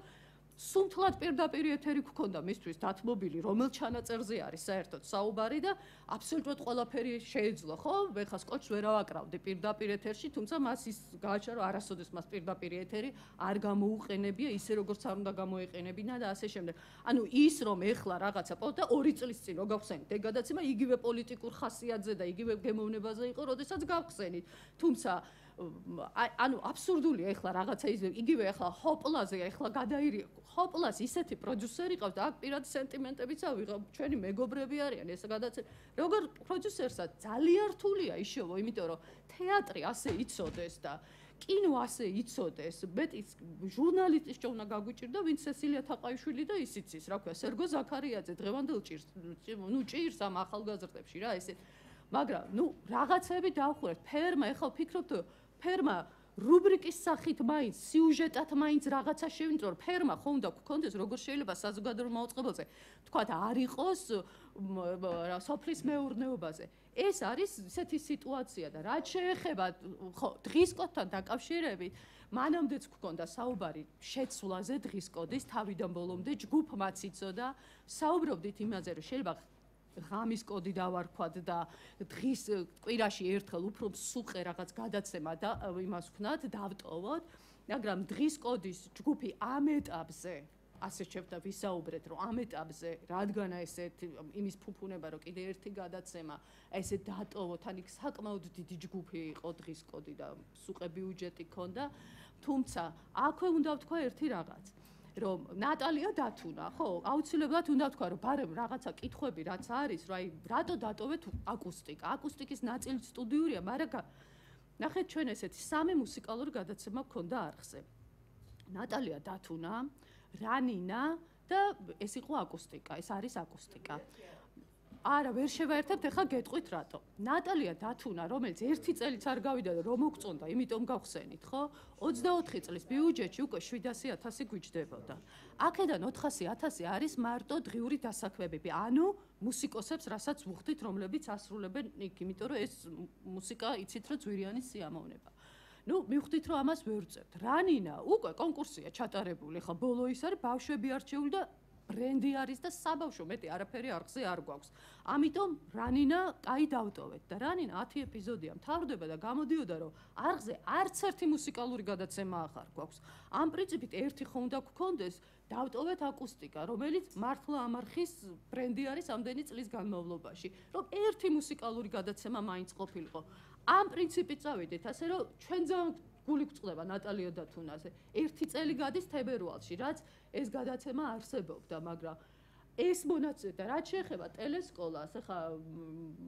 სუნთლად პირდაპირ ეთერი გქონდა მისთვის დათმობილი, რომელ ჩანაწერზე არის საერთოდ საუბარი და აბსოლუტურად ყველაფერი შეეძლო, ხო? ეხლა სკოჩს ვერ ავაკრავდი პირდაპირ ეთერში, თუმცა მას ის გააჩა, რომ არასოდეს მას პირდაპირ ეთერი არ გამოუყენებია ისე როგორც არ უნდა გამოეყენებინა და ასე შემდეგ. ანუ ის რომ ეხლა რაღაცა და ორი წლის წინ რო გავხსენით, ეგ გადაცემა იგივე პოლიტიკურ ხასიათზე და იგივე გემოვნებაზე იყო, როდესაც გავხსენით. თუმცა ანუ აბსურდულია ეხლა რაღაცა ის იგივე ეხლა ჰოპლაზე ეხლა გადაირი ჰოპლას ისეთი პროდიუსერი ყავდა აქ პირადი სენტიმენტებიც ავიღო ჩვენი მეგობრები არიან ეს გადაცემა როგორ პროდიუსერსაც ძალიან რთულია იშოვო იმიტომ რომ თეატრი ასე იცოდეს და კინო ასე იცოდეს მეტი ჟურნალისტის ჭოვნა გაგვიჭირდა ვინც სესილია თაყაიშვილი და ისიც ის რა ქვია სერგო ზაქარიაძე დღევანდელ ჭირს ნუ ჭირს ამ ახალგაზრდებში რა ესე მაგრამ ნუ რაღაცები დავხურეთ ფერმა ეხლა ვფიქრობთ ფერმა რუბრიკის სახით მაინც სიუჟეტად მაინც რაღაცა შევინწრო ფერმა ხო უნდა გქონდეს როგორ შეიძლება საზოგადოებრივ მაუწყებელზე თქვათ არ იყოს სოფლის მეურნეობაზე ეს არის ისეთი სიტუაცია და რაც შეეხება ხო დღის კოდთან დაკავშირებით მანამდეც გქონდა საუბარი შეცვლაზე დღის კოდის თავიდან ბოლომდე ჯგუფმაც იცოდა საუბრობდით იმაზე რომ შეიძლება ღამის კოდი დავარქვათ და დღის კვირაში ერთხელ უფრო სუყე რაღაც გადაცემა და იმას ვქნათ დავტოვოთ მაგრამ დღის კოდის ჯგუფი ამ ეტაპზე ასე შეფთა ვისაუბრეთ რომ ამ ეტაპზე რადგანა ესეთ იმის ფუფუნება რომ კიდე ერთი გადაცემა ესე დატოვოთ ან იქ საკმაოდ დიდი ჯგუფი იყო დღის კოდი და სუყე ბიუჯეტი ქონდა თუმცა აქვე უნდა ვთქვა ერთი რაღაც რომ ნატალია დათუნა, ხო, აუცილებლად უნდა ვთქვა, რომ ბარემ რაღაცა კითხვები რაც არის, რომ აი რატო დატოვეთ აკუსტიკა? აკუსტიკის ნაწილი სტუდიურია, მაგრამ ნახეთ ჩვენ ესეთი სამი მუსიკალური გადაცემა გქონდა არხზე. ნატალია დათუნა, რანინა და ეს იყო აკუსტიკა, ეს არის აკუსტიკა. არა, ვერ შევაერთებთ, ეხლა გეტყვით რატო. ნატალია დათუნა, რომელიც ერთი წელიც არ გავიდა და რომ მოგწონდა, იმიტომ გავხსენით, ხო? ოცდაოთხი წლის ბიუჯეტში უკვე შვიდასი ათასი გვიჯდებოდა. აქედან ოთხასი ათასი არის მარტო დღიური დასაქმებები, ანუ მუსიკოსებს, რასაც ვუხდით, რომლებიც ასრულებენ იქ, იმიტომ რომ ეს მუსიკა იცით, რომ ძვირიანი სიამოვნება. ნუ მივხვდით, რომ ამას ვერ ვწევთ. რანინა, უკვე კონკურსია ჩატარებული, ხო, ბოლო ის არის ბავშვები არჩეული და ბრენდი არის და საბავშვო მეტი არაფერი არხზე არ გვაქვს. ამიტომ რანინა კაი დავტოვეთ და რანინა ათი ეპიზოდია მთავრდება და გამოდიოდა რომ არხზე არც ერთი მუსიკალური გადაცემა აღარ გვაქვს. ამ პრინციპით ერთი ხო უნდა გქონდეს დავტოვეთ აკუსტიკა, რომელიც მართლა ამ არხის ბრენდი არის ამდენი წლის განმავლობაში, რომ ერთი მუსიკალური გადაცემა მაინც ყოფილიყო. ამ პრინციპით წავიდეთ, ასე რომ ჩვენ ძალიან გული გვწყდება ნატალია დათუნაზე. ერთი წელი გადის თებერვალში, რაც ეს გადაცემა არსებობდა, მაგრამ ეს მონაცემი და რაც შეეხება ტელესკოლას, ახლა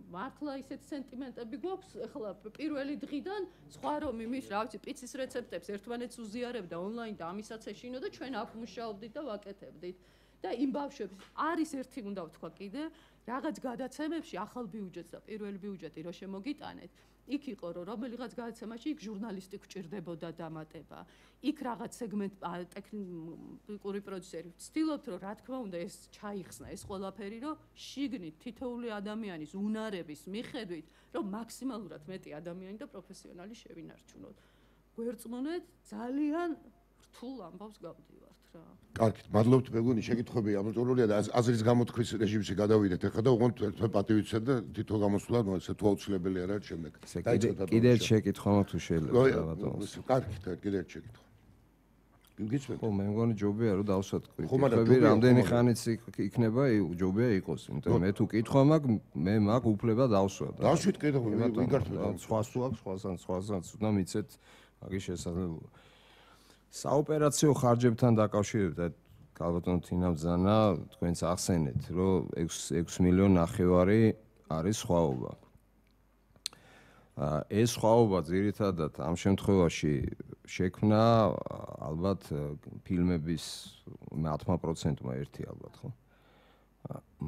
მართლა ისეთ სენტიმენტები გვაქვს, ახლა პირველი დღიდან სხვა რომ იმის, რა ვიცი, პიცის რეცეპტებს ერთმანეთს უზიარებდა ონლაინ და ამისაც ეშინო და ჩვენ აქ მუშაობდით და ვაკეთებდით. და იმ ბავშვებს არის ერთი უნდა ვთქვა კიდე, რაღაც გადაცემებში ახალ ბიუჯეტს და პირველი ბიუჯეტი რო შემოგიტანეთ, იქ იყო რომ რომელიღაც გადაცემაში იქ ჟურნალისტი გვჭირდებოდა დამატება. იქ რაღაც სეგმენტ ტექნიკური პროდიუსერი ვცდილობთ რომ რა თქმა უნდა ეს ჩაიხსნა ეს ყველაფერი რომ შიგნით თითოეული ადამიანის უნარების მიხედვით რომ მაქსიმალურად მეტი ადამიანი და პროფესიონალი შევინარჩუნოთ. გვერწმუნეთ ძალიან რთულ ამბავს გავდივართ რა. კარგით, მადლობთ მეგონი, შეკითხვები ამოწურულია და აზრის გამოთქმის რეჟიმში გადავიდეთ. ახლა და უღონთ ერთმა პატივიცეთ და თითო გამოსვლა, ნუ ესე თუ აუცილებელი არა ჩემს. კიდე შეკითხვა თუ შეიძლება ბატონო. კარგით, კიდე ერთ შეკითხვა. გიგიცნობ? ხო, მე მგონი ჯობია რომ დავსვათ კითხვები, რამდენი ხანიც იქნება, ჯობია იყოს, იმიტომ მე თუ კითხვა მაქვს, მე მაქვს უფლება დავსვათ. დავშვით კითხვა, ვიგართმევ. სხვა სულ აქვს, სხვასთან, სხვასთან უნდა მიცეთ მაგის შესაძლებლობა. საოპერაციო ხარჯებთან დაკავშირებით ქალბატონო თინამ ბრძანა თქვენს ახსენეთ რომ ექვსი მილიონი ნახევარი არის სხვაობა. ეს სხვაობა ძირითადად ამ შემთხვევაში შექმნა ალბათ ფილმების ათმა პროცენტმა ერთი ალბათ ხო?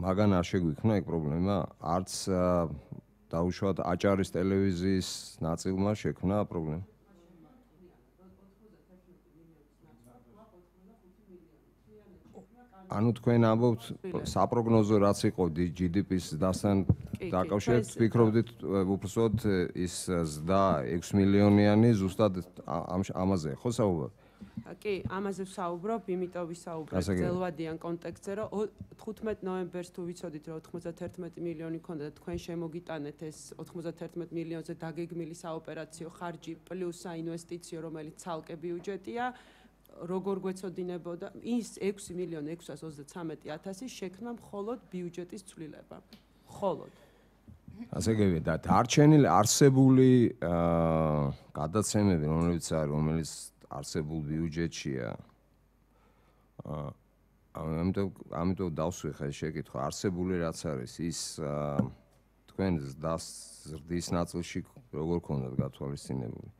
მაგან არ შეგვიქმნა ეგ პრობლემა, არც დაუშვათ აჭარის ტელევიზიის ნაწილმა შექმნა პრობლემა. ანუ თქვენ ამბობთ საპროგნოზო რაც იყო ჯი დი პის დასთან დაკავშირებით ვფიქრობდით უბრალოდ ის ზრდა ექვსი მილიონიანი ზუსტად ამაზე ხო საუბარი? კი, ამაზე ვსაუბრობ, იმიტომ ვისაუბრებ ძელვადიან კონტექსტზე, რომ თხუთმეტ ნოემბერს თუ ვიცოდით, რომ ოთხმოცდათერთმეტი მილიონი ქონდა და თქვენ შემოგიტანეთ ეს ოთხმოცდათერთმეტ მილიონზე დაგეგმილი საოპერაციო ხარჯი პლუს საინვესტიციო, რომელიც ცალკე ბიუჯეტია, როგორ გვეცოდინებოდა ის ექვსი მილიონი ექვსას ოცდათრამეტი ათასი შექმნა მხოლოდ ბიუჯეტის ცვლილება. მხოლოდ. ასე გებია და დარჩენილი არსებული გადაცემები, რომლებიც არის, რომელიც არსებულ ბიუჯეტშია. ამიტომ ამიტომ დავსვი ხა შეკითხვა, არსებული რაც არის, ის თქვენ ზრდის ნაწილში როგორ ქონდათ გათვალისწინებული?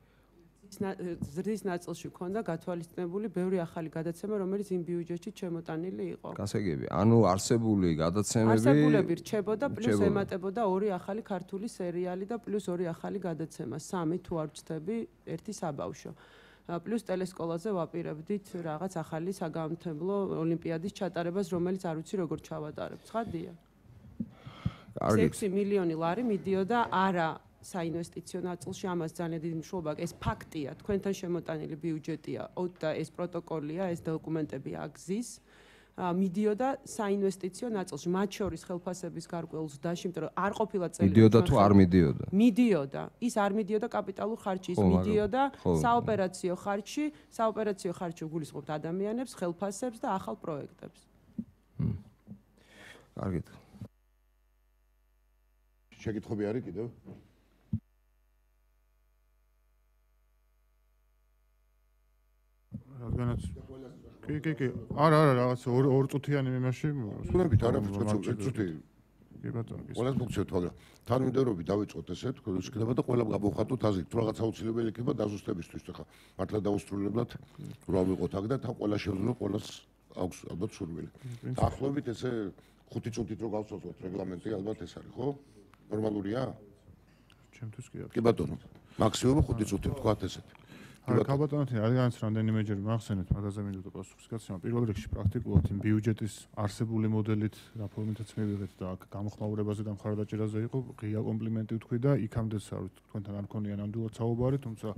ზრდის ნაწილში ქონდა გათვალისწინებული ბევრი ახალი გადაცემა, რომელიც იმ ბიუჯეტში შემოტანილი იყო. გასაგები, ანუ არსებული გადაცემები არსებულები რჩებოდა, პლუს ემატებოდა ორი ახალი ქართული სერიალი და პლუს ორი ახალი გადაცემა, სამი თუ არ ვცდები, ერთი საბავშვო. პლუს ტელესკოლაზე ვაპირებდით რაღაც ახალი საგამომთებლო ოლიმპიადის ჩატარებას, რომელიც არ ვიცი როგორ ჩავატარებთ. ცხადია? ექვსი მილიონი ლარი მიდიოდა არა საინვესტიციო ნაწილში, ამას ძალიან დიდი მნიშვნელობა აქვს. ეს ფაქტია, თქვენთან შემოტანილი ბიუჯეტია და ეს პროტოკოლია, ეს დოკუმენტები აგზის. მიდიოდა საინვესტიციო ნაწილში, მათ შორის ხელფასების გარკვეულ ზრდაში, იმიტომ რომ არ ყოფილა წელი. მიდიოდა თუ არ მიდიოდა? მიდიოდა. ის არ მიდიოდა კაპიტალურ ხარჯში, ის მიდიოდა საოპერაციო ხარჯში, საოპერაციო ხარჯში გულისხმობთ ადამიანებს, ხელფასებს და ახალ პროექტებს. კარგით. შეკითხები არის კიდევ? რადგანაც კი კი კი არა არა რაღაც ორ წუთიანი იმაში ვსწრებით არა ფუძე წუთი კი ბატონო კი ყველას მოგცევთ მაგრამ თანმიმდევრობით დავიწყოთ ესე თქვენ შეგდება და ყველა გავხატოთ აზრით თუ რაღაც აუცილებელი იქნება დაზუსტებისთვის ხა მართლა დაუსრულებლად რა ვიყოთ აქ და თან ყველა შევძლო ყველას აქვს ალბათ სურვილი ახლობით ესე ხუთი წუთით რო გავსწოროთ რეგლამენტი ალბათ ეს არის ხო ნორმალურია ჩემთვის კი არა კი ბატონო მაქსიმუმ ხუთი წუთი ვთქვათ ესეთი არა ქალბატონოთი რადგანაც რამდენიმეჯერ მახსენეთ მაგაზე მინდოდა პასუხის გაცემა პირველ რიგში პრაქტიკულად იმ ბიუჯეტის არსებული მოდელით რაფორმითაც მივიღეთ და აქ გამოხმაურებაზე და მხარდაჭერაზე იყო ღია კომპლიმენტი ვთქვი და იქამდეც არ ვიცი თქვენთან არ მქონია ნამდვილად საუბარი თუმცა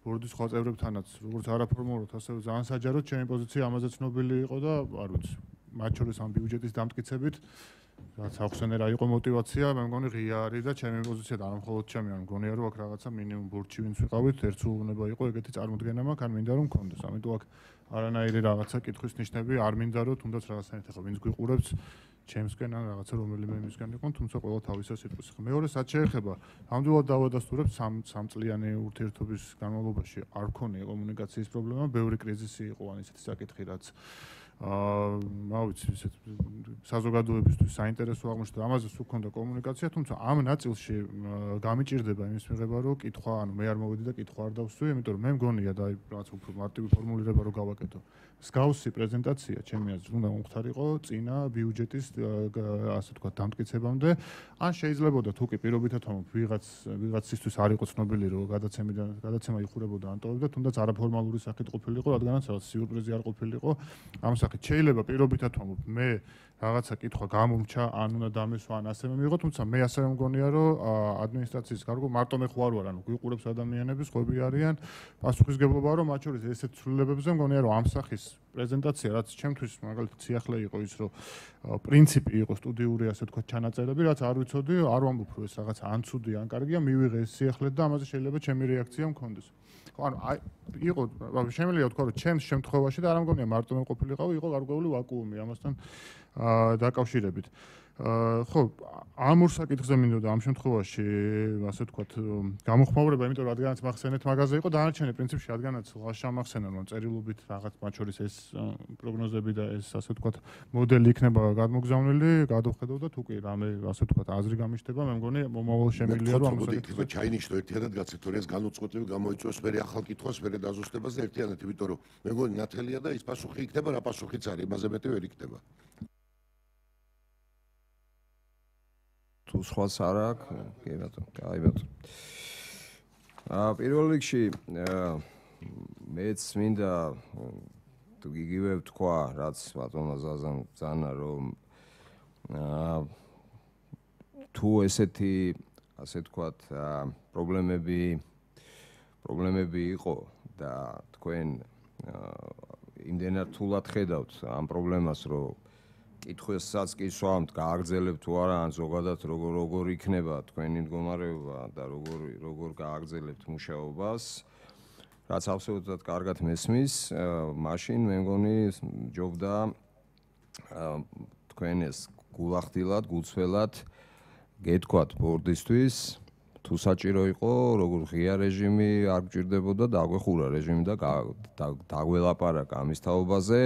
ბორდის სხვა წევრებთანაც როგორც არაფორმალურად ასევე ძალიან საჯაროდ ჩემი პოზიცია ამაზე ცნობილი იყო და არ ვიცი მათ შორის ამ ბიუჯეტის დამტკიცებით რაც ახსენე რა იყო мотиваცია, მე მგონი ღია არის და ჩემი პოზიცია და არ მხოლოდ ჩემი, არ მგონია რომ აქ რაღაცა მინიმუმ ბურჩი ვინც ვიყავით, ერთ სულ უნდა იყო ეგეთი წარმოდგენა მაქვს, არ მინდა რომ მქონდეს. ამიტომ აქ არანაირი რაღაცა კითხვის ნიშნები არ მინდა რომ თუნდაც რაღაცნაირად ახლა ვინც გვიყურებს ჩემსკენ ან რაღაცა რომელიმე იმისგან იყო, თუმცა ყველა თავისა სიტყვის. მეორე რაც შეეხება, ნამდვილად დავადასტურებ სამ წლიანი ურთიერთობის განმავლობაში არ ქონია კომუნიკაციის პრობლემა, ბევრი კრიზისი იყო ან ისეთი საკითხი რაც აა მავიცი ისეთ საზოგადოებისთვის საინტერესო აღმოჩნდა ამაზე სულ ქონდა კომუნიკაცია, თუმცა ამ ნაწილში გამიჭირდება იმის მიღება, რომ კითხვა, ანუ მე არ მოვედი და კითხვა არ დავსვი, იმიტომ რომ მე მგონია და აი რაღაც უფრო მარტივი ფორმულირება რო გავაკეთო. მსგავსი პრეზენტაცია ჩემი აზრით უნდა მომხდარიყო წინა ბიუჯეტის ასე თქვა დამტკიცებამდე, ან შეიძლებოდა თუ კი პირობითად ვამბობ ვიღაც ვიღაცისთვის არ იყო ცნობილი რომ გადაცემიდან გადაცემა იხურებოდა ან ტოვებდა, თუნდაც არაფორმალური სახით ყოფილიყო, რადგანაც რაღაც სიურპრიზი არ ყოფილიყო ამ სახით. შეიძლება პირობითად ვამბობ მე რაღაცა კითხვა გამომჩა, ან უნდა დამესვა, ან ასევე მიიღო, თუმცა მე ასევე მგონია რომ ადმინისტრაციის გარკვეულ მარტო მე ხო არ ვარ, ანუ გვიყურებს ადამიანები, სხვები არიან, პასუხისგებლობაა რომ მათ შორის ესეთ ცვლილებებზე მგონია რომ ამ სახის პრეზენტაცია, რაც ჩემთვის მაგალითად სიახლე იყო ის, რომ პრინციპი იყო სტუდიური, ასე თქვა, ჩანაწერები, რაც არ ვიცოდი, არ ვამბობ რომ ეს რაღაც ან ცუდი, ან კარგია, მივიღე ეს სიახლე და ამაზე შეიძლება ჩემი რეაქცია მქონდეს. ხო, ანუ აი იყო, შემიძლია ვთქვა, რომ ჩემს შემთხვევაში და არ მგონია მარტო მე ყოფილიყავი, იყო გარკვეული ვაკუუმი ამასთან დაკავშირებით. ხო, ამ ორ საკითხზე მინდოდა ამ შემთხვევაში, ასე ვთქვათ, გამოხმაურება, იმიტომ რომ რადგანაც მახსენეთ მაგაზე იყო, დანარჩენი პრინციპში რადგანაც შამახსენა რომ წერილობით რაღაც მათ შორის ეს პროგნოზები და ეს ასე ვთქვათ მოდელი იქნება გადმოგზავნილი, გადავხედავ და თუ კი რამე ასე ვთქვათ აზრი გამიშტება, მე მგონი მომავალ შემიძლია რომ ამ საკითხზე ჩაინიშნო ერთიანად გაცეთ, რომ ეს განუწყვეტლივი გამოიწვევს მე ახალ კითხვას, მე დაზუსტებას და ერთიანად, იმიტომ რომ მე მგონი ნათელია და ის პასუხი იქნება, რა პასუხიც არის, იმაზე მეტი ვერ იქნება. თუ სხვას არ აქვს, კი ბატონო, აი ბატონო. აა პირველ რიგში მეც მინდა თუ იგივე ვთქვა, რაც ბატონმა ზაზამ ბრძანა, რომ აა თუ ესეთი, ასე ვთქვათ, პრობლემები პრობლემები იყო და თქვენ იმდენად თულად ხედავთ ამ პრობლემას, რომ კითხვასაც კი სვამთ, გააგრძელებთ თუ არა, ან ზოგადად როგორ როგორ იქნება თქვენი მდგომარეობა და როგორ როგორ გააგრძელებთ მუშაობას, რაც აბსოლუტურად კარგად მესმის, მაშინ მე მგონი ჯობდა თქვენ ეს გულახდილად, გულწრფელად გეთქვათ ბორდისთვის, თუ საჭირო იყო, როგორ ღია რეჟიმი არ გჭირდებოდა, დაგვეხურა რეჟიმი და დაგველაპარაკა ამის თაობაზე.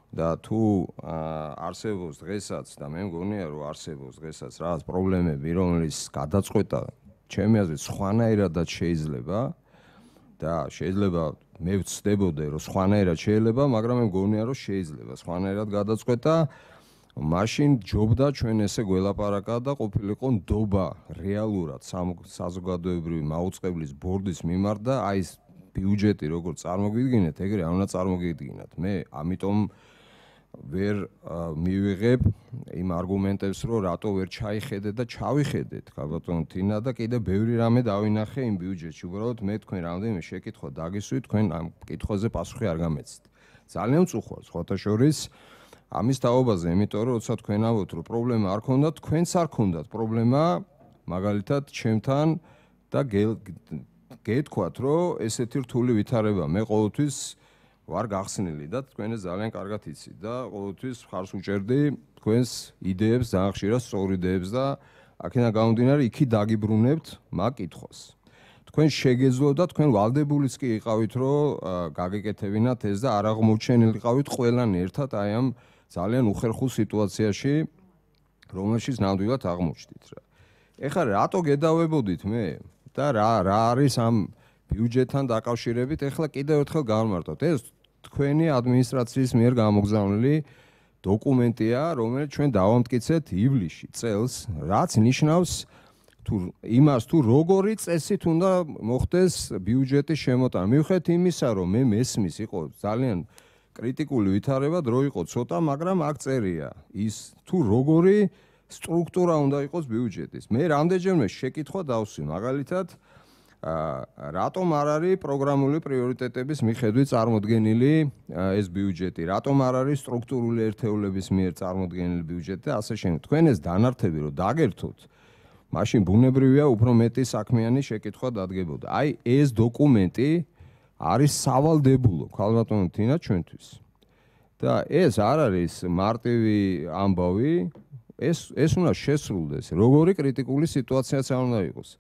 და თუ არსებობს დღესაც და მე მგონია რომ არსებობს დღესაც რაღაც პრობლემები, რომლის გადაწყვეტა ჩემი აზრით სხვანაირადაც შეიძლება და შეიძლება მე ვცდებოდე რომ სხვანაირად შეიძლება, მაგრამ მე მგონია რომ შეიძლება სხვანაირად გადაწყვეტა, მაშინ ჯობდა ჩვენ ესე გველაპარაკა და ყოფილიყო ნდობა რეალურად საზოგადოებრივი მაუწყებლის ბორდის მიმართ და აი ეს ბიუჯეტი როგორ წარმოგვიდგინეთ, ეგრე არ უნდა წარმოგიდგინათ. მე ამიტომ ვერ მივიღებ იმ არგუმენტებს, რომ რატო ვერ ჩაიხედეთ და ჩავიხედეთ, ბატონო თინა და კიდე ბევრი რამე დავინახე იმ ბიუჯეტში. უბრალოდ მე თქვენ რამდენიმე შეკითხვა დაგისვით, თქვენ ამ კითხვაზე პასუხი არ გამეცით. ძალიან მწუხვარს, ხოთა შორის ამის თაობაზე, იმიტომ რომ როცა თქვენ ამბობთ, რომ პრობლემა არ ქონდათ, თქვენც არ ქონდათ პრობლემა, მაგალითად ჩემთან და გეთქვათ, რომ ესეთი რთული ვითარება მე ყოველთვის ვარ გახსნილი და თქვენ ძალიან კარგად იცით და ყოველთვის მხარს უჭერდი თქვენს იდეებს, ძალიან ხშირად სწორ იდეებს და აქედან გამომდინარე იქი დაგიბრუნებთ მაგ კითხვას. თქვენ შეგეძლო და თქვენ ვალდებულიც კი იყავით, რომ გაგეკეთებინათ ეს და არ აღმოჩენილიყავით ყველანი ერთად აი ამ ძალიან უხერხულ სიტუაციაში, რომელშიც ნამდვილად აღმოჩნდით რა. ეხლა რატო გედავებოდით მე და რა რა არის ამ ბიუჯეტთან დაკავშირებით, ეხლა კიდევ ერთხელ გავმარტოთ. ეს თქვენი ადმინისტრაციის მიერ გამოგზავნილი დოკუმენტია, რომელიც ჩვენ დავამტკიცეთ ივლისში წელს, რაც ნიშნავს თუ იმას თუ როგორი წესით უნდა მოხდეს ბიუჯეტის შემოტანა. მიუხედავად იმისა, რომ მე მესმის იყო ძალიან კრიტიკული ვითარება, დრო იყო ცოტა, მაგრამ აქ წერია ის თუ როგორი სტრუქტურა უნდა იყოს ბიუჯეტის. მე რამდენჯერმე შეკითხვა დავსვი, მაგალითად რატომ არ არის პროგრამული პრიორიტეტების მიხედვით წარმოდგენილი ეს ბიუჯეტი, რატომ არ არის სტრუქტურული ერთეულების მიერ წარმოდგენილი ბიუჯეტი და ასე შემდეგ. თქვენ ეს დანართები რომ დაგერთოთ, მაშინ ბუნებრივია უფრო მეტი საქმიანი შეკითხვა დადგებოდა. აი ეს დოკუმენტი არის სავალდებულო ქალბატონო თინა ჩვენთვის. და ეს არ არის მარტივი ამბავი, ეს ეს უნდა შესრულდეს. როგორი კრიტიკული სიტუაციაც არ უნდა იყოს.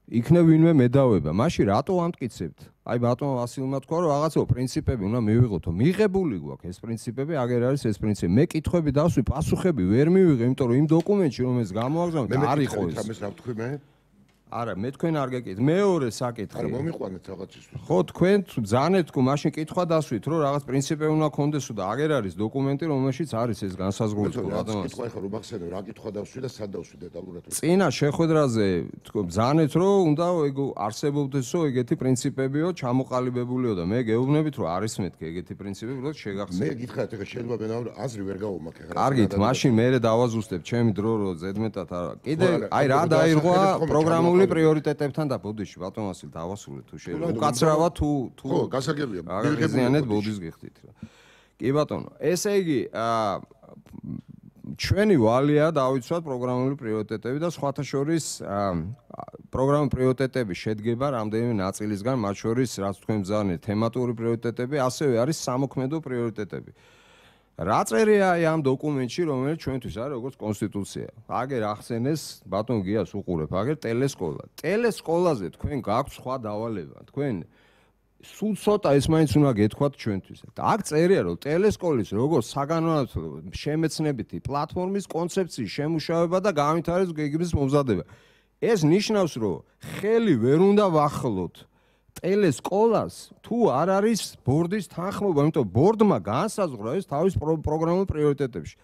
იქნებ ვინმე მედავება. მაშინ რატო ამტკიცებთ? აი ბატონო ვასილმა თქვა რომ რაღაცა პრინციპები უნდა მივიღოთო. მიღებული გვაქვს ეს პრინციპები, აგერ არის ეს პრინციპი. მე კითხვები დავსვი, პასუხები ვერ მივიღე, იმიტომ რომ იმ დოკუმენტში რომელიც გამოაგზავნეთ არ იყო ეს. ამას რა ვთქვი მე? არა, მე თქვენ არ გეკითხეთ. მეორე საკითხი. არა, მომიყვანეთ რაღაცისთვის. ხო, თქვენ ძანეთ თუ მაშინ კითხვა დასვით, რომ რაღაც პრინციპები უნდა გქონდესო და აგერ არის დოკუმენტი, რომელშიც არის ეს განსაზღვრული თქო, ბატონო. კითხვა ეხლა რომ ახსენე, რა კითხვა დავსვი და სად დავსვი დეტალურად. წინა შეხვედრაზე თქო, ძანეთ რომ უნდა ეგ არსებობდესო ეგეთი პრინციპებიო, ჩამოყალიბებულიო და მე გეუბნებით რომ არის მეთქი ეგეთი პრინციპები, რომ შეგახსენე. მე გითხრათ, ეხლა შეიძლება მე აზრი ვერ გავუმაქე რა. კარგით, მაშინ მე დავაზუსტებ ჩემი დრო რომ ზედმეტად არა. კიდე აი რა დაირღვა პროგრამული პრიორიტეტებთან და ბოდიში ბატონ ვასილ დავასრულე თუ შეიძლება უკაცრავად თუ თუ ხო გასაგებია მიღებიანეთ ბოდის გიხდით რა კი ბატონო ესე იგი ჩვენი ვალია დავიცვათ პროგრამული პრიორიტეტები და სხვათა შორის პროგრამული პრიორიტეტების შედგება რამდენიმე ნაწილისგან მათ შორის რაც თქვენ ბრძანეთ თემატური პრიორიტეტები ასევე არის სამოქმედო პრიორიტეტები რა წერია ამ დოკუმენტში, რომელიც ჩვენთვის არის როგორც კონსტიტუცია. აგერ ახსენეს ბატონ გიას უყურებ, აგერ ტელესკოლა. ტელესკოლაზე თქვენ გაქვთ სხვა დავალება. თქვენ სულ ცოტა ეს მაინც უნდა გეთქვათ ჩვენთვის. აქ წერია, რომ ტელესკოლის როგორც საგანმანათლებლო შემეცნებითი პლატფორმის კონცეფციის შემუშავება და განვითარების გეგმის მომზადება. ეს ნიშნავს, რომ ხელი ვერ უნდა ვახლოთ ტელესკოლას თუ არ არის ბორდის თანხმობა, იმიტომ ბორდმა განსაზღვრა ეს თავის პროგრამულ პრიორიტეტებში.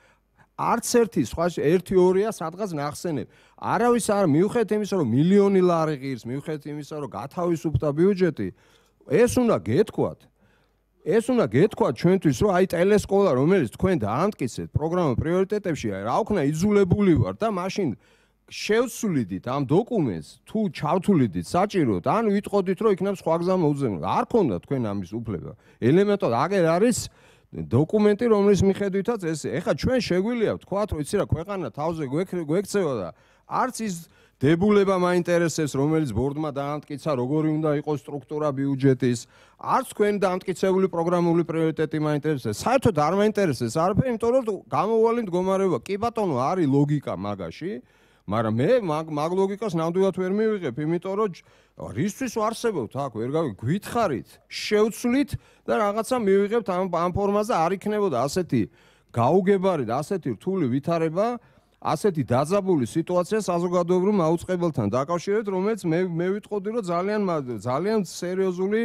არც ერთი სხვა ერთი ორია სადღაც ნახსენებ. არავის არ მიუხედავად იმისა, რომ მილიონი ლარი ღირს, მიუხედავად იმისა, რომ გათავისუფლდა ბიუჯეტი, ეს უნდა გეთქვათ. ეს უნდა გეთქვათ ჩვენთვის, რომ აი ტელესკოლა, რომელიც თქვენ დაამტკიცეთ პროგრამულ პრიორიტეტებში, რა ვქნა იძულებული ვარ და მაშინ შევცვლიდით ამ დოკუმენტს თუ ჩავთვლიდით საჭიროდ ან ვიტყოდით რომ იქნებ სხვა გზა მოუძებნო არ ქონდა თქვენ ამის უფლება ელემენტად აგერ არის დოკუმენტი რომლის მიხედვითაც ეს ეხა ჩვენ შეგვიძლია ვთქვათ რომ იცი რა ქვეყანა თავზე გვექცევა და არც ის დებულება მაინტერესებს რომელიც ბორდმა დაამტკიცა როგორი უნდა იყოს სტრუქტურა ბიუჯეტის არც თქვენ დაამტკიცებული პროგრამული პრიორიტეტი მაინტერესებს საერთოდ არ მაინტერესებს არაფერი იმიტომ რომ გამოვალი მდგომარეობა კი ბატონო არის ლოგიკა მაგაში მაგრამ მე მაგ ლოგიკას ნამდვილად ვერ მივიღებ, იმიტომ რომ რისთვის ვარსებობთ აქ, ვერ გავი გვითხარით, შევცვლით და რაღაცა მივიღებთ ამ ამ ფორმაზე არ იქნებოდა ასეთი გაუგებარი და ასეთი რთული ვითარება, ასეთი დაძაბული სიტუაცია საზოგადოებრივ მაუწყებელთან დაკავშირებით, რომელიც მე მე ვიტყოდი რომ ძალიან ძალიან სერიოზული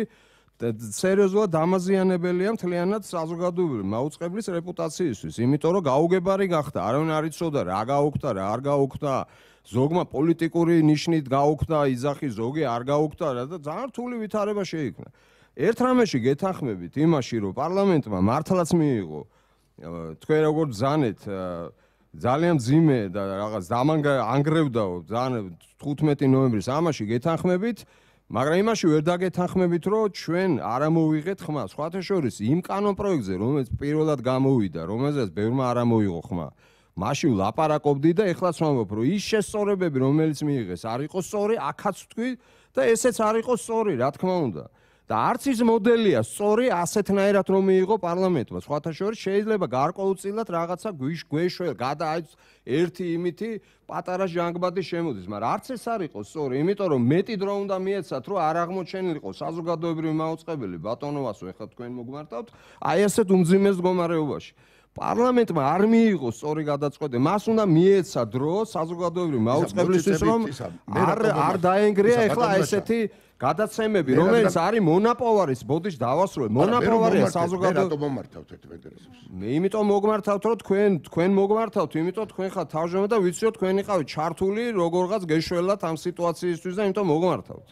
სერიოზულად დამაზიანებელია მთლიანად საზოგადოებრივ მაუწყებლის რეპუტაციისთვის, იმიტომ რომ გაუგებარი გახდა, არავინ არ იცოდა რა გაუქდა, რა არ გაუქდა, ზოგმა პოლიტიკური ნიშნით გაუქდა, იძახი ზოგი არ გაუქდა და ძალიან რთული ვითარება შეიქმნა. ერთ რამეში გეთანხმებით იმაში, რომ პარლამენტმა მართლაც მიიღო, თქვენ როგორ ბრძანეთ, ძალიან მძიმე და რაღაც დამანგრევდაო, ძალიან თხუთმეტი ნოემბრის ამაში გეთანხმებით მაგრამ იმაში ვერ დაგეთანხმებით, რომ ჩვენ არ ამოვიღეთ ხმა. სხვათა შორის იმ კანონ პროექტზე, რომელიც პირველად გამოვიდა, რომელზეც ბევრმა არ ამოიღო ხმა. მაშინ ვლაპარაკობდი და ეხლაც ვამბობ, რომ ის შესწორებები, რომელიც მიიღეს, არ იყო სწორი, აქაც ვთქვი და ესეც არ იყო სწორი, რა თქმა უნდა. და არც ის მოდელია სწორი ასეთნაირად რომ მიიღო პარლამენტმა. სხვათა შორის შეიძლება გარკვეულწილად რაღაცა გვეშველა, გადა ერთი იმითი პატარა ჟანგბადი შემოდის, მაგრამ არც ეს არ იყო სწორი, იმიტომ რომ მეტი დრო უნდა მიეცათ, რომ არ აღმოჩენილიყო საზოგადოებრივი მაუწყებელი ბატონოვასო, ეხლა თქვენ მოგმართავთ, აი ასეთ უმძიმეს მდგომარეობაში. პარლამენტმა არ მიიღო სწორი გადაწყვეტილება, მას უნდა მიეცა დრო საზოგადოებრივი მაუწყებლისთვის, რომ არ არ დაენგრია ეხლა ესეთი გადაცემები, რომელიც არის მონაპოვარის, ბოდიში დავასრულე, მონაპოვარია საზოგადოებრივი. რატომ მომართავთ ერთ ინტერესებს? მე იმიტომ მოგმართავთ, რომ თქვენ თქვენ მოგმართავთ, იმიტომ თქვენ ხართ თავმჯდომარე და ვიცი რომ თქვენი ყავით ჩართული როგორღაც გეშველათ ამ სიტუაციისთვის და იმიტომ მოგმართავთ.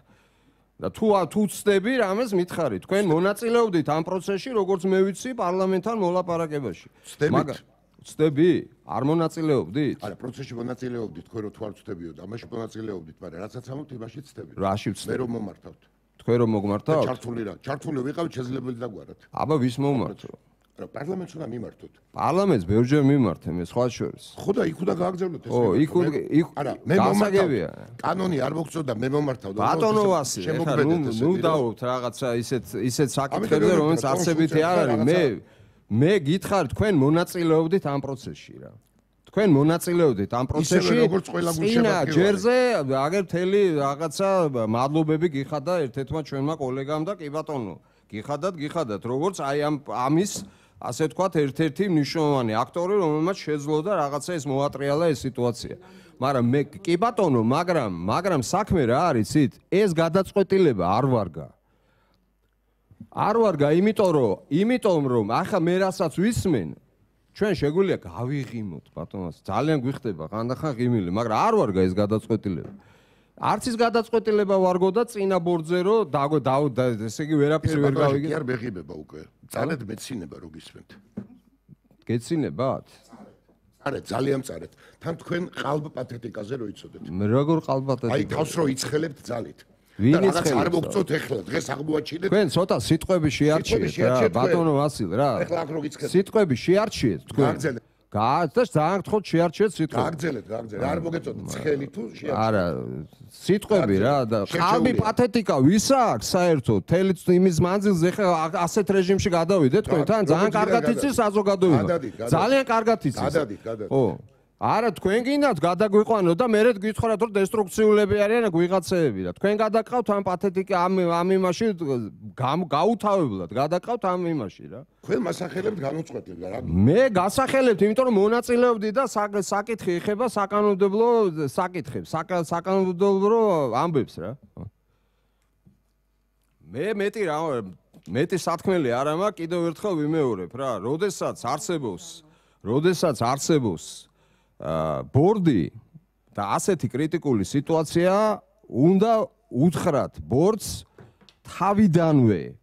და თუ თუ ცდები რამეს მითხარით, თქვენ მონაწილეობდით ამ პროცესში, როგორც მე ვიცი, პარლამენტთან მოლაპარაკებაში. ცდებით? ცდები? არ მონაწილეობდით? არა, პროცესში მონაწილეობდით, თქვენ რო თუ არ ცდებიოთ, ამაში მონაწილეობდით, მაგრამ რაცაც ამობთ, იმაში ცდები. რაში ვცდები? მე რომ მომართავთ. თქვენ რომ მოგმართავთ? ჩართული რა? ჩართული ვიყავით შესაძლებელი დაგვარად. აბა ვის მომმართო? რა პარლამენტს უნდა მიმართოთ? პარლამენტს ბევრჯერ მიმართე მე სხვა შორის. ხო და იქ უნდა გააგზავნოთ ეს. ო, იქ იქ არა, მე მომართავ. კანონი არ მოგწოდა, მე მომართავ და ბატონო ვასი, ეხლა ნუ ნუ დავობთ რაღაცა ისეთ ისეთ საკითხებზე, რომელიც არსებითი არ არის. მე მე გითხარ, თქვენ მონაწილეობდით ამ პროცესში რა. თქვენ მონაწილეობდით ამ პროცესში. წინა ჯერზე აგერ მთელი რაღაცა მადლობები გიხადა ერთ-ერთმა ჩვენმა კოლეგამ და კი ბატონო, გიხადათ, გიხადათ, როგორც აი ამ ამის ასე თქვათ ერთ-ერთი მნიშვნელოვანი აქტორი, რომელმაც შეძლო და რაღაცა ეს მოატრიალა ეს სიტუაცია. მაგრამ მე კი ბატონო, მაგრამ მაგრამ საქმე რა არის იცით? ეს გადაწყვეტილება არ ვარგა. არ ვარგა, იმიტომ რომ, იმიტომ რომ ახლა მე რასაც ვისმენ, ჩვენ შეგვიძლია გავიღიმოთ ბატონოს. ძალიან გვიხდება ხანდახან ღიმილი, მაგრამ არ ვარგა ეს გადაწყვეტილება. არც ის გადაწყვეტილება ვარგო და წინა ბორდზე რომ და ესე იგი ვერაფერი ვერ გავიგე. კი არ მეღიმება უკვე. წარეთ მეცინება რო გისმენთ. გეცინებათ? არა, ძალიან წარეთ. თან თქვენ ყალბ პათეტიკაზე რო იცოდეთ. მე როგორ ყალბ პათეტიკა? აი თავს რო იცხელებთ ძალით. ვინ იცხელებს? არ მოგწოთ ეხლა, დღეს აღმოაჩინეთ. თქვენ ცოტა სიტყვები შეარჩიეთ რა, ბატონო ვასილ რა. ეხლა აქ რო გიცხებთ. სიტყვები შეარჩიეთ თქვენ. გაგძელეთ. გააცდა ძალიან გთხოვთ შეარჩიეთ სიტყვები. გაგძელეთ, გაგძელეთ. არ მოგეწოთ ცხელი თუ შეარჩიეთ. არა, სიტყვები რა და ყალბი პათეტიკა ვის აქვს საერთოდ? თელი იმის მანძილზე ხა ასეთ რეჟიმში გადავიდეთ თქვენ თან ძალიან კარგად იცის საზოგადოება. ძალიან კარგად იცის. გადადით, გადადით. ო არა თქვენ გინდათ გადაგვიყვანო და მერე გითხრათ რომ დესტრუქციულები არიან გვიღაცეები და თქვენ გადაყავთ ამ პათეტიკა ამ ამ იმაში გაუთავებლად გადაყავთ ამ იმაში რა თქვენ მასახელებთ განუწყვეტლად რა მე გასახელებთ იმიტომ რომ მონაწილეობდი და საკითხი ეხება საკანონმდებლო საკითხებს საკანონმდებლო ამბებს რა მე მეტი რა მეტი სათქმელი არა მაქვს კიდევ ერთხელ ვიმეორებ რა როდესაც არსებობს როდესაც არსებობს ბორდი და ასეთი კრიტიკული სიტუაცია უნდა უთხრათ ბორდს თავიდანვე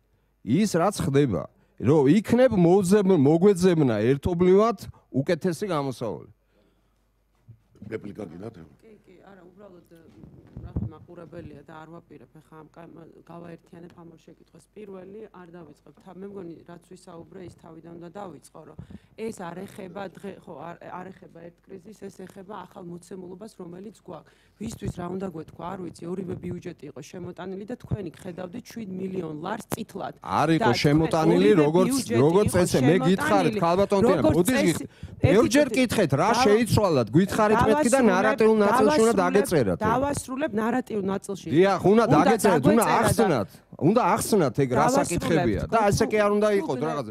ის რაც ხდება რომ იქნებ მოგვეძებნა ერთობლივად უკეთესი გამოსავალი რეპლიკა გინდათ კი კი არა უბრალოდ რა მაყურებელია და არ ვაპირებ ახლა ამ გავაერთიანებ ამ შეკითხვას პირველი არ დავიწყებ მე მგონი რაც ვისაუბრე ის თავიდან უნდა დავიწყო რომ ეს არ ეხება დღე ხო არ ეხება ერთ კრიზისს ეს ეხება ახალ მოცემულობას რომელიც გვაქვს ვისთვის რა უნდა გვეთქვა არ ვიცი ორივე ბიუჯეტი იყო შემოტანილი და თქვენი გხედავდით შვიდ მილიონ ლარს წითლად არ იყო შემოტანილი როგორც როგორც ესე მე გითხარით ქალბატონტინა ბუდის ბევრჯერ გითხეთ რა შეიცვალათ გითხარით მეთქი და ნარატიულ ნაწილში უნდა დაგეწერათ დავასრულებ ნარატიულ ნაწილში დიახ უნდა დაგეწერეთ უნდა ახსნათ უნდა ახსნათ ეგ რა საკითხებია და ესე კი არ უნდა იყოთ რაღაც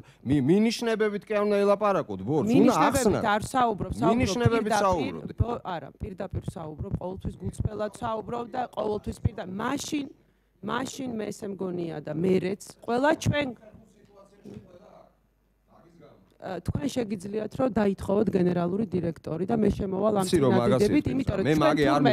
მინიშნებებით კი არ უნდა ელაპარაკოთ ბორდს უნდა ახსნათ არ საუბრობ მინიშნებებით საუბრობთ არა პირდაპირ საუბრობ ყოველთვის გულწრფელად საუბრობ და ყოველთვის პირდა მაშინ მაშინ მე ესე მგონია და მერეც ყველა ჩვენ თქვენ შეგიძლიათ რომ დაითხოვოთ გენერალური დირექტორი და მე შემოვალ ამ წინადადებით იმიტომ რომ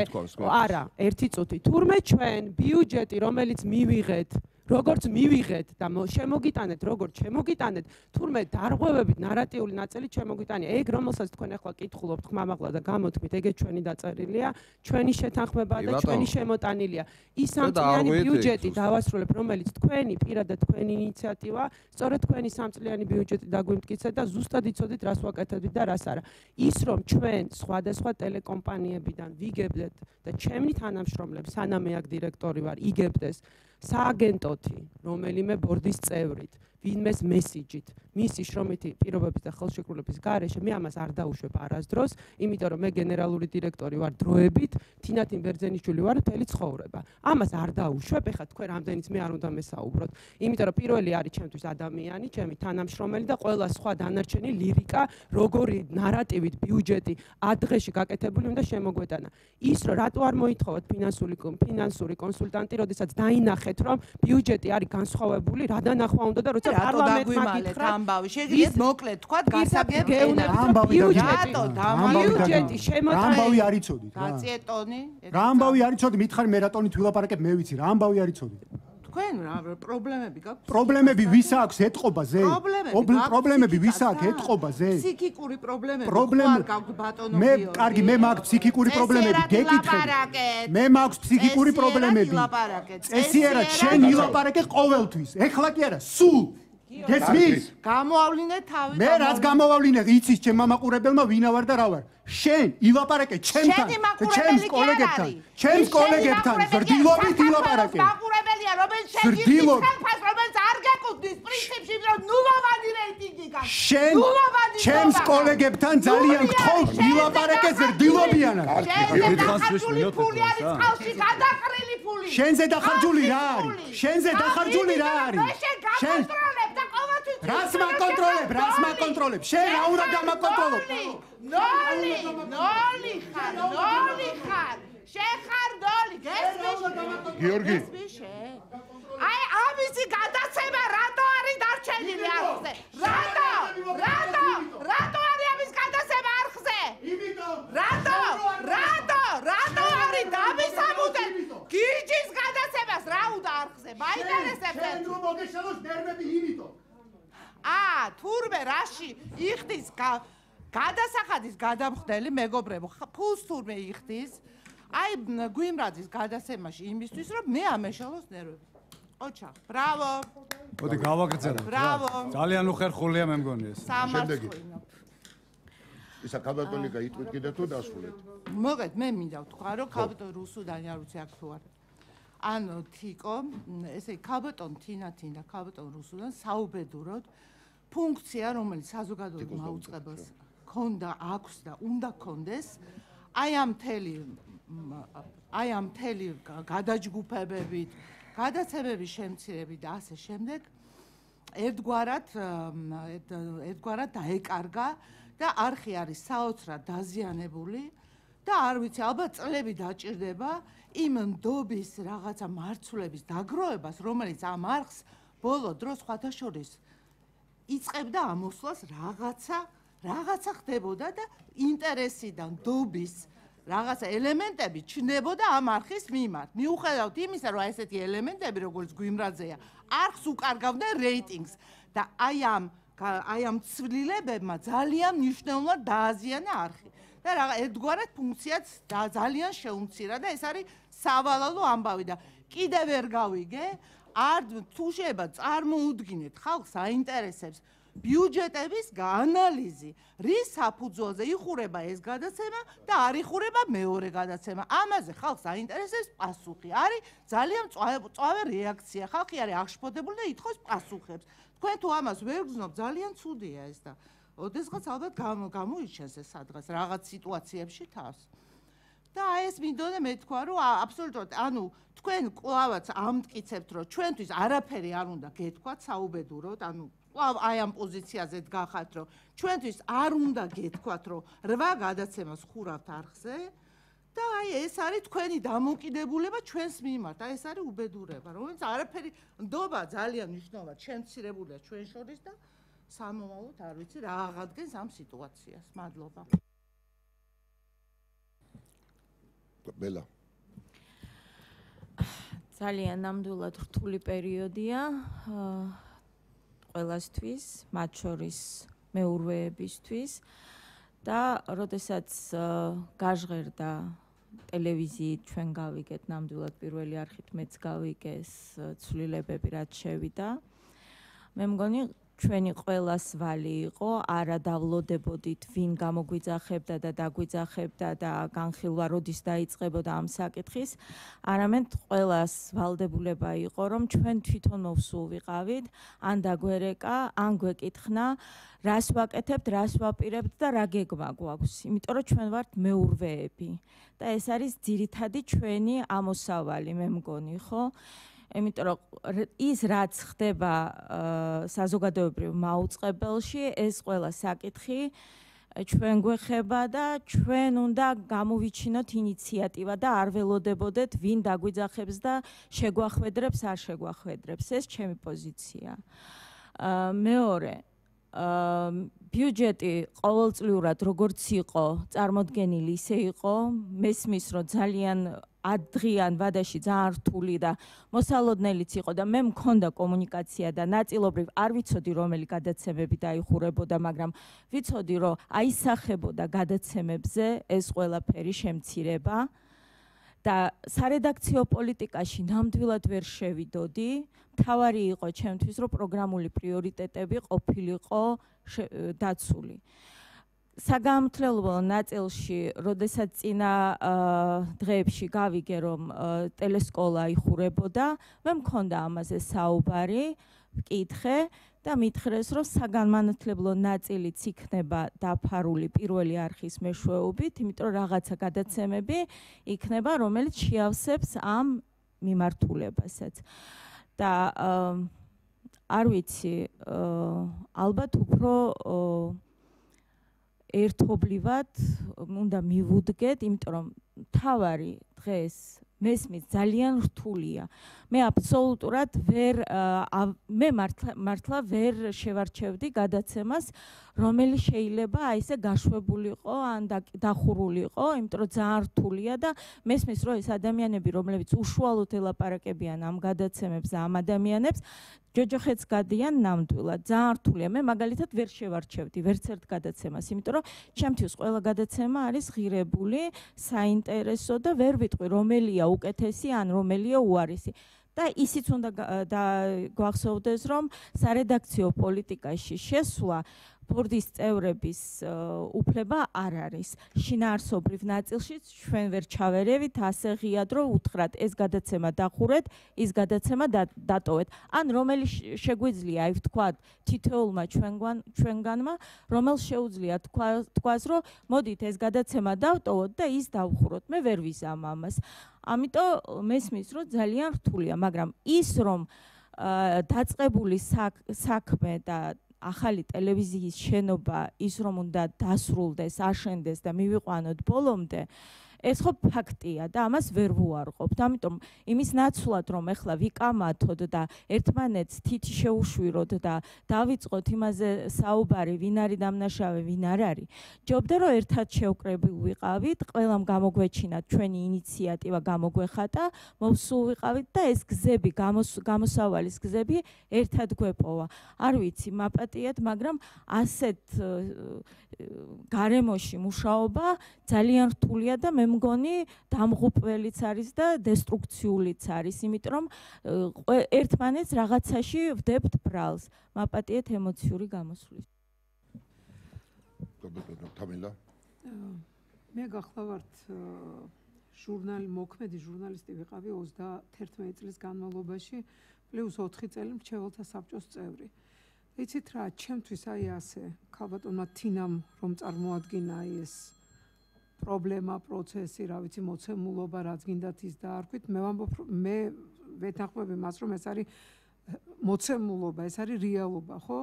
ჩვენ არა ერთი წუთი თურმე ჩვენ ბიუჯეტი რომელიც მივიღეთ როგორც მივიღეთ და შემოგიტანეთ როგორც შემოგიტანეთ თურმე დარღვევებით ნარატიული ნაწილი შემოგიტანია ეგ რომელსაც თქვენ ახლა კითხულობთ ხმამაღლა და გამოთქმით ეგეც ჩვენი დაწერილია ჩვენი შეთანხმება და ჩვენი შემოტანილია ის სამწლიანი ბიუჯეტი დავასრულებ რომელიც თქვენი პირადად თქვენი ინიციატივა სწორედ თქვენი სამწლიანი ბიუჯეტი დაგვიმტკიცეთ და ზუსტად იცოდით რას ვაკეთებდით და რას არა ის რომ ჩვენ სხვადასხვა ტელეკომპანიებიდან ვიგებდეთ და ჩემი თანამშრომლები სანამ მე აქ დირექტორი ვარ იგებდეს სააგენტოთი, რომელიმე ბორდის წევრით, ვინმეს მესიჯით, მისი შრომითი პირობების და ხელშეკრულების გარეშე მე ამას არ დაუშვებ არასდროს, იმიტომ რომ მე გენერალური დირექტორი ვარ დროებით, თინათინ ბერძენიშვილი ვარ მთელი ცხოვრება. ამას არ დაუშვებ, ეხლა თქვენ რამდენიც მე არ უნდა მესაუბროთ, იმიტომ რომ პირველი არის ჩემთვის ადამიანი, ჩემი თანამშრომელი და ყველა სხვა დანარჩენი ლირიკა, როგორი ნარატივით ბიუჯეტი ადღეში გაკეთებული უნდა შემოგვეტანა. ის რომ რატო არ მოითხოვოთ ფინანსური ფინანსური კონსულტანტი, როდესაც დაინახეთ რომ ბიუჯეტი არის განსხვავებული, რა დანახვა უნდა და როცა პარლამენტმა გითხრა ამბავი შეგიძლიათ მოკლედ თქვა გასაგებია ამბავი რატო ბიუჯეტი შემოტანილი ამბავი არ იცოდით რა გაწიეტონი რა ამბავი არ იცოდი მითხარი მე რატონით ვილაპარაკებ მე ვიცი რა ამბავი არ იცოდი თქვენ რა პრობლემები გაქვთ პრობლემები ვის აქვს ეთყობაზე პრობლემები ვის აქვს ეთყობაზე ფსიქიკური პრობლემები არ გაქვთ ბატონო მე კარგი მე მაქვს ფსიქიკური პრობლემები გეკითხები მე მაქვს ფსიქიკური პრობლემები წესიერად შენ ილაპარაკე ყოველთვის ეხლა კი არა სულ გესმის გამოავლინე თავი მე რაც გამოვავლინე იცის ჩემ მამაყურებელმა ვინა ვარ და რა ვარ შენ ილაპარაკე ჩემთან ჩემს კოლეგებთან ჩემს კოლეგებთან ზრდილობით ილაპარაკე მაყურებელია რომელიც შენ იხსენებს რომელიც არ გეკუთვნით მოდის პრინციპში, რომ ნულოვანი რეიტინგი გაქვს. შენ ჩემს კოლეგებთან ძალიან გთხოვ ვილაპარაკეს რდილობიანად. შენზე დახარჯული ფული არის წყალში გადაყრილი ფული. შენზე დახარჯული რა არის? შენზე დახარჯული რა არის? შენ გაკონტროლებ და ყოველთვის რას მაკონტროლებ? რას მაკონტროლებ? შენ რა უნდა გამაკონტროლო? ნოლი, ნოლი ხარ, ნოლი ხარ. შენ ხარ ნოლი, გესმის? გიორგი. აი ამისი გადაცემა რატო არის დარჩენილი არხზე? რატო? რატო? რატო არის ამის გადაცემა არხზე? რატო? რატო? რატო არის დამისამუდეთ? გიჯის გადაცემას რა უნდა არხზე? მაინტერესებს შენ რომ მოგეშალოს ნერვები იმითო. აა, თურმე რაში იხდის გადასახადის გადამხდელი მეგობრებო, ფულს თურმე იხდის. აი გვიმრაძის გადაცემაში იმისთვის რომ მე ამეშალოს ნერვები. ოჩა, ბრავო. მოდი გავაგრძელოთ. ბრავო. ძალიან უხერხულია მე მგონი ეს. სამართლიანო. ისა ქალბატონი გაიტყვით კიდე თუ დასრულეთ? მოგეთ, მე მინდა ვთქვა რომ ქალბატონ რუსუდანი არ ვიცი აქ თუ არა. ანუ თიკო, ესე ქალბატონ თინათინ და ქალბატონ რუსუდან საუბედუროდ ფუნქცია, რომელიც საზოგადოებრივ მაუწყებელს ქონდა, აქვს და უნდა ქონდეს, აი ამ მთელი აი ამ მთელი გადაჯგუფებებით, გადაცემების შემცირებით და ასე შემდეგ ერთგვარად ერთგვარად დაეკარგა და არხი არის საოცრად დაზიანებული და არ ვიცი, ალბათ წლები დაჭირდება იმ ნდობის რაღაცა მარცვლების დაგროვებას, რომელიც ამ არხს ბოლო დროს სხვათა შორის იწყებდა ამოსვლას რაღაცა რაღაცა ხდებოდა და ინტერესიდან ნდობის რაღაცა ელემენტები ჩნდებოდა ამ არხის მიმართ. მიუხედავად იმისა, რომ ესეთი ელემენტები, როგორც გვიმრაძეა, არხს უკარგავდნენ რეიტინგს და აი ამ აი ამ ცვლილებებმა ძალიან მნიშვნელოვნად დააზიანა არხი. და რა ერთგვარად ფუნქციაც ძალიან შეუმცირა და ეს არის სავალალო ამბავი და კიდევ ვერ გავიგე, არ თუ შეიძლება წარმოუდგინეთ ხალხს აინტერესებს ბიუჯეტების გაანალიზი, რის საფუძველზე იხურება ეს გადაცემა და არ იხურება მეორე გადაცემა. ამაზე ხალხს აინტერესებს პასუხი. არის ძალიან მწვავე რეაქცია. ხალხი არის აღშფოთებული და ითხოვს პასუხებს. თქვენ თუ ამას ვერ გრძნობ, ძალიან ცუდია ეს და ოდესღაც ალბათ გამოიჩენს ეს სადღაც რაღაც სიტუაციებში თავს. და აი ეს მინდოდა მე თქვა, რომ აბსოლუტურად, ანუ თქვენ კლავაც ამტკიცებთ, რომ ჩვენთვის არაფერი არ უნდა გეთქვათ საუბედუროდ, ანუ კლავ აი ამ პოზიციაზე დგახართ, რომ ჩვენთვის არ უნდა გეთქვათ, რომ რვა გადაცემას ხურავთ არხზე და აი ეს არის თქვენი დამოკიდებულება ჩვენს მიმართ. აი ეს არის უბედურება, რომელიც არაფერი ნდობა ძალიან მნიშვნელოვნად შემცირებულია ჩვენ შორის და სამომავლოდ არ ვიცი რა აღადგენს ამ სიტუაციას. მადლობა. ბელა. ძალიან ნამდვილად რთული პერიოდია ყველასთვის, მათ შორის მეურვეებისთვის და როდესაც გაჟღერდა ტელევიზიით ჩვენ გავიგეთ ნამდვილად პირველი არხით მეც გავიგე ეს ცვლილებები რაც შევიდა. მე მგონი ჩვენი ყველას ვალი იყო, არა დავლოდებოდით, ვინ გამოგვიძახებდა და დაგვიძახებდა და განხილვა როდის დაიწყებოდა ამ საკითხის, არამედ ყველას ვალდებულება იყო, რომ ჩვენ თვითონ მოვსულ ვიყავით, ან დაგვერეკა, ან გვეკითხნა, რას ვაკეთებთ, რას ვაპირებთ და რა გეგმა გვაქვს, იმიტომ რომ ჩვენ ვართ მეურვეები და ეს არის ძირითადი ჩვენი ამოსავალი, მე მგონი, ხო? იმიტომ რომ ის რაც ხდება საზოგადოებრივ მაუწყებელში, ეს ყველა საკითხი ჩვენ გვეხება და ჩვენ უნდა გამოვიჩინოთ ინიციატივა და არ ველოდებოდეთ ვინ დაგვიძახებს და შეგვახვედრებს, არ შეგვახვედრებს. ეს ჩემი პოზიცია. მეორე, ბიუჯეტი ყოველწლიურად როგორც იყო წარმოდგენილი, ისე იყო, მესმის რომ ძალიან ადღიან ვადაში ძალიან რთული და მოსალოდნელიც იყო და მე მქონდა კომუნიკაცია და ნაწილობრივ არ ვიცოდი რომელი გადაცემები დაიხურებოდა, მაგრამ ვიცოდი რომ აისახებოდა გადაცემებზე ეს ყველაფერი შემცირება და სარედაქციო პოლიტიკაში ნამდვილად ვერ შევიდოდი. მთავარი იყო ჩემთვის რომ პროგრამული პრიორიტეტები ყოფილიყო დაცული. საგამართლებლო ნაწილში, როდესაც წინა დღეებში გავიგე, რომ ტელესკოლა იხურებოდა, მე მქონდა ამაზე საუბარი, ვკითხე და მითხრეს, რომ საგანმანათლებლო ნაწილიც იქნება დაფარული პირველი არხის მეშვეობით, იმიტომ რომ რაღაცა გადაცემები იქნება, რომელიც შეავსებს ამ მიმართულებასაც. და არ ვიცი, ალბათ უფრო ერთობლივად უნდა მივუდგეთ, იმიტომ რომ თავარი დღეს მესმის ძალიან რთულია. მე აბსოლუტურად ვერ მე მართლა ვერ შევარჩევდი გადაცემას, რომელიც შეიძლება აი ესე გაშვებულიყო ან დახურულიყო, იმიტომ რომ ძალიან რთულია და მესმის რომ ეს ადამიანები, რომლებიც უშუალოდ ელაპარაკებიან ამ გადაცემებს და ამ ადამიანებს, ჯოჯოხეთს გადიან ნამდვილად. ძალიან რთულია. მე მაგალითად ვერ შევარჩევდი ვერც ერთ გადაცემას, იმიტომ რომ ჩემთვის ყველა გადაცემა არის ღირებული, საინტერესო და ვერ ვიტყვი რომელია უკეთესი ან რომელია უარესი. და ისიც უნდა გვახსოვდეს, რომ სარედაქციო პოლიტიკაში შესვლა ბორდის წევრების უფლება არ არის. შინაარსობრივ ნაწილშიც ჩვენ ვერ ჩავერევით ასე ღიად, რომ უთხრათ ეს გადაცემა დახურეთ, ის გადაცემა დატოვეთ. ან რომელი შეგვიძლია აი ვთქვათ თითოეულმა ჩვენგანმა, რომელს შეუძლია თქვას, რომ მოდით ეს გადაცემა დავტოვოთ და ის დავხუროთ. მე ვერ ვიზამ ამას. ამიტომ მესმის, რომ ძალიან რთულია, მაგრამ ის რომ დაწყებული საქმე და ახალი ტელევიზიის შენობა ის რომ უნდა დასრულდეს, აშენდეს და მივიყვანოთ ბოლომდე, ეს ხო ფაქტია და ამას ვერ ვუარყოფთ. ამიტომ იმის ნაცვლად რომ ეხლა ვიკამათოთ და ერთმანეთს თითი შეუშვიროთ და დავიწყოთ იმაზე საუბარი, ვინ არის დამნაშავე, ვინ არ არის. ჯობდა რომ ერთად შევკრებილ ვიყავით, ყველამ გამოგვეჩინათ ჩვენი ინიციატივა გამოგვეხატა, მოვსულ ვიყავით და ეს გზები, გამოსავალის გზები ერთად გვეპოვა. არ ვიცი, მაპატიეთ, მაგრამ ასეთ გარემოში მუშაობა ძალიან რთულია და მე მგონი დამღუპველიც არის და დესტრუქციულიც არის, იმიტომ რომ ერთმანეთს რაღაცაში ვდებთ ბრალს. მაპატიეთ ემოციური გამოსვლის. მე გახლავართ ჟურნალი მოქმედი ჟურნალისტი ვიყავი ოცდაათერთმეტი წლის განმავლობაში, პლუს ოთხი წელი მრჩეველთა საბჭოს წევრი. იცით რა, ჩემთვის აი ასე, ქალბატონმა თინამ რომ წარმოადგინა ეს პრობლემა, პროცესი, რა ვიცი, მოცემულობა, რაც გინდათ ის დაარქვით, მე ვამბობ, მე ვეთანხმები მას, რომ ეს არის მოცემულობა, ეს არის რეალობა, ხო?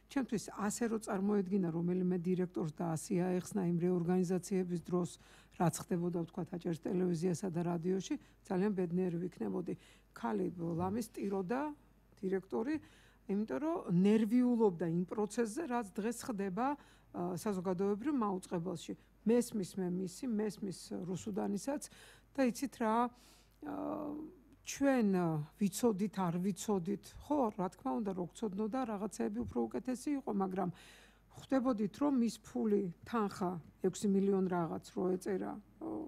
ჩემთვის ასე რომ წარმოედგინა რომელიმე დირექტორს და ასე აეხსნა იმ რეორგანიზაციების დროს, რაც ხდებოდა ვთქვათ აჭარის ტელევიზიასა და რადიოში, ძალიან ბედნიერი ვიქნებოდი. ქალი ლამის ტიროდა დირექტორი, იმიტომ რომ ნერვიულობდა იმ პროცესზე, რაც დღეს ხდება საზოგადოებრივ მაუწყებელში. მესმის მე მისი, მესმის რუსუდანისაც და იცით რა, ჩვენ ვიცოდით, არ ვიცოდით, ხო, რა თქმა უნდა, რო გწოდნოდა, რაღაცები უფრო უკეთესი იყო, მაგრამ ხვდებოდით, რომ მის ფული, თანხა ექვსი მილიონი რაღაც რო ეწერა,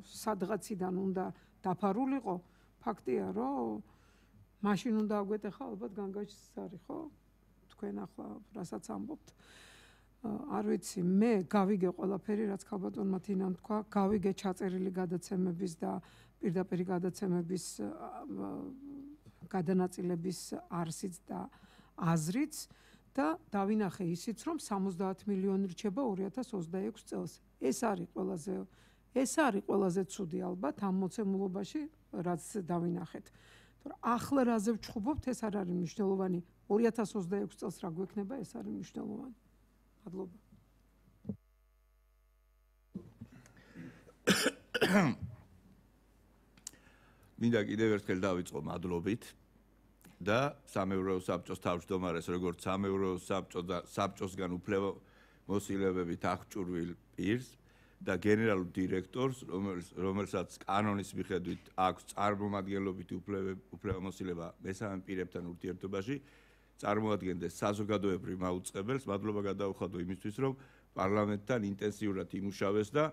სადღაციდან უნდა დაფარულიყო, ფაქტია, რომ მაშინ უნდა აგვეტეხა ალბათ განგაშის არის, ხო? თქვენ ახლა რასაც ამბობთ. არ ვიცი, მე გავიგე ყველაფერი, რაც ქალბატონმა თინამ თქვა, გავიგე ჩაწერილი გადაცემების და პირდაპირ გადაცემების გადანაწილების არსიც და აზრიც და დავინახე ისიც, რომ სამოცდაათი მილიონი რჩება ორი ათას ოცდაექვსი წელს. ეს არის ყველაზე ეს არის ყველაზე ცუდი ალბათ ამ მოცემულობაში, რაც დავინახეთ. ახლა რაზე ვჩხუბობთ, ეს არ არის მნიშვნელოვანი. ორი ათას ოცდაექვსი წელს რა გვექნება, ეს არის მნიშვნელოვანი. მადლობა. მინდა კიდევ ერთხელ დავიწყო მადლობით და სამეურვეო საბჭოს თავმჯდომარეს, როგორც სამეურვეო საბჭო და საბჭოსგან უფლება მოსილებებით აღჭურვილ პირს და გენერალურ დირექტორს, რომელსაც კანონის მიხედვით აქვს წარმომადგენლობითი უფლებამოსილება მესამე პირებთან ურთიერთობაში, წარმოადგენდეს საზოგადოებრივ მაუწყებელს. მადლობა გადაუხადო იმისთვის, რომ პარლამენტთან ინტენსიურად იმუშავეს და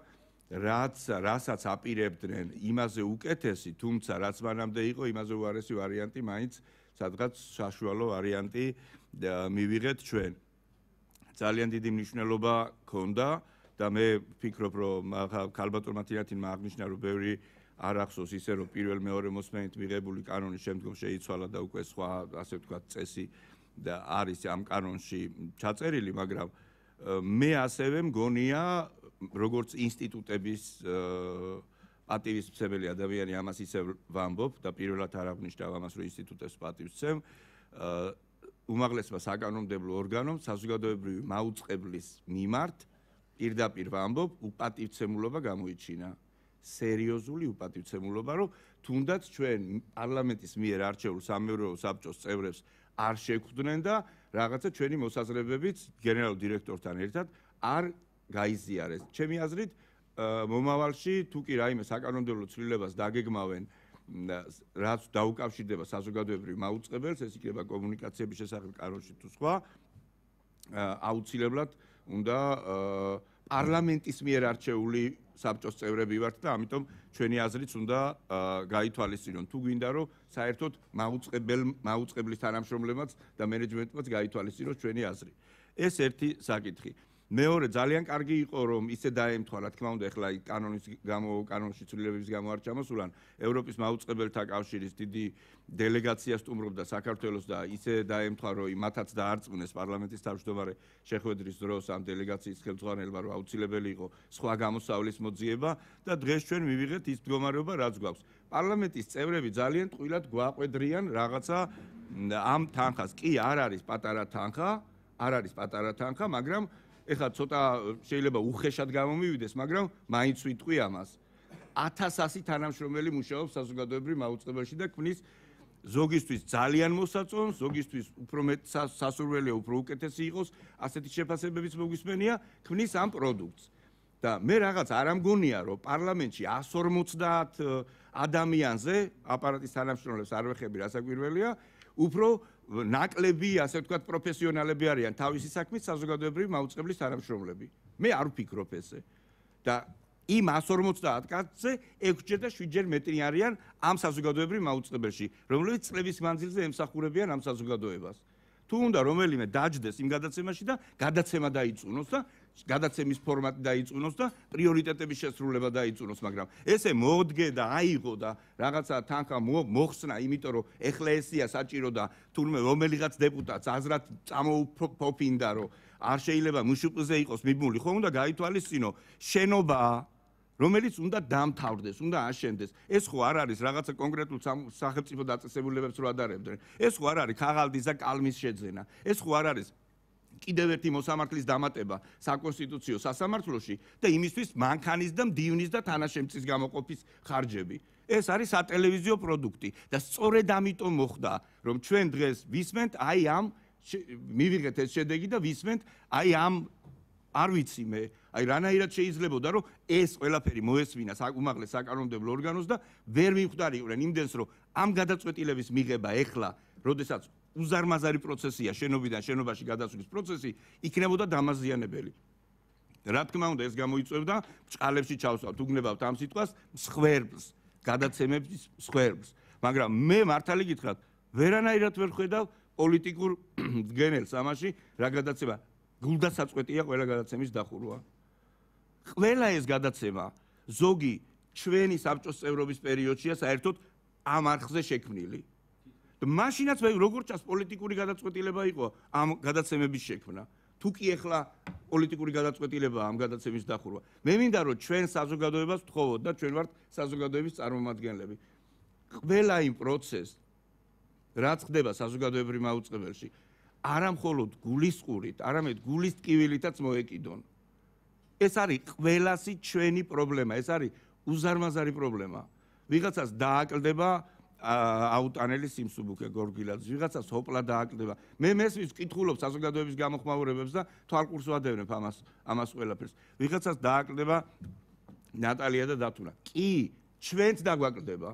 რაც რასაც აპირებდნენ იმაზე უკეთესი, თუმცა რაც მანამდე იყო იმაზე უარესი ვარიანტი, მაინც სადღაც საშუალო ვარიანტი მივიღეთ ჩვენ. ძალიან დიდი მნიშვნელობა ჰქონდა და მე ვფიქრობ, რომ ქალბატონმა თინათინმა აღნიშნა, რომ ბევრი არ ახსოვს ისე, რომ პირველ მეორე მოსმენით მიღებული კანონის შემდგომ შეიცვალა და უკვე სხვა, ასე ვთქვათ, წესი და არის ამ კანონში ჩაწერილი, მაგრამ მე ასევე მგონია, როგორც ინსტიტუტების პატივისმცემელი ადამიანი ამას ისევ ვამბობ და პირველად არ აღნიშნავ ამას, რომ ინსტიტუტებს პატივისცემ, უმაღლესმა საკანონმდებლო ორგანომ საზოგადოებრივი მაუწყებლის მიმართ პირდაპირ ვამბობ, უპატივცემულობა გამოიჩინა. სერიოზული უპატივცემულობა, რომ თუნდაც ჩვენ პარლამენტის მიერ არჩეულ სამეურვეო საბჭოს წევრებს არ შეხვდნენ და რაღაცა ჩვენი მოსაზრებებიც გენერალურ დირექტორთან ერთად არ გაიზიარეს. ჩემი აზრით, მომავალში თუ კი რაიმე საკანონმდებლო ცვლილებას დაგეგმავენ, რაც დაუკავშირდება საზოგადოებრივ მაუწყებელს, ეს იქნება კომუნიკაციების შესახებ კანონში თუ სხვა, აუცილებლად უნდა პარლამენტის მიერ არჩეული საბჭოს წევრები ვართ და ამიტომ ჩვენი აზრიც უნდა გაითვალისწინონ. თუ გვინდა რომ საერთოდ მაუწყებელ მაუწყებლის თანამშრომლებმაც და მენეჯმენტმაც გაითვალისწინოს ჩვენი აზრი. ეს ერთი საკითხი. მეორე, ძალიან კარგი იყო რომ ისე დაემთხვა, რა თქმა უნდა, ეხლა კანონის გამო კანონში ცვლილებების გამო არ ჩამოსულან, ევროპის მაუწყებელთა კავშირის დიდი დელეგაცია სტუმრობდა საქართველოს და ისე დაემთხვა, რომ მათაც დაარწმუნეს პარლამენტის თავმჯდომარე შეხვედრის დროს ამ დელეგაციის ხელმძღვანელმა, რომ აუცილებელი იყო სხვა გამოსავლის მოძიება და დღეს ჩვენ მივიღეთ ის მდგომარეობა, რაც გვაქვს. პარლამენტის წევრები ძალიან ტყუილად გვაყვედრიან რაღაცა ამ თანხას. კი, არ არის პატარა თანხა, არ არის პატარა თანხა, მაგრამ ეხლა ცოტა შეიძლება უხეშად გამომივიდეს, მაგრამ მაინც ვიტყვი ამას. ათას ასი თანამშრომელი მუშაობს საზოგადოებრივ მაუწყებელში და ქმნის ზოგისთვის ძალიან მოსაწონს, ზოგისთვის უფრო მეტ სასურველია, უფრო უკეთესი იყოს, ასეთი შეფასებებიც მოგვისმენია, ქმნის ამ პროდუქტს. და მე რაღაც არ ამგონია, რომ პარლამენტში εκατს ორმოცდაათ ადამიანზე აპარატის თანამშრომლებს არ ვეხები, რასაკვირველია, უფრო ნაკლები, ასე ვთქვათ, პროფესიონალები არიან თავისი საქმის საზოგადოებრივი მაუწყებლის თანამშრომლები. მე არ ვფიქრობ ესე. და იმ εκατს ორმოცდაათ კაცზე ექვსჯერ და შვიდჯერ მეტი არიან ამ საზოგადოებრივ მაუწყებელში, რომლებიც წლების მანძილზე ემსახურებიან ამ საზოგადოებას. თუ უნდა რომელიმე დაჯდეს იმ გადაცემაში და გადაცემა დაიწუნოს და გადაცემის ფორმატი დაიწუნოს და პრიორიტეტების შესრულება დაიწუნოს, მაგრამ ესე მოდგე და აიღო და რაღაცა თანხა მოხსნა, იმიტომ რომ ეხლა ესია საჭირო და თურმე რომელიღაც დეპუტატს აზრად წამოუფოფინდა, რომ არ შეიძლება მშპ-ზე იყოს მიბმული, ხო უნდა გაითვალისწინო შენობა, რომელიც უნდა დამთავრდეს, უნდა აშენდეს. ეს ხო არ არის რაღაცა კონკრეტულ სახელმწიფო დაწესებულებებს რო ადარებდნენ. ეს ხო არ არის ქაღალდის და კალმის შეძენა. ეს ხო არ არის კიდევ ერთი მოსამართლის დამატება საკონსტიტუციო სასამართლოში და იმისთვის მანქანის და მდივნის და თანაშემწის გამოყოფის ხარჯები. ეს არის სატელევიზიო პროდუქტი და სწორედ ამიტომ მოხდა, რომ ჩვენ დღეს ვისმენთ აი ამ მივიღეთ ეს შედეგი და ვისმენთ აი ამ არ ვიცი მე, აი რანაირად შეიძლებოდა, რომ ეს ყველაფერი მოესმინა უმაღლეს საკანონმდებლო ორგანოს და ვერ მივხვდარიყვნენ იმდენს, რომ ამ გადაწყვეტილების მიღება ეხლა, როდესაც უზარმაზარი პროცესია, შენობიდან შენობაში გადასვლის პროცესი, იქნებოდა დამაზიანებელი. რა თქმა უნდა, ეს გამოიწვევდა ბჭყალებში ჩავსვათ, უგნებავთ ამ სიტყვას, მსხვერპლს, გადაცემების მსხვერპლს. მაგრამ მე მართალი გითხრათ, ვერანაირად ვერ ხედავ პოლიტიკურ მდგენელს ამაში, რა გადაცემა გულდასაწყვეტია ყველა გადაცემის დახურვა. ყველა ეს გადაცემა ზოგი ჩვენი საბჭოს წევრობის პერიოდშია საერთოდ ამ არხზე შექმნილი. მაშინაც მე როგორც ჩანს პოლიტიკური გადაწყვეტილება იყო ამ გადაცემების შექმნა. თუ კი ეხლა პოლიტიკური გადაწყვეტილებაა ამ გადაცემის დახურვა. მე მინდა რომ ჩვენ საზოგადოებას ვთხოვოთ და ჩვენ ვართ საზოგადოების წარმომადგენლები. ყველა იმ პროცესს რაც ხდება საზოგადოებრივ მაუწყებელში, არა მხოლოდ გულისყურით, არამედ გულის ტკივილითაც მოეკიდონ. ეს არის ყველასი ჩვენი პრობლემა, ეს არის უზარმაზარი პრობლემა. ვიღაცას დააკლდება აუტანელი სიმსუბუქე გორგილაძე, ვიღაცას ჰოპლა დააკლდება. მე მესმის ვკითხულობ საზოგადოების გამოხმაურებებს და თვალყურს ვადევნებ ამას ამას ყველაფერს. ვიღაცას დააკლდება ნატალია და დათუნა. კი, ჩვენც დაგვაკლდება.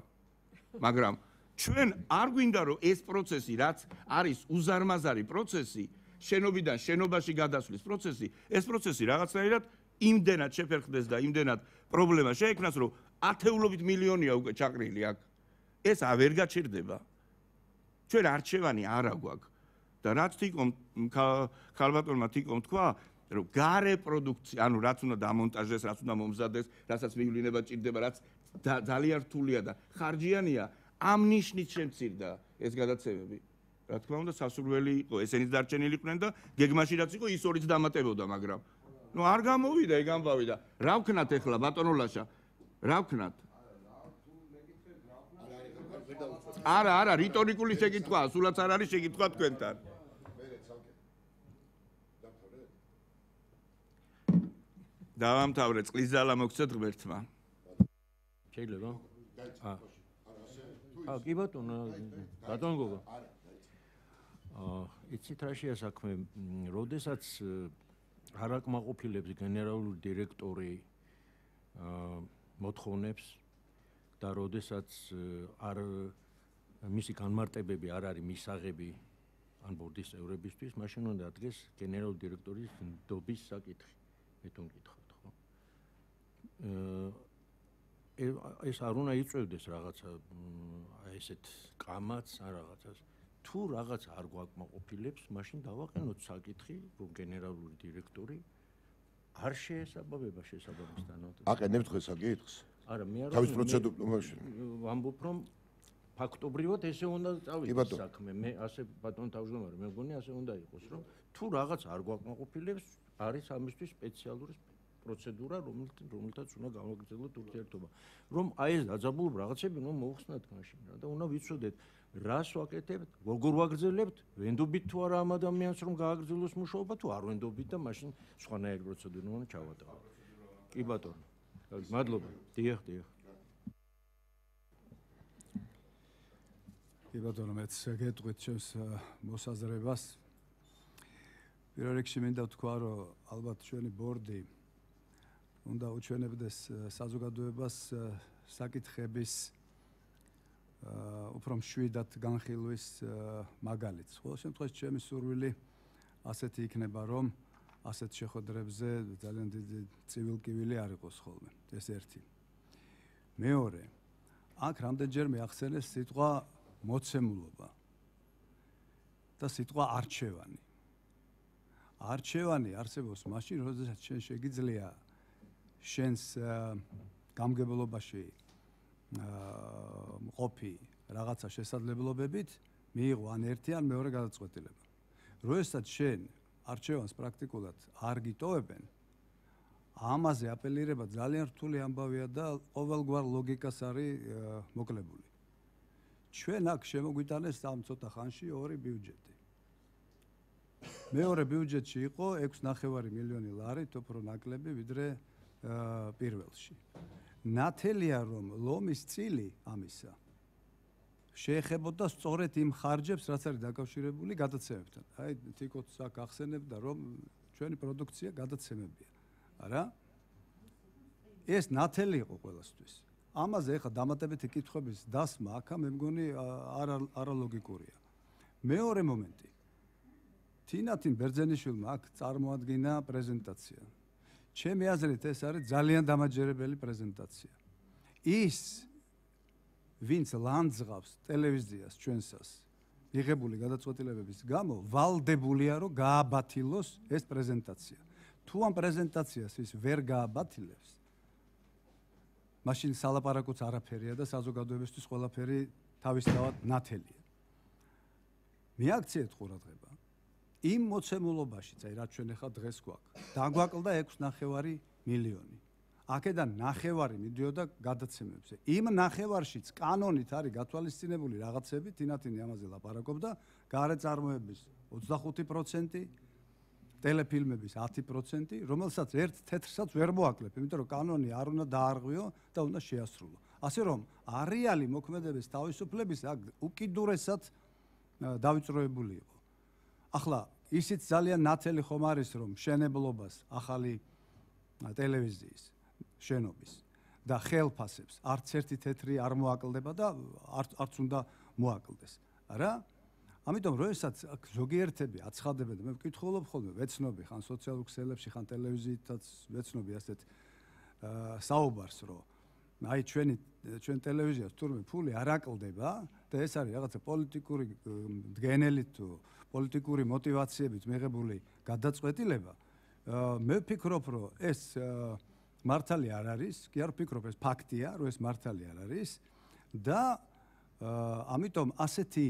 მაგრამ ჩვენ არ გვინდა რომ ეს პროცესი, რაც არის უზარმაზარი პროცესი, შენობიდან შენობაში გადასვლის პროცესი, ეს პროცესი რაღაცნაირად იმდენად შეფერხდეს და იმდენად პრობლემა შეექმნას, რომ ათეულობით მილიონია უკვე ჩაყრილი აქ. ეს ვერ გაჩერდება. ჩვენ არჩევანი არ აგვაქვს. და რაც თიკომ ქალბატონმა თიკომ თქვა, რომ გარე პროდუქცია, ანუ რაც უნდა დამონტაჟდეს, რაც უნდა მომზადდეს, რასაც მივლინება ჭირდება, რაც ძალიან რთულია და ხარჯიანია, ამ ნიშნით შემცირდა ეს გადაცემები. რა თქმა უნდა სასურველი იყო, ესენიც დარჩენილიყვნენ და გეგმაში რაც იყო ის ორიც დამატებოდა, მაგრამ ნუ არ გამოვიდა ეგ ამბავი და რა ვქნათ ახლა ბატონო ლაშა? რა ვქნათ? არა, არა, რიტორიკული შეკითხვაა, სულაც არ არის შეკითხვა თქვენთან. დავამთავრე, წყლის ძალა მოგცეთ ღმერთმა. შეიძლება? აა. აა, კი ბატონო, ბატონო გოგო. აა, იცით რა შეა საქმე, როდესაც არ აკმაყოფილებს გენერალური დირექტორი აა მოთხოვნებს და როდესაც არ მისი განმარტებები არ არის მისაღები ან ბორდის წევრებისთვის, მაშინ უნდა ადგეს გენერალური დირექტორის ნდობის საკითხი. მე თვითონ მკითხავთ, ხო? აა ეს არ უნდა იწევდეს რაღაცა აი ესეთ კამათს ან რაღაცას. თუ რაღაც არ გვაკმაყოფილებს, მაშინ დავაყენოთ საკითხი, რომ გენერალური დირექტორი არ შეესაბამება შესაბამის თანავდებას. აყენებთ ხო საკითხს? არა, მე არ თავის პროცედურაში. ვამბობ, რომ ფაქტობრივად ესე უნდა წავიდეს საქმე. მე ასე ბატონო თავმჯდომარე, მე მგონი ასე უნდა იყოს, რომ თუ რაღაც არ გვაკმაყოფილებს, არის ამისთვის სპეციალური პროცედურა, რომელთაც უნდა გამოგრძელოთ ურთიერთობა. რომ აი ეს დაძაბულობ რაღაცები უნდა მოუხსნათ მაშინ რა და უნდა ვიცოდეთ რას ვაკეთებთ, როგორ ვაგრძელებთ, ვენდობით თუ არა ამ ადამიანს რომ გააგრძელოს მუშაობა თუ არ ვენდობით და მაშინ სხვანაირი პროცედურა უნდა ჩავატაროთ. კი ბატონო. მადლობა. დიახ, დიახ. კი ბატონო, მეც გეტყვით ჩემს მოსაზრებას. პირველ რიგში მინდა ვთქვა, რომ ალბათ ჩვენი ბორდი უნდა უჩვენებდეს საზოგადოებას საკითხების უფრო მშვიდად განხილვის მაგალითს. ყოველ შემთხვევაში ჩემი სურვილი ასეთი იქნება, რომ ასეთ შეხვედრებზე ძალიან დიდი ცივილკივილი არ იყოს ხოლმე. ეს ერთი. მეორე, აქ რამდენჯერმე ახსენეს სიტყვა მოცემულობა და სიტყვა არჩევანი. არჩევანი არსებობს მაშინ, როდესაც შენ შეგიძლია შენს გამგებლობაში მყოფი რაღაცა შესაძლებლობებით მიიღო ან ერთი ან მეორე გადაწყვეტილება. როდესაც შენ არჩევანს პრაქტიკულად არ გიტოვებენ, ამაზე აპელირება ძალიან რთული ამბავია და ყოველგვარ ლოგიკას არის მოკლებული. ჩვენ აქ შემოგვიტანეს ამ ცოტა ხანში ორი ბიუჯეტი. მეორე ბიუჯეტში იყო ექვსი ნახევარი მილიონი ლარი, უფრო ნაკლები ვიდრე პირველში. ნათელია რომ ლომის წილი ამისა შეეხებოდა სწორედ იმ ხარჯებს, რაც არის დაკავშირებული გადაცემებთან. აი თიკოც აქ ახსენებდა რომ ჩვენი პროდუქცია გადაცემებია. არა? ეს ნათელი იყო ყველასთვის. ამაზე ახლა დამატებითი კითხვების დასმა აქა მე მგონი არა არალოგიკურია. მეორე მომენტი. თინათინ ბერძენიშვილმა აქ წარმოადგინა პრეზენტაცია. ჩემი აზრით ეს არის ძალიან დამაჯერებელი პრეზენტაცია. ის ვინც ლანძღავს ტელევიზიას ჩვენსას მიღებული გადაწყვეტილებების გამო ვალდებულია რომ გააბათილოს ეს პრეზენტაცია. თუ ამ პრეზენტაციას ის ვერ გააბათილებს, მაშინ სალაპარაკოც არაფერია და საზოგადოებისთვის ყველაფერი თავისთავად ნათელია. მიაქციეთ ყურადღება. იმ მოცემულობაშიც, აი რაც ჩვენ ახლა დღეს გვაქვს, დაგვაკლდა ექვსი ნახევარი მილიონი. აქედან ნახევარი მიდიოდა გადაცემებზე. იმ ნახევარშიც კანონით არის გათვალისწინებული რაღაცები, თინათინი ამაზე ლაპარაკობდა, გარეწარმოების ოცდახუთი პროცენტი, ტელეფილმების ათი პროცენტი, რომელსაც ერთ თეთრსაც ვერ მოაკლებ, იმიტომ რომ კანონი არ უნდა დაარღვიო და უნდა შეასრულო. ასე რომ, არეალი მოქმედების თავისუფლების აქ უკიდურესად დავიწროებული იყო. ახლა ისიც ძალიან ნათელი ხომ არის რომ მშენებლობას ახალი ტელევიზიის შენობის და ხელფასებს არც ერთი თეთრი არ მოაკლდება და არც უნდა მოაკლდეს. არა? ამიტომ როდესაც ზოგიერთები აცხადებენ და მე ვკითხულობ ხოლმე ვეცნობი ხან სოციალურ ქსელებში ხან ტელევიზიითაც ვეცნობი ასეთ საუბარს რომ აი ჩვენი ჩვენ ტელევიზიას თურმე ფული არ აკლდება და ეს არის რაღაცა პოლიტიკური მდგენელი თუ პოლიტიკური мотиваციებით მიღებული გადაწყვეტილება. მე ვფიქრობ რომ ეს მართალი არ არის, კი არ ვფიქრობ ეს ფაქტია, რომ ეს მართალი არ არის და ამიტომ ასეთი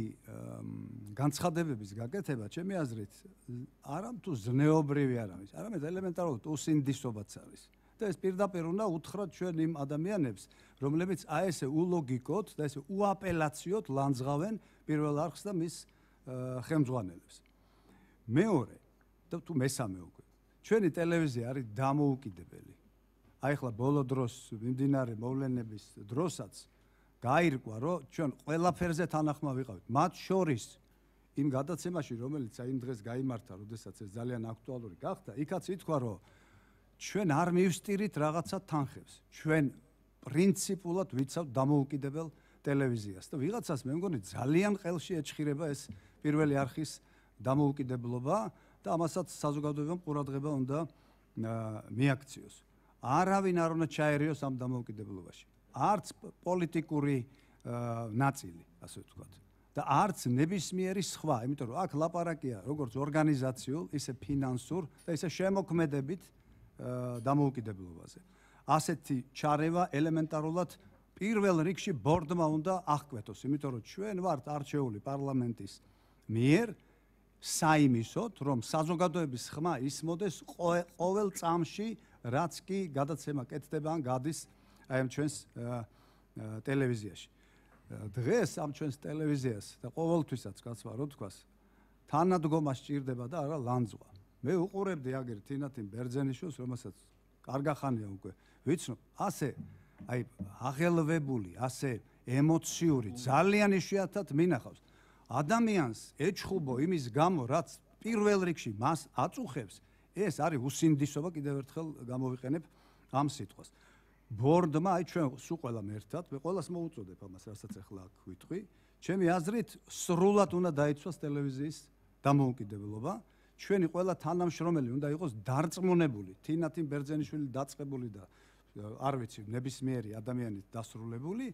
განცხადებების გაკეთება, ჩემი აზრით, არა თუ ზნეობრივი არ არის, არამედ ელემენტარულად უსინდისობაც არის. და ეს პირდაპირ უნდა უთხრათ ჩვენ იმ ადამიანებს, რომლებიც აი ესე ულოგიკოდ და ესე უაპელაციოდ ლანძღავენ პირველ არხს და მის ხელმძღვანელებს. მეორე და თუ მესამე უკვე. ჩვენი ტელევიზია არის დამოუკიდებელი. აი ახლა ბოლო დროს მიმდინარე მოვლენების დროსაც გაირკვა, რომ ჩვენ ყველაფერზე თანახმა ვიყავით. მათ შორის იმ გადაცემაში, რომელიც აი იმ დღეს გაიმართა, როდესაც ეს ძალიან აქტუალური გახდა, იქაც ითქვა, რომ ჩვენ არ მივსტირით რაღაცა თანხებს. ჩვენ პრინციპულად ვიცავთ დამოუკიდებელ ტელევიზიას და ვიღაცას მე მგონი ძალიან ხელში ეჭხირება ეს პირველი არხის დამოუკიდებლობა და ამასაც საზოგადოებამ ყურადღება უნდა მიაქციოს. არავინ არ უნდა ჩაერიოს ამ დამოუკიდებლობაში. არც პოლიტიკური ნაწილი, ასე ვთქვათ. და არც ნებისმიერი სხვა, იმიტომ რომ აქ ლაპარაკია როგორც ორგანიზაციულ, ისე ფინანსურ და ისე შემოქმედებით დამოუკიდებლობაზე. ასეთი ჩარევა ელემენტარულად პირველ რიგში ბორდმა უნდა აღკვეთოს, იმიტომ რომ ჩვენ ვართ არჩეული პარლამენტის მიერ საიმისოდ, რომ საზოგადოების ხმა ისმოდეს ყოველ წამში, რაც კი გადაცემა კეთდება ან გადის აი ამ ჩვენს ტელევიზიაში. დღეს ამ ჩვენს ტელევიზიას და ყოველთვისაც კაცმა რო თქვას, თანადგომა სჭირდება და არა ლანძღვა. მე უყურებდი აგერ თინათინ ბერძენიშვილს, რომელსაც კარგახანია უკვე ვიცნობ, ასე აი აღელვებული, ასე ემოციური, ძალიან იშვიათად მინახავს. ადამიანს ეჩხუბო იმის გამო, რაც პირველ რიგში მას აწუხებს, ეს არის უსინდისობა, კიდევ ერთხელ გამოვიყენებ ამ სიტყვას. ბორდმა, აი ჩვენ სულ ყველამ ერთად, მე ყველას მოუწოდებ ამას, რასაც ახლა აქ ვიტყვი, ჩემი აზრით, სრულად უნდა დაიცვას ტელევიზიის დამოუკიდებლობა. ჩვენი ყველა თანამშრომელი უნდა იყოს დარწმუნებული, თინათინ ბერძენიშვილი დაწყებული და არ ვიცი, ნებისმიერი ადამიანი დასრულებული,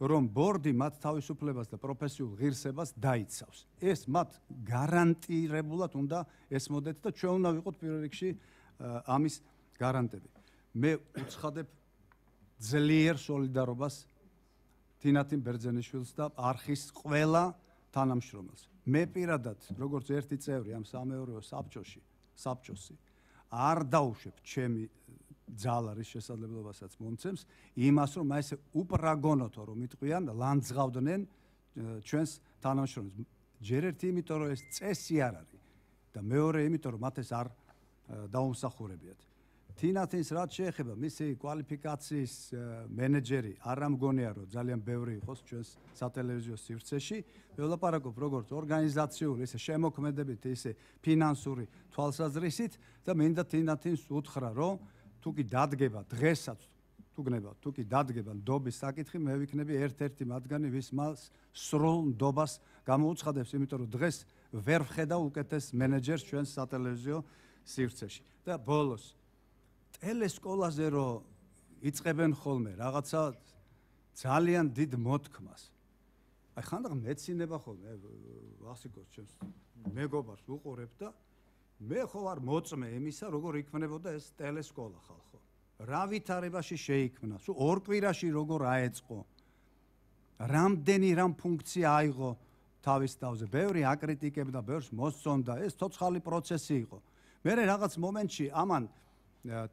რომ ბორდი მათ თავისუფლებას და პროფესიულ ღირსებას დაიცავს. ეს მათ გარანტირებულად უნდა ესმოდეთ და ჩვენ უნდა ვიყოთ პირველ რიგში ამის გარანტები. მე უცხადებ ძლიერ სოლიდარობას თინათინ ბერძენიშვილს და არხის ყველა თანამშრომელს. მე პირადად, როგორც ერთი წევრი ამ სამეურვეო საბჭოში, საბჭოსი, არ დავუშვებ ჩემი ძალა რის შესაძლებლობასაც მომცემს იმას, რომ აი ესე უპრაგონოთო რომ იტყვიან, ლანძღავდნენ ჩვენს თანამშრომელს. ჯერ ერთი იმიტომ, რომ ეს წესი არ არის და მეორე იმიტომ, რომ მათ ეს არ დაუმსახურებიათ. თინათინს რაც შეეხება მისი კვალიფიკაციის მენეჯერი არ ამგონია, რომ ძალიან ბევრი იყოს ჩვენს სატელევიზიო სივრცეში. მე ვლაპარაკობ როგორც ორგანიზაციული, ისე შემოქმედებით, ისე ფინანსური თვალსაზრისით და მინდა თინათინს უთხრა, რომ თუ კი დადგება დღესაც, თუ გნებავთ, თუ კი დადგება ნდობის საკითხი, მე ვიქნები ერთ-ერთი მათგანი, ვის მას სრულ ნდობას გამოუცხადებს, იმიტომ რომ დღეს ვერ ვხედავ უკეთეს მენეჯერს ჩვენს სატელევიზიო სივრცეში. და ბოლოს ტელესკოლაზე რომ იწყებენ ხოლმე რაღაცა ძალიან დიდ მოთქმას. აი ხანდახან მეცინება ხოლმე, ვახსიკოს ჩემს მეგობარს უყურებ და მე ხო არ მოწმე იმისა, როგორ იქმნებოდა ეს ტელესკოლა ხალხო. რა ვითარებაში შეიქმნა, სულ ორ კვირაში როგორ აეწყო. რამდენი რამ ფუნქცია აიღო თავის თავზე. ბევრი აკრიტიკებდა, ბევრს მოსწონდა, ეს ცოცხალი პროცესი იყო. მე რაღაც მომენტში ამან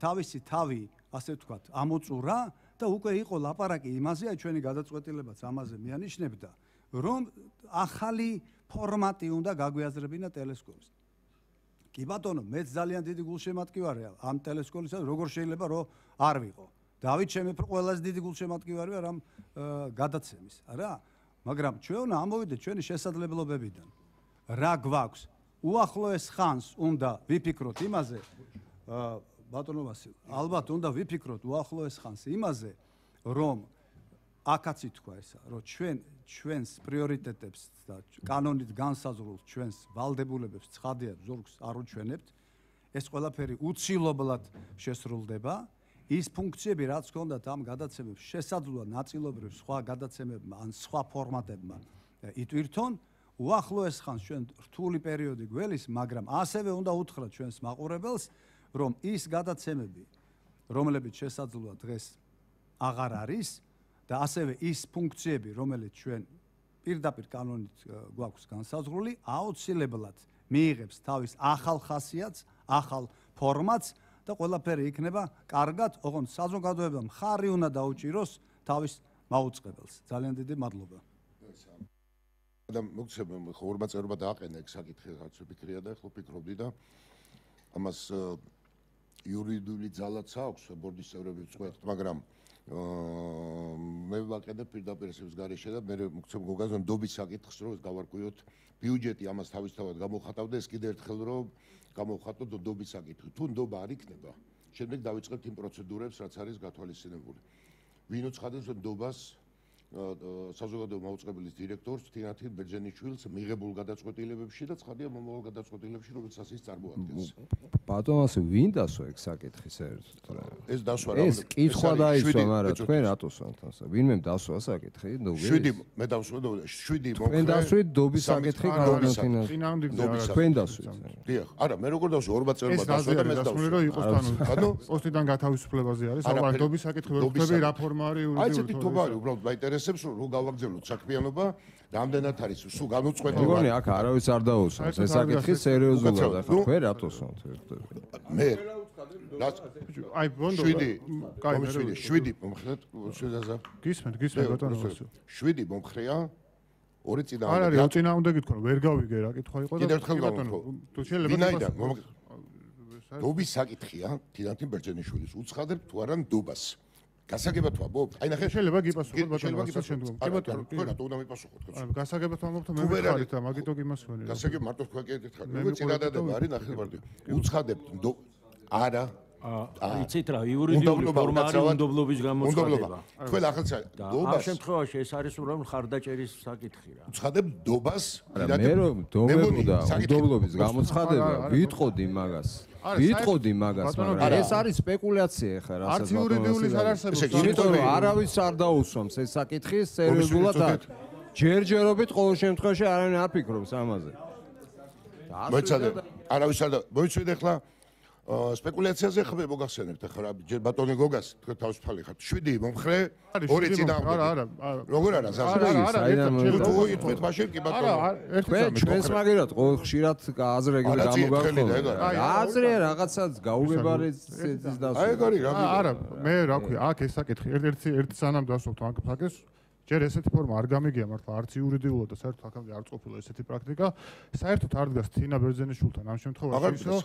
თავისი თავი, ასე ვთქვათ, ამოწურა და უკვე იყო ლაპარაკი იმაზე, აი ჩვენი გადაწყვეტილებაც ამაზე მიანიშნებდა, რომ ახალი ფორმატი უნდა გაგვიაზრებინა ტელესკოპის. კი ბატონო, მეც ძალიან დიდი გულშემატკივარია ამ ტელესკოპისას, როგორ შეიძლება რომ არ ვიყო. დავით ჩემი ყველაზე დიდი გულშემატკივარი ვარ ამ გადაცემის, რა? მაგრამ ჩვენ უნდა ამოვიდეთ ჩვენი შესაძლებლობებიდან. რა გვაქვს? უახლოეს ხანს უნდა ვიფიქროთ იმაზე, ბატონო ვასილ, ალბათ უნდა ვიფიქროთ უახლოეს ხანს იმაზე, რომ აქაც ითქვა ესა, რომ ჩვენ ჩვენს პრიორიტეტებს და კანონით განსაზღვრულ ჩვენს ვალდებულებებს ცხადია ზურგს არ უჩვენებთ, ეს ყველაფერი უცილობლად შესრულდება. ის ფუნქციები, რაც ჰქონდათ ამ გადაცემებს, შესაძლოა ნაწილობრივ სხვა გადაცემებმა ან სხვა ფორმატებმა იტვირთონ. უახლოეს ხანს ჩვენ რთული პერიოდი გველის, მაგრამ ასევე უნდა უთხრათ ჩვენს მაყურებელს, რომ ის გადაცემები, რომლებიც შესაძლოა დღეს აღარ არის და ასევე ის ფუნქციები, რომელიც ჩვენ პირდაპირ კანონით გვაქვს განსაზღვრული, აუცილებლად მიიღებს თავის ახალ ხასიათს, ახალ ფორმატს და ყველაფერი იქნება კარგად, ოღონდ საზოგადოებამ ხარი უნდა დაუჭიროს თავის მაუწყებელს. ძალიან დიდი მადლობა. და მოგცემ ხორმა წერობა დააყენა ეგ საკითხი რაც ვფიქრია და ხო ფიქრობდი და ამას იურიდიული ძალაც აქვს ბორდის წევრები ვწყვეტ, მაგრამ მე ვაყენებ პირდაპირ ესევის გარეშე და მე მოგცემ გოგაზონ დობის საკითხს რომ გავარკვიოთ ბიუჯეტი ამას თავისთავად გამოხატავდა ეს კიდევ ერთხელ რომ გამოხატოთ დობის საკითხი. თუ ნდობა არ იქნება, შემდეგ დავიწყებთ იმ პროცედურებს, რაც არის გათვალისწინებული. ვინ უცხადებს ნდობას საზოგადოებრივი მაუწყებლის დირექტორს თინათინ ბერძენიშვილს მიღებულ გადაწყვეტილებებში და ცხადია მომავალ გადაწყვეტილებებში, რომელსაც ის წარმოადგენს. ბატონო, ასე ვინ დასვა ეგ საკითხი საერთოდ რა? ეს დასვა რა? ეს კითხვა დაისვა, მაგრამ თქვენ რატო სვამთ ასე? ვინმე დასვა საკითხი? შვიდი მე დავსვა შვიდი მომხრე. თქვენ დასვით დობის საკითხი განვთინა. თქვენ დასვით. დიახ, არა, მე როგორ დავსვა ორ ბაწერობა დასვა და მე დავსვა. რომ იყოს კანონი. პოსტიდან გათავისუფლებაზე არის, αλλά დობის საკითხი ვერ ვხვდები რა ფორმა არის იურიდიული. აი ესეთი თობა არის, უბრალოდ მაინტერესებს რომ რო გავაგზავნოთ საქმიანობა, რამდენად არის სულ განუწყვეტლივად. მეგონი აქ არავის არ დაუსვამს, ეს საკითხი სერიოზულად ახლა თქვენ რატო სვამთ? მე აი ბონდო კაი შვიდი შვიდი მომხრეთ შეზაზა გისმენთ გისმენთ ბატონო შვიდი მომხრეა ორი წინა არ არის წინა უნდა გითქვა რომ ვერ გავიგე რა კითხვა იყო და ბატონო თუ შეიძლება ვინაიდან დობის საკითხია თინათინ ბერძენიშვილის უცხადებ თუ არა დობას გასაგებად ვამბობ აი ნახე შეიძლება გიპასუხოთ ბატონო შემდგომ კი ბატონო თქვენ რატო უნდა მიპასუხოთ გასაგებად ვამბობ მე ვიხარით და მაგიტო გიმასვენე გასაგებ მარტო თქვა კი ერთხელ მე წინადადება არის ნახე მარტო უცხადებ არა იცით რა იურიდიული ფორმა არის უნდობლობის გამოცხადება. თქვენ ახალ დობას ამ შემთხვევაში ეს არის უბრალოდ ხარდაჭერის საკითხი რა. უცხადებ დობას მე რომ დობებოდა უნდობლობის გამოცხადება ვიტყოდი მაგას. ვიტყოდი მაგას, მაგრამ ეს არის სპეკულაცია ხა რასაც არც იურიდიulis არ არსებობს. იმიტომ რომ არავის არ დაუსვამს ეს საკითხი სერიოზულად ჯერჯერობით ყოველ შემთხვევაში არავინ არ ფიქრობს ამაზე. მოიცადე არავის არ და მოიცვიდე ხლა სპეკულაციაზე ხმე მოგახსენებთ ახლა ჯერ ბატონი გოგას თქვენ თავისუფალი ხართ შვიდი მომხრე ორი წინა არა არა როგორ არა არა არა ერთად თუ იტყვით მაშინ კი ბატონო თქვენ ჩვენს მაგერად ყოველ ხშირად აზრები გამოგახსოვთ აზრე რაღაცას გაუგებარი ის დასვა აი ეგარი რა არა მე რა ქვია აქ ეს საკითხი ერთ-ერთი ერთ სანამ დასვოთ აქ ფაქეს ჯერ ესეთი ფორმა არ გამიგია მართლა არც იურიდიულად და საერთოდ აქამდე არ ყოფილა ესეთი პრაქტიკა საერთოდ არ დგას თინა ბერძენიშვილთან ამ შემთხვევაში ისო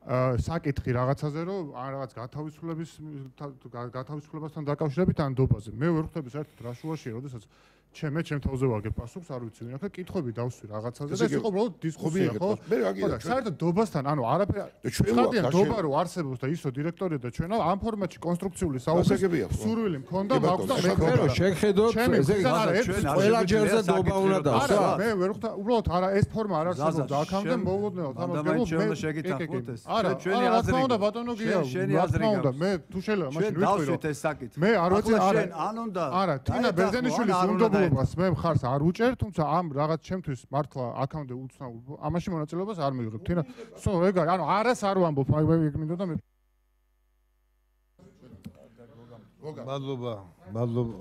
საკითხი რაღაცაზე რომ ან რაღაც გათავისუფლების გათავისუფლებასთან დაკავშირებით ან დობაზე მე ვერ ხვდები საერთოდ რა შუაშია როდესაც ჩემე ჩემ თავზე ვაგებ პასუხს არ ვიცი ვინ ახლა კითხვები დავსვი რაღაცაზე და ეს იყო უბრალოდ დისკუსია ხო მე რა გიგო საერთოდ დობასთან ანუ არაფერი ხარდიან დობა რო არსებობს და ისო დირექტორია და ჩვენო ამ ფორმატში კონსტრუქციული საუბრის სურვილი მქონდა მაქვს და მე მე შეგხედოთ ესე ყველა ჯერზე დობა უნდა დავსვა მე ვერ ხვდა უბრალოდ არა ეს ფორმა არ არსებობს და აქამდე მოულოდნელად ამას გეუბნები მე შეგითახოთ ეს არა ჩვენი აზრი უნდა ბატონო გია შენი აზრი უნდა მე თუ შეიძლება მაშინ ვიტყვი რომ ეს საკითხი მე არ ვიცი არა ან უნდა არა თინა ბერძენიშვილის უნდა მას მე მხარს არ უჭერ, თუმცა ამ რაღაც ჩემთვის მართლა აქამდე უცნაურ ამაში მონაწილეობას არ მივიღებ. თინა, სო ეგ არის, ანუ არას არ ვამბობ, აი მე მინდოდა მე. მადლობა, მადლობა.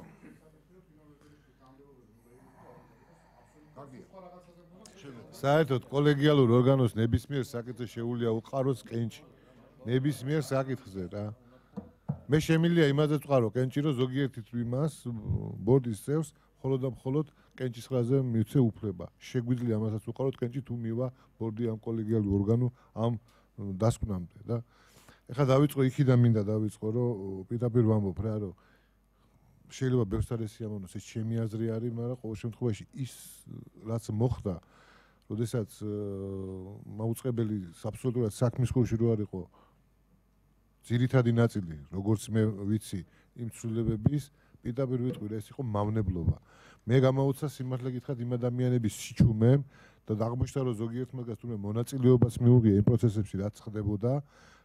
საერთოდ კოლეგიალურ ორგანოს ნებისმიერ საკითხზე შეუძლია უყაროს კენჭი. ნებისმიერ საკითხზე რა. მე შემიძლია იმაზე ვყარო კენჭი, რომ ზოგიერთი თვიმას ბორდის წევს მხოლოდ და მხოლოდ კენჭის ხაზე მივცე უფლება. შეგვიძლია ამასაც უყაროთ კენჭი თუ მივა ბორდი ამ კოლეგიალურ ორგანო ამ დასკვნამდე და ეხლა დავიწყო იქიდან მინდა დავიწყო რომ პირდაპირ ვამბობ რა რომ შეიძლება ბევრს არ ესიამოვნოს ეს ჩემი აზრი არის, მაგრამ ყოველ შემთხვევაში ის რაც მოხდა, როდესაც მაუწყებელი აბსოლუტურად საქმის ხუში რო არ იყო ძირითადი ნაწილი, როგორც მე ვიცი, იმ ცვლილებების პირდაპირ ვიტყვი ეს იყო მავნებლობა. მე გამაუცა სიმართლე გითხრათ იმ ადამიანების სიჩუმემ და აღმოჩნდა რომ ზოგიერთ მაგას თუნდაც მონაწილეობას მიუღია იმ პროცესებში რაც ხდებოდა,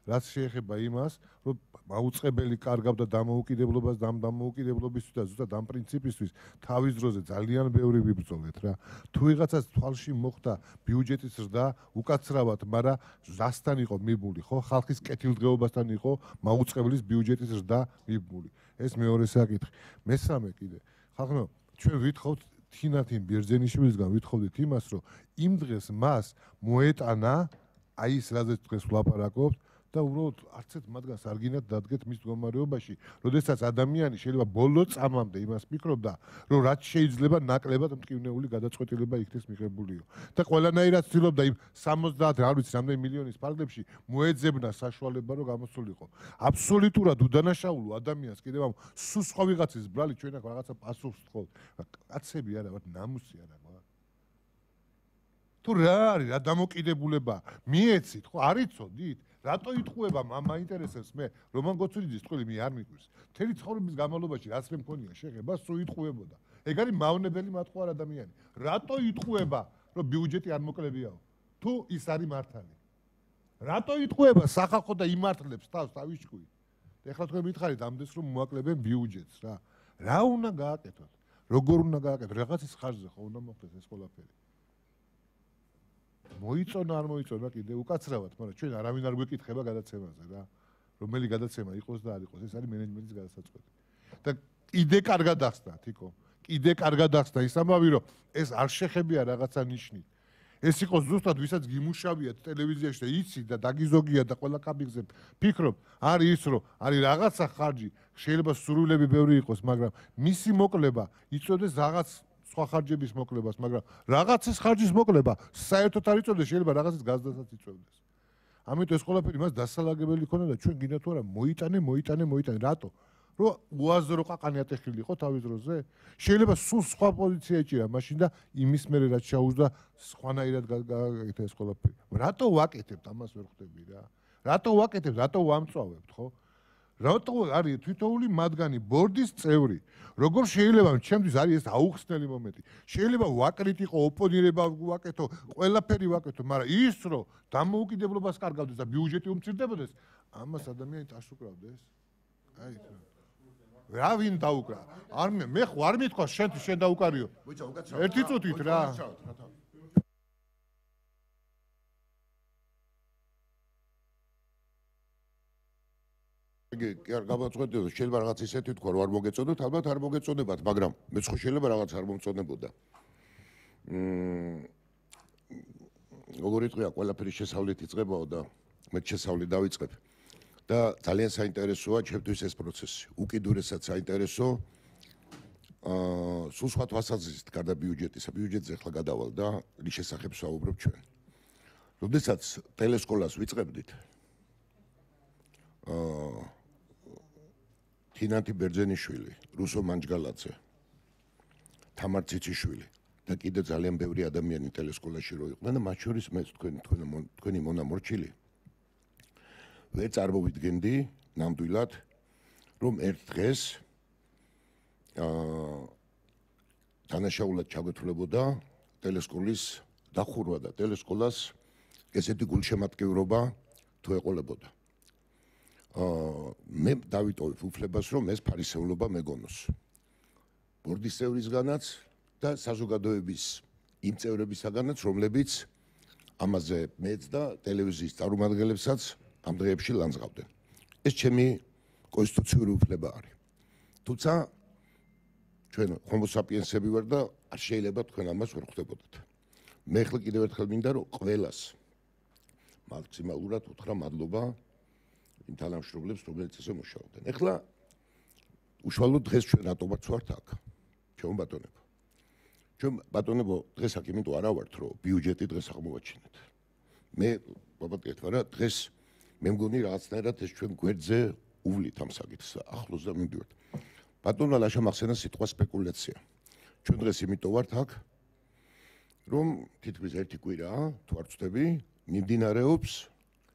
რაც შეეხება იმას, რომ მაუწყებელი კარგავდა დამოუკიდებლობას და ამ დამოუკიდებლობისთვის და ზუსტად ამ პრინციპისთვის თავის დროზე ძალიან ბევრი ვიბრძოლეთ რა. თუ ვიღაცას თვალში მოხდა ბიუჯეტის ზრდა, უკაცრავად, მაგრამ ზასთან იყო მიბმული, ხო? ხალხის კეთილდღეობასთან იყო მაუწყებლის ბიუჯეტის ზრდა მიბმული. ეს მეორე საკითხი. მესამე კიდე. ხალხო, ჩვენ ვითხოვთ თინათინ ბერძენიშვილისგან ვითხოვდით იმას, რომ იმ დღეს მას მოეტანა აი ეს რაზეც დღეს ვლაპარაკობთ და უბრალოდ არცეთ მათგანს არ გინდათ დადგეთ მის მდგომარეობაში, როდესაც ადამიანი შეიძლება ბოლო წამამდე იმას ფიქრობდა, რომ რაც შეიძლება ნაკლებად მტკივნეული გადაწყვეტილება იქნეს მიღებულიო. და ყველანაირად ცდილობდა იმ სამოცდაათ არ ვიცი რამდენი მილიონის ფარგლებში მოეძებნა საშუალება, რომ გამოსულიყო. აბსოლუტურად უდანაშაულო ადამიანს კიდევ ამ სულ სხვა ვიღაცის ბრალი ჩვენ აქ რაღაცა პასუხს ვთხოვთ. კაცები არა ვართ, ნამუსი არა ვართ. თუ რა არის, რა დამოკიდებულება მიეცით, ხო, არ იცოდით? რატო იტყუება მამა ინტერესებს მე რომან გოცურიძის ტყუილი მე არ მიყვარს. მთელი ცხოვრების განმავლობაში რაც მე მქონია შეხება, სულ იტყუებოდა. ეგ არის მავნებელი მათყუარ ადამიანი. რატო იტყუება, რომ ბიუჯეტი არ მოკლებიაო? თუ ის არის მართალი. რატო იტყუება სახალხო და იმართლებს თავს თავისჭყვი? ეხლა თქვენ მითხარით ამდენს რომ მოაკლებენ ბიუჯეტს რა. რა უნდა გააკეთოთ? როგორ უნდა გააკეთოთ? რაღაცის ხარჯზე ხო უნდა მოხდეს ეს ყველაფერი. მოიწონა არ მოიწონა კიდე უკაცრავად, მაგრამ ჩვენ არავინ არ გვეკითხება გადაცემაზე რა. რომელი გადაცემა იყოს და არ იყოს, ეს არის მენეჯმენტის გადასაწყვეტი. და კიდე კარგად ახსნა, თიკო. კიდე კარგად ახსნა ის ამბავი, რომ ეს არ შეხებია რაღაცა ნიშნით. ეს იყოს ზუსტად ვისაც გიმუშავიათ ტელევიზიაში და იცი და დაგიზოგია და ყველა კაბინზე ფიქრობ, არის ის, რომ არის რაღაცა ხარჯი, შეიძლება სურვილები ბევრი იყოს, მაგრამ მისი მოკლება იწოდეს რაღაც სხვა ხარჯების მოკლებას, მაგრამ რაღაცის ხარჯის მოკლება საერთოდ არ იწევდეს, შეიძლება რაღაცის გაზდასაც იწევდეს. ამიტომ ეს ყველაფერი მას დასალაგებელი ქონდა და ჩვენ გინდა თუ არა მოიტანე, მოიტანე, მოიტანე. რატო? რომ უაზრო ყაყანი ატეხილი იყო თავის დროზე? შეიძლება სულ სხვა პოზიცია ეჭირა მაშინ და იმის მერე რაც ჩაუზდა სხვანაირად გააკეთა ეს ყველაფერი. რატო ვაკეთებთ ამას ვერ ხვდები რა? რატო ვაკეთებთ? რატო ვამწვავებთ, ხო? რატო არის თვითოული მათგანი ბორდის წევრი? როგორ შეიძლება ჩემთვის არის ეს აუხსნელი მომენტი. შეიძლება ვაკრიტიკო, ოპონირება ვაკეთო, ყველაფერი ვაკეთო, მაგრამ ის რომ დამოუკიდებლობას კარგავდეს და ბიუჯეტი უმცირდებოდეს, ამას ადამიანი ტაშ უკრავდეს. აი რა ვინ დაუკრა? არ მე მე ხო არ მithქვა შენ შენ დაუკარიო. ერთი წუთით რა. კი არ გამაწყვეტებოდა, შეიძლება რაღაც ისეთი თქვა, რომ არ მოგეწონოთ, ალბათ არ მოგეწონებათ, მაგრამ მეც ხო შეიძლება რაღაც არ მომწონებოდა. მმ როგორი თქვია, ყველაფერი შესავლით იწყებაო და მე შესავლით დავიწყებ. და ძალიან საინტერესოა ჩემთვის ეს პროცესი. უკიდურესად საინტერესო. აა სულ სხვა თვალსაზრისით გარდა ბიუჯეტისა, ბიუჯეტზე ახლა გადავალ და რის შესახებ ვსაუბრობ ჩვენ. როდესაც ტელესკოლას ვიწყებდით, აა თინათი ბერძენიშვილი, რუსო მანჯგალაძე, თამარ ციციშვილი და კიდე ძალიან ბევრი ადამიანი ტელესკოლაში რო იყვნენ და მათ შორის მე თქვენ თქვენი მონამორჩილი ვერ წარმოვიდგენდი ნამდვილად რომ ერთ დღეს აა დანაშაულად ჩაგვეთვლებოდა ტელესკოლის დახურვა და ტელესკოლას ესეთი გულშემატკივრობა თუ ეყოლებოდა. აა მე დავიტოვებ უფლებას რომ ეს ფარისევლობა მეგონოს. ბორდის წევრისგანაც და საზოგადოების იმ წევრებისგანაც, რომლებიც ამაზე მეც და ტელევიზიის წარმომადგენლებსაც ამ დღეებში ლანძღავდნენ. ეს ჩემი კონსტიტუციური უფლება არის. თუმცა ჩვენ ჰომო საპიენსები ვარ და არ შეიძლება თქვენ ამას ვერ ხვდებოდეთ. მე ხელ კიდევ ერთხელ მინდა რომ ყველას მაქსიმალურად უთხრა მადლობა იმ თანამშრომლებს, რომლებიც ესე მუშაობდნენ. ეხლა უშუალოდ დღეს ჩვენ რატომაც ვართ აქ? ჩვენ ბატონებო. ჩვენ ბატონებო დღეს აქ იმიტომ არა ვართ, რომ ბიუჯეტი დღეს აღმოვაჩინეთ. მე ვაბატონეთ, მაგრამ დღეს მე მგონი რაღაცნაირად ეს ჩვენ გვერდზე უვლით ამ საკითხს, ახლოს და მივდივართ. ბატონმა ლაშა მახსენა სიტყვა სპეკულაცია. ჩვენ დღეს იმიტომ ვართ აქ, რომ თითქმის ერთი კვირაა, თუ არ ვწდები, მიმდინარეობს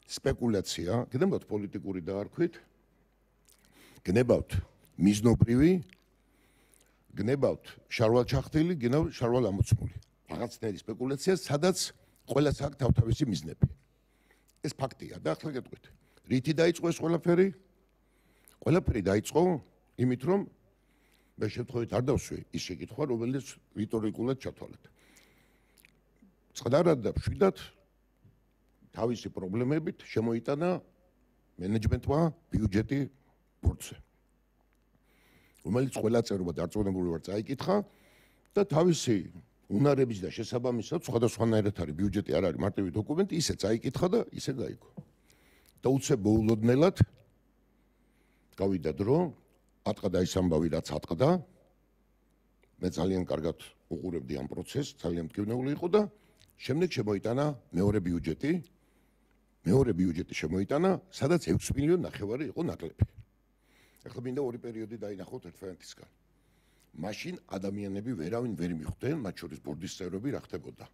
სპეკულაცია, გნებავთ პოლიტიკური დაარქვით, გნებავთ მიზნობრივი, გნებავთ შარვალ-ჩახტილი, გნებავთ შარვალ-ამოცმული. რაღაცნაირი სპეკულაცია, სადაც ყველას აქვს თავთავისი მიზნები. ეს ფაქტია და ახლა გეტყვით. რითი დაიწყო ეს ყველაფერი? ყველაფერი დაიწყო იმით, რომ მე შემთხვევით არ დავსვი ის შეკითხვა, რომელიც რიტორიკულად ჩათვალეთ. წყდარად და მშვიდად თავისი პრობლემებით შემოიტანა მენეჯმენტმა ბიუჯეტი ბორცზე. რომელიც ყველა წევრობა დარწმუნებული ვარ წაიკითხა და თავისი უნარების და შესაბამისად სხვადასხვანაირად არის ბიუჯეტი არ არის მარტივი დოკუმენტი, ისე წაიკითხა და ისე გაიგო. და უცებ მოულოდნელად გავიდა დრო, ატყდა ის ამბავი, რაც ატყდა. მე ძალიან კარგად უყურებდი ამ პროცესს, ძალიან მტკივნეული იყო და შემდეგ შემოიტანა მეორე ბიუჯეტი. მეორე ბიუჯეტი შემოიტანა, სადაც ექვსი მილიონი ნახევარი იყო ნაკლები. ახლა მინდა ორი პერიოდი დაინახოთ ერთმანეთისგან. მაშინ ადამიანები ვერავინ ვერ მიხვდნენ, მათ შორის ბორდის წევრები რა ხდებოდა.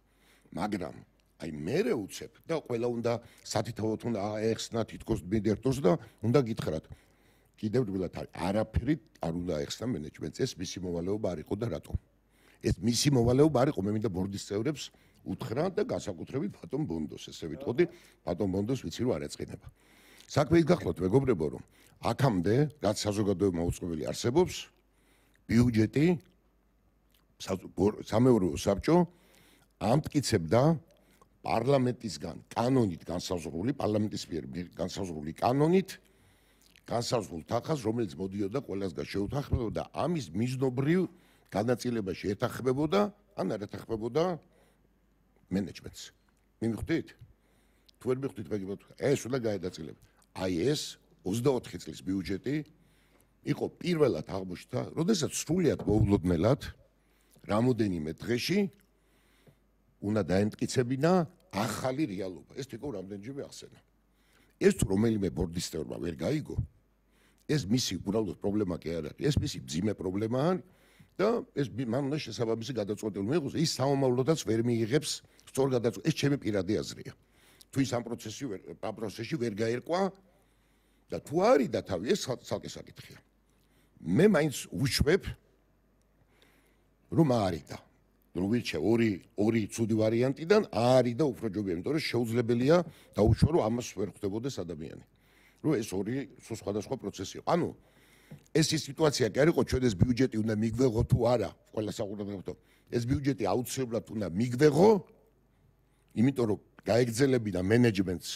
მაგრამ აი მერე უცებ და ყველა უნდა სათითაოდ უნდა აეხსნა თითქოს მიდერთოს და უნდა გითხრათ. კიდევ რბილად არის, არაფერი არ უნდა აეხსნა მენეჯმენტს, ეს მისი მოვალეობა არ იყო და რატომ? ეს მისი მოვალეობა არ იყო, მე მინდა ბორდის წევრებს უთხრა და განსაკუთრებით ბატონ ბონდოს, ესე ვიტყოდი, ბატონ ბონდოს ვიცი რომ არ ეწყინება. საქმე ის გახლავთ მეგობრებო, რომ აქამდე რაც საზოგადოება მოუწყობელი არსებობს, ბიუჯეტი სამეურვეო საბჭო ამტკიცებდა პარლამენტისგან კანონით განსაზღვრული, პარლამენტის მიერ განსაზღვრული კანონით განსაზღვრულ თანხას, რომელიც მოდიოდა ყველასგან შეუთანხმებოდა ამის მიზნობრივ განაწილებაში ეთანხმებოდა, ან არ ეთანხმებოდა მენეჯმენტს. მიმხვდით? თუ ვერ მიხვდით, მეგობრებო, ეს უნდა გაედაწილება. აი ეს ოცდაოთხი წლის ბიუჯეტი იყო პირველად აღმოჩნდა, როდესაც სრულიად მოულოდნელად რამოდენიმე დღეში უნდა დაემტკიცებინა ახალი რეალობა. ეს თვითონ რამდენჯერმე ახსენა. ეს თუ რომელიმე ბორდის წევრმა ვერ გაიგო, ეს მისი უბრალოდ პრობლემა კი არ არის, ეს მისი მძიმე პრობლემაა და ეს მან უნდა შესაბამისი გადაწყვეტილება მიიღოს, ის სამომავლოდაც ვერ მიიღებს სწორ გადაწყვეტილებას. ეს ჩემი პირადი აზრია. თუ ის ამ პროცესში ვერ ამ პროცესში ვერ გაერკვა და თუ არის და თავი ეს ცალკე საკითხია. მე მაინც ვუშვებ რომ არის და რომ ვირჩე ორი ორი ცუდი ვარიანტიდან არის და უფრო ჯობია, იმიტომ რომ შეუძლებელია დაუშვა რომ ამას ვერ ხვდებოდეს ადამიანი. რომ ეს ორი სხვადასხვა პროცესი იყო. ანუ ეს ის სიტუაცია კი არ იყო, ჩვენ ეს ბიუჯეტი უნდა მიგვეღო თუ არა, ყველა საყურებლო. ეს ბიუჯეტი აუცილებლად უნდა მიგვეღო, იმიტომ რომ გაეგრძელებინა მენეჯმენტს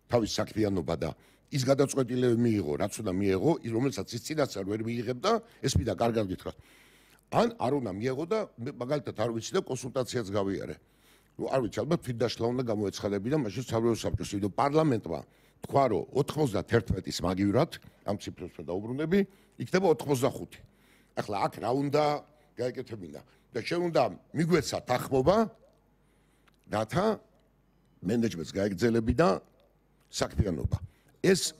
თავის საქმიანობა და ის გადაწყვეტილებები მიიღო, რაც უნდა მიიღო, რომელსაც ის წინასწარ ვერ მიიღებდა, ეს მინდა კარგად გითხრათ. ან არ უნდა მიიღო და მაგალითად არ ვიცი და კონსულტაციაც გავიარე. ნუ არ ვიცი, ალბათ თვითდაშლა უნდა გამოეცხადებინა მაშინ სამეურვეო საბჭოს, იმიტომ პარლამენტმა თქვა რომ ოცდაათის მაგივრად ამ ციფრებს მე დაუბრუნდები, იქნება ოცდახუთი. ახლა აქ რა უნდა გაეკეთებინა და შენ უნდა მიგვეცა თანხმობა, რათა მენეჯმენტს გაეგრძელებინა საქმიანობა. ეს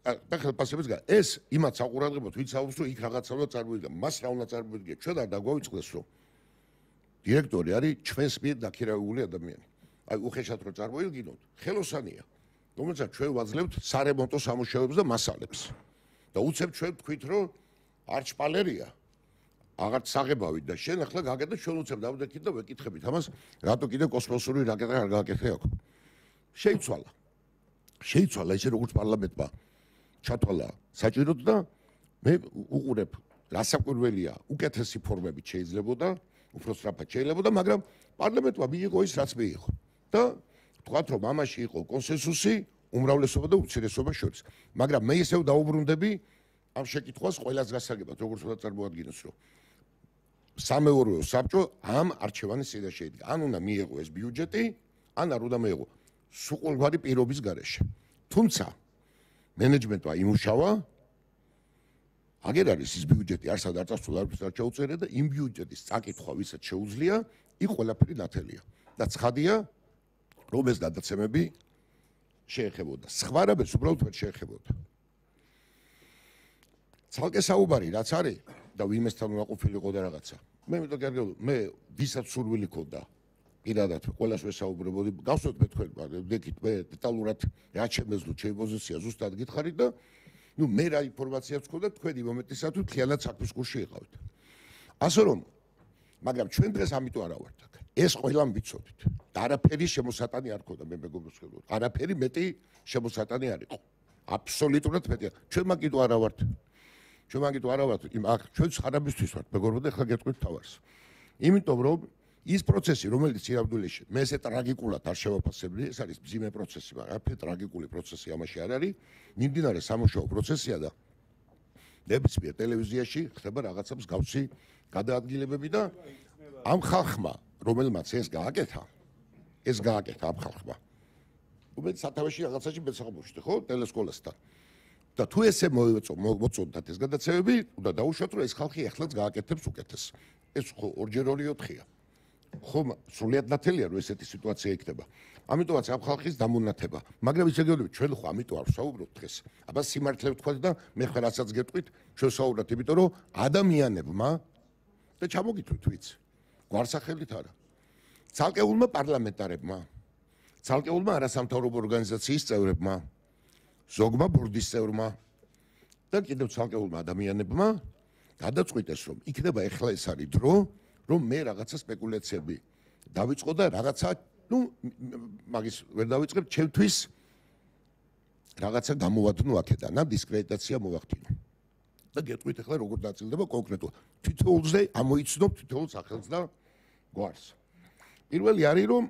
ახლა პასებს გა ეს იმათ საყურადღებოდ ვინც აუს რომ იქ რაღაცა უნდა წარმოიდგა, მას რა უნდა წარმოიდგა, ჩვენ არ დაგვაიწყდეს რომ დირექტორი არის ჩვენს მიერ დაქირავებული ადამიანი. აი უხეშად რო წარმოიდგინოთ, ხელოსანია, რომელსაც ჩვენ ვაძლევთ სარემონტო სამუშაოებს და მასალებს. და უცებ ჩვენ თქვით რომ არჩპალერია, აღარც საღებავით და შენ ახლა გაგედა ჩვენ უცებ დავდექით და ვეკითხებით ამას, რატო კიდე კოსმოსური რაკეტა არ გააკეთე აქ. შეიცვალა. შეიცვალა ისე როგორც პარლამენტმა ჩათვალა საჭიროდ და მე უყურებ რასაკვირველია, უკეთესი ფორმებით შეიძლებოდა, უფრო სწრაფად შეიძლებოდა, მაგრამ პარლამენტმა მიიღო ის რაც მიიღო. და თქვათ რომ ამაში იყო კონსენსუსი უმრავლესობა და უმცირესობა შორის. მაგრამ მე ისევ დაუბრუნდები ამ შეკითხვას ყველას გასაგებად, როგორც უნდა წარმოადგინოს, რომ სამეურვეო საბჭო ამ არჩევანის წინაშე იდგა. ან უნდა მიიღო ეს ბიუჯეტი, ან არ უნდა მიიღო. სრულგვარი პირობის გარეშე. თუმცა მენეჯმენტმა იმუშავა, აგერ არის ის ბიუჯეტი არსად არ წასულა, არც არ ჩაუწერა და იმ ბიუჯეტის წაკითხვა ვისაც შეუძლია, იქ ყველაფერი ნათელია. და ცხადია, რომ ეს გადაცემები შეეხებოდა. სხვა რამეს უბრალოდ ვერ შეეხებოდა. ცალკე საუბარი რაც არის და ვინმესთან უნდა ყოფილიყო და რაღაცა. მე მე კარგად მე ვისაც სურვილი ქონდა პირადად ყველას ვესაუბრებოდი, გავსვეთ მე თქვენ, ვდექით მე დეტალურად რა შემეძლო ჩემი პოზიცია ზუსტად გითხარით და ნუ მე რა ინფორმაციაც ქონდა თქვენი მომენტისათვის მთლიანად საქმის კურსში იყავით. ასე რომ, მაგრამ ჩვენ დღეს ამიტომ არა ვართ აქ. ეს ყველამ ვიცოდით. და არაფერი შემოსატანი არ ქონდა მე მეგობრებს ვხედავ. არაფერი მეტი შემოსატანი არ იყო. აბსოლუტურად მეტი. ჩვენ მაგიტო არა ვართ. ჩვენ მაგიტო არა ვართ. იმ აქ ჩვენ ხარაბისთვის ვართ, მეგობრებო, და ახლა გეტყვით თავარს. იმიტომ რომ ის პროცესი, რომელიც ირაბდულეში მე ესე ტრაგიკულად არ შევაფასებდი, ეს არის მძიმე პროცესი, მაგრამ არაფერი ტრაგიკული პროცესი ამაში არ არის. მიმდინარე სამუშაო პროცესია და ნებისმიერ ტელევიზიაში ხდება რაღაცა მსგავსი გადაადგილებები და ამ ხალხმა, რომელმაც ეს გააკეთა, ეს გააკეთა ამ ხალხმა. უმეტეს სათავეში რაღაცაში მეცახმოშთე, ხო, ტელესკოლასთან. და თუ ესე მოწოდათ ეს გადაცემები, უნდა დაუშვათ, რომ ეს ხალხი ახლაც გააკეთებს უკეთეს. ეს ხო ორჯერ ორი ოთხია. ხომ სრულიად ნათელია, რომ ესეთი სიტუაცია იქნება. ამიტომაც ამ ხალხის დამონათება. მაგრამ ისე გეუბნები, ჩვენ ხო ამიტომ არ ვსაუბრობთ დღეს. აბა სიმართლე ვთქვათ და მე ხარ რასაც გეტყვით, ჩვენ ვსაუბრობთ, იმიტომ რომ ადამიანებმა და ჩამოგითვლით ვიც. გვარსახელით არა. ცალკეულმა პარლამენტარებმა, ცალკეულმა არასამთავრობო ორგანიზაციის წევრებმა, ზოგმა ბორდის წევრმა და კიდევ ცალკეულმა ადამიანებმა გადაწყვიტეს, რომ იქნება ეხლა ეს არის დრო, რომ მე რაღაცა სპეკულაციები დავიწყო და რაღაცა, ну, მაგის ვერ დავიწყებ, ჩემთვის რაღაცა გამოვადნო აქედან, ან დისკრედიტაცია მოვახდინო. და გეტყვით ახლა როგორ დაწილდება კონკრეტულად. თითოეულზე ამოიცნობ თითოეულ სახელს და გვარს. პირველი არის რომ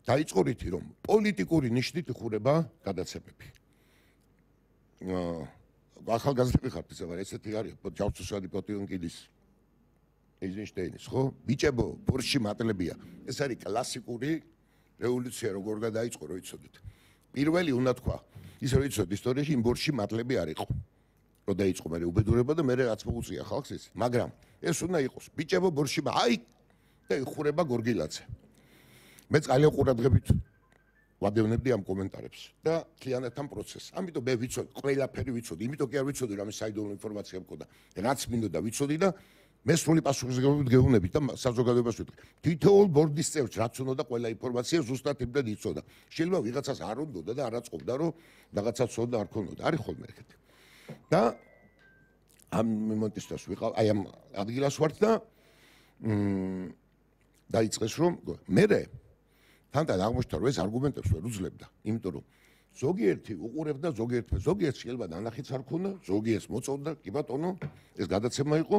დაიწყო რითი რომ პოლიტიკური ნიშნით იხურება გადაცემები. აა ახალგაზრდები ხართ ისე ვარ, ესეთი არის ჯავშუშადი პოტიონკიდის ეიზენშტეინის, ხო? ბიჭებო, ბორში მატლებია. ეს არის კლასიკური რევოლუცია, როგორ გადაიწყო, რო იცოდეთ. პირველი უნდა თქვა, ის რო იცოდეთ ისტორიაში იმ ბორში მატლები არ იყო. რო დაიწყო მე უბედურება და მე რაც მოუწია ხალხს ეს. მაგრამ ეს უნდა იყოს ბიჭებო ბორში, აი და იხურება გორგილაძე. მე ძალიან ყურადღებით ვადევნებდი ამ კომენტარებს და ქიანეთ ამ პროცესს. ამიტომ მე ვიცოდი, ყველაფერი ვიცოდი, იმიტომ კი არ ვიცოდი რომ საიდუმლო ინფორმაცია მქონდა. რაც მინდოდა ვიცოდი და მე სრული პასუხისმგებლობით გეუბნებით და საზოგადოებას ვიტყვი. თითოეულ ბორდის წევრს რაც უნდა ყველა ინფორმაცია ზუსტად იმდენ იცოდა. შეიძლება ვიღაცას არ უნდოდა და არ აწყობდა რომ რაღაცა ცოდა არ ქონოდა. არის ხოლმე ეგეთი. და ამ მომენტისთვის ვიყავ, აი ამ ადგილას ვართ და მ დაიწყეს რომ მე თანდათან აღმოჩნდა რომ ეს არგუმენტებს ვერ უძლებდა, იმიტომ რომ ზოგიერთი უყურებდა, ზოგიერთი ზოგიერთ შეიძლება ნანახიც არ ქონდა, ზოგიერთს მოწონდა, კი ბატონო, ეს გადაცემა იყო.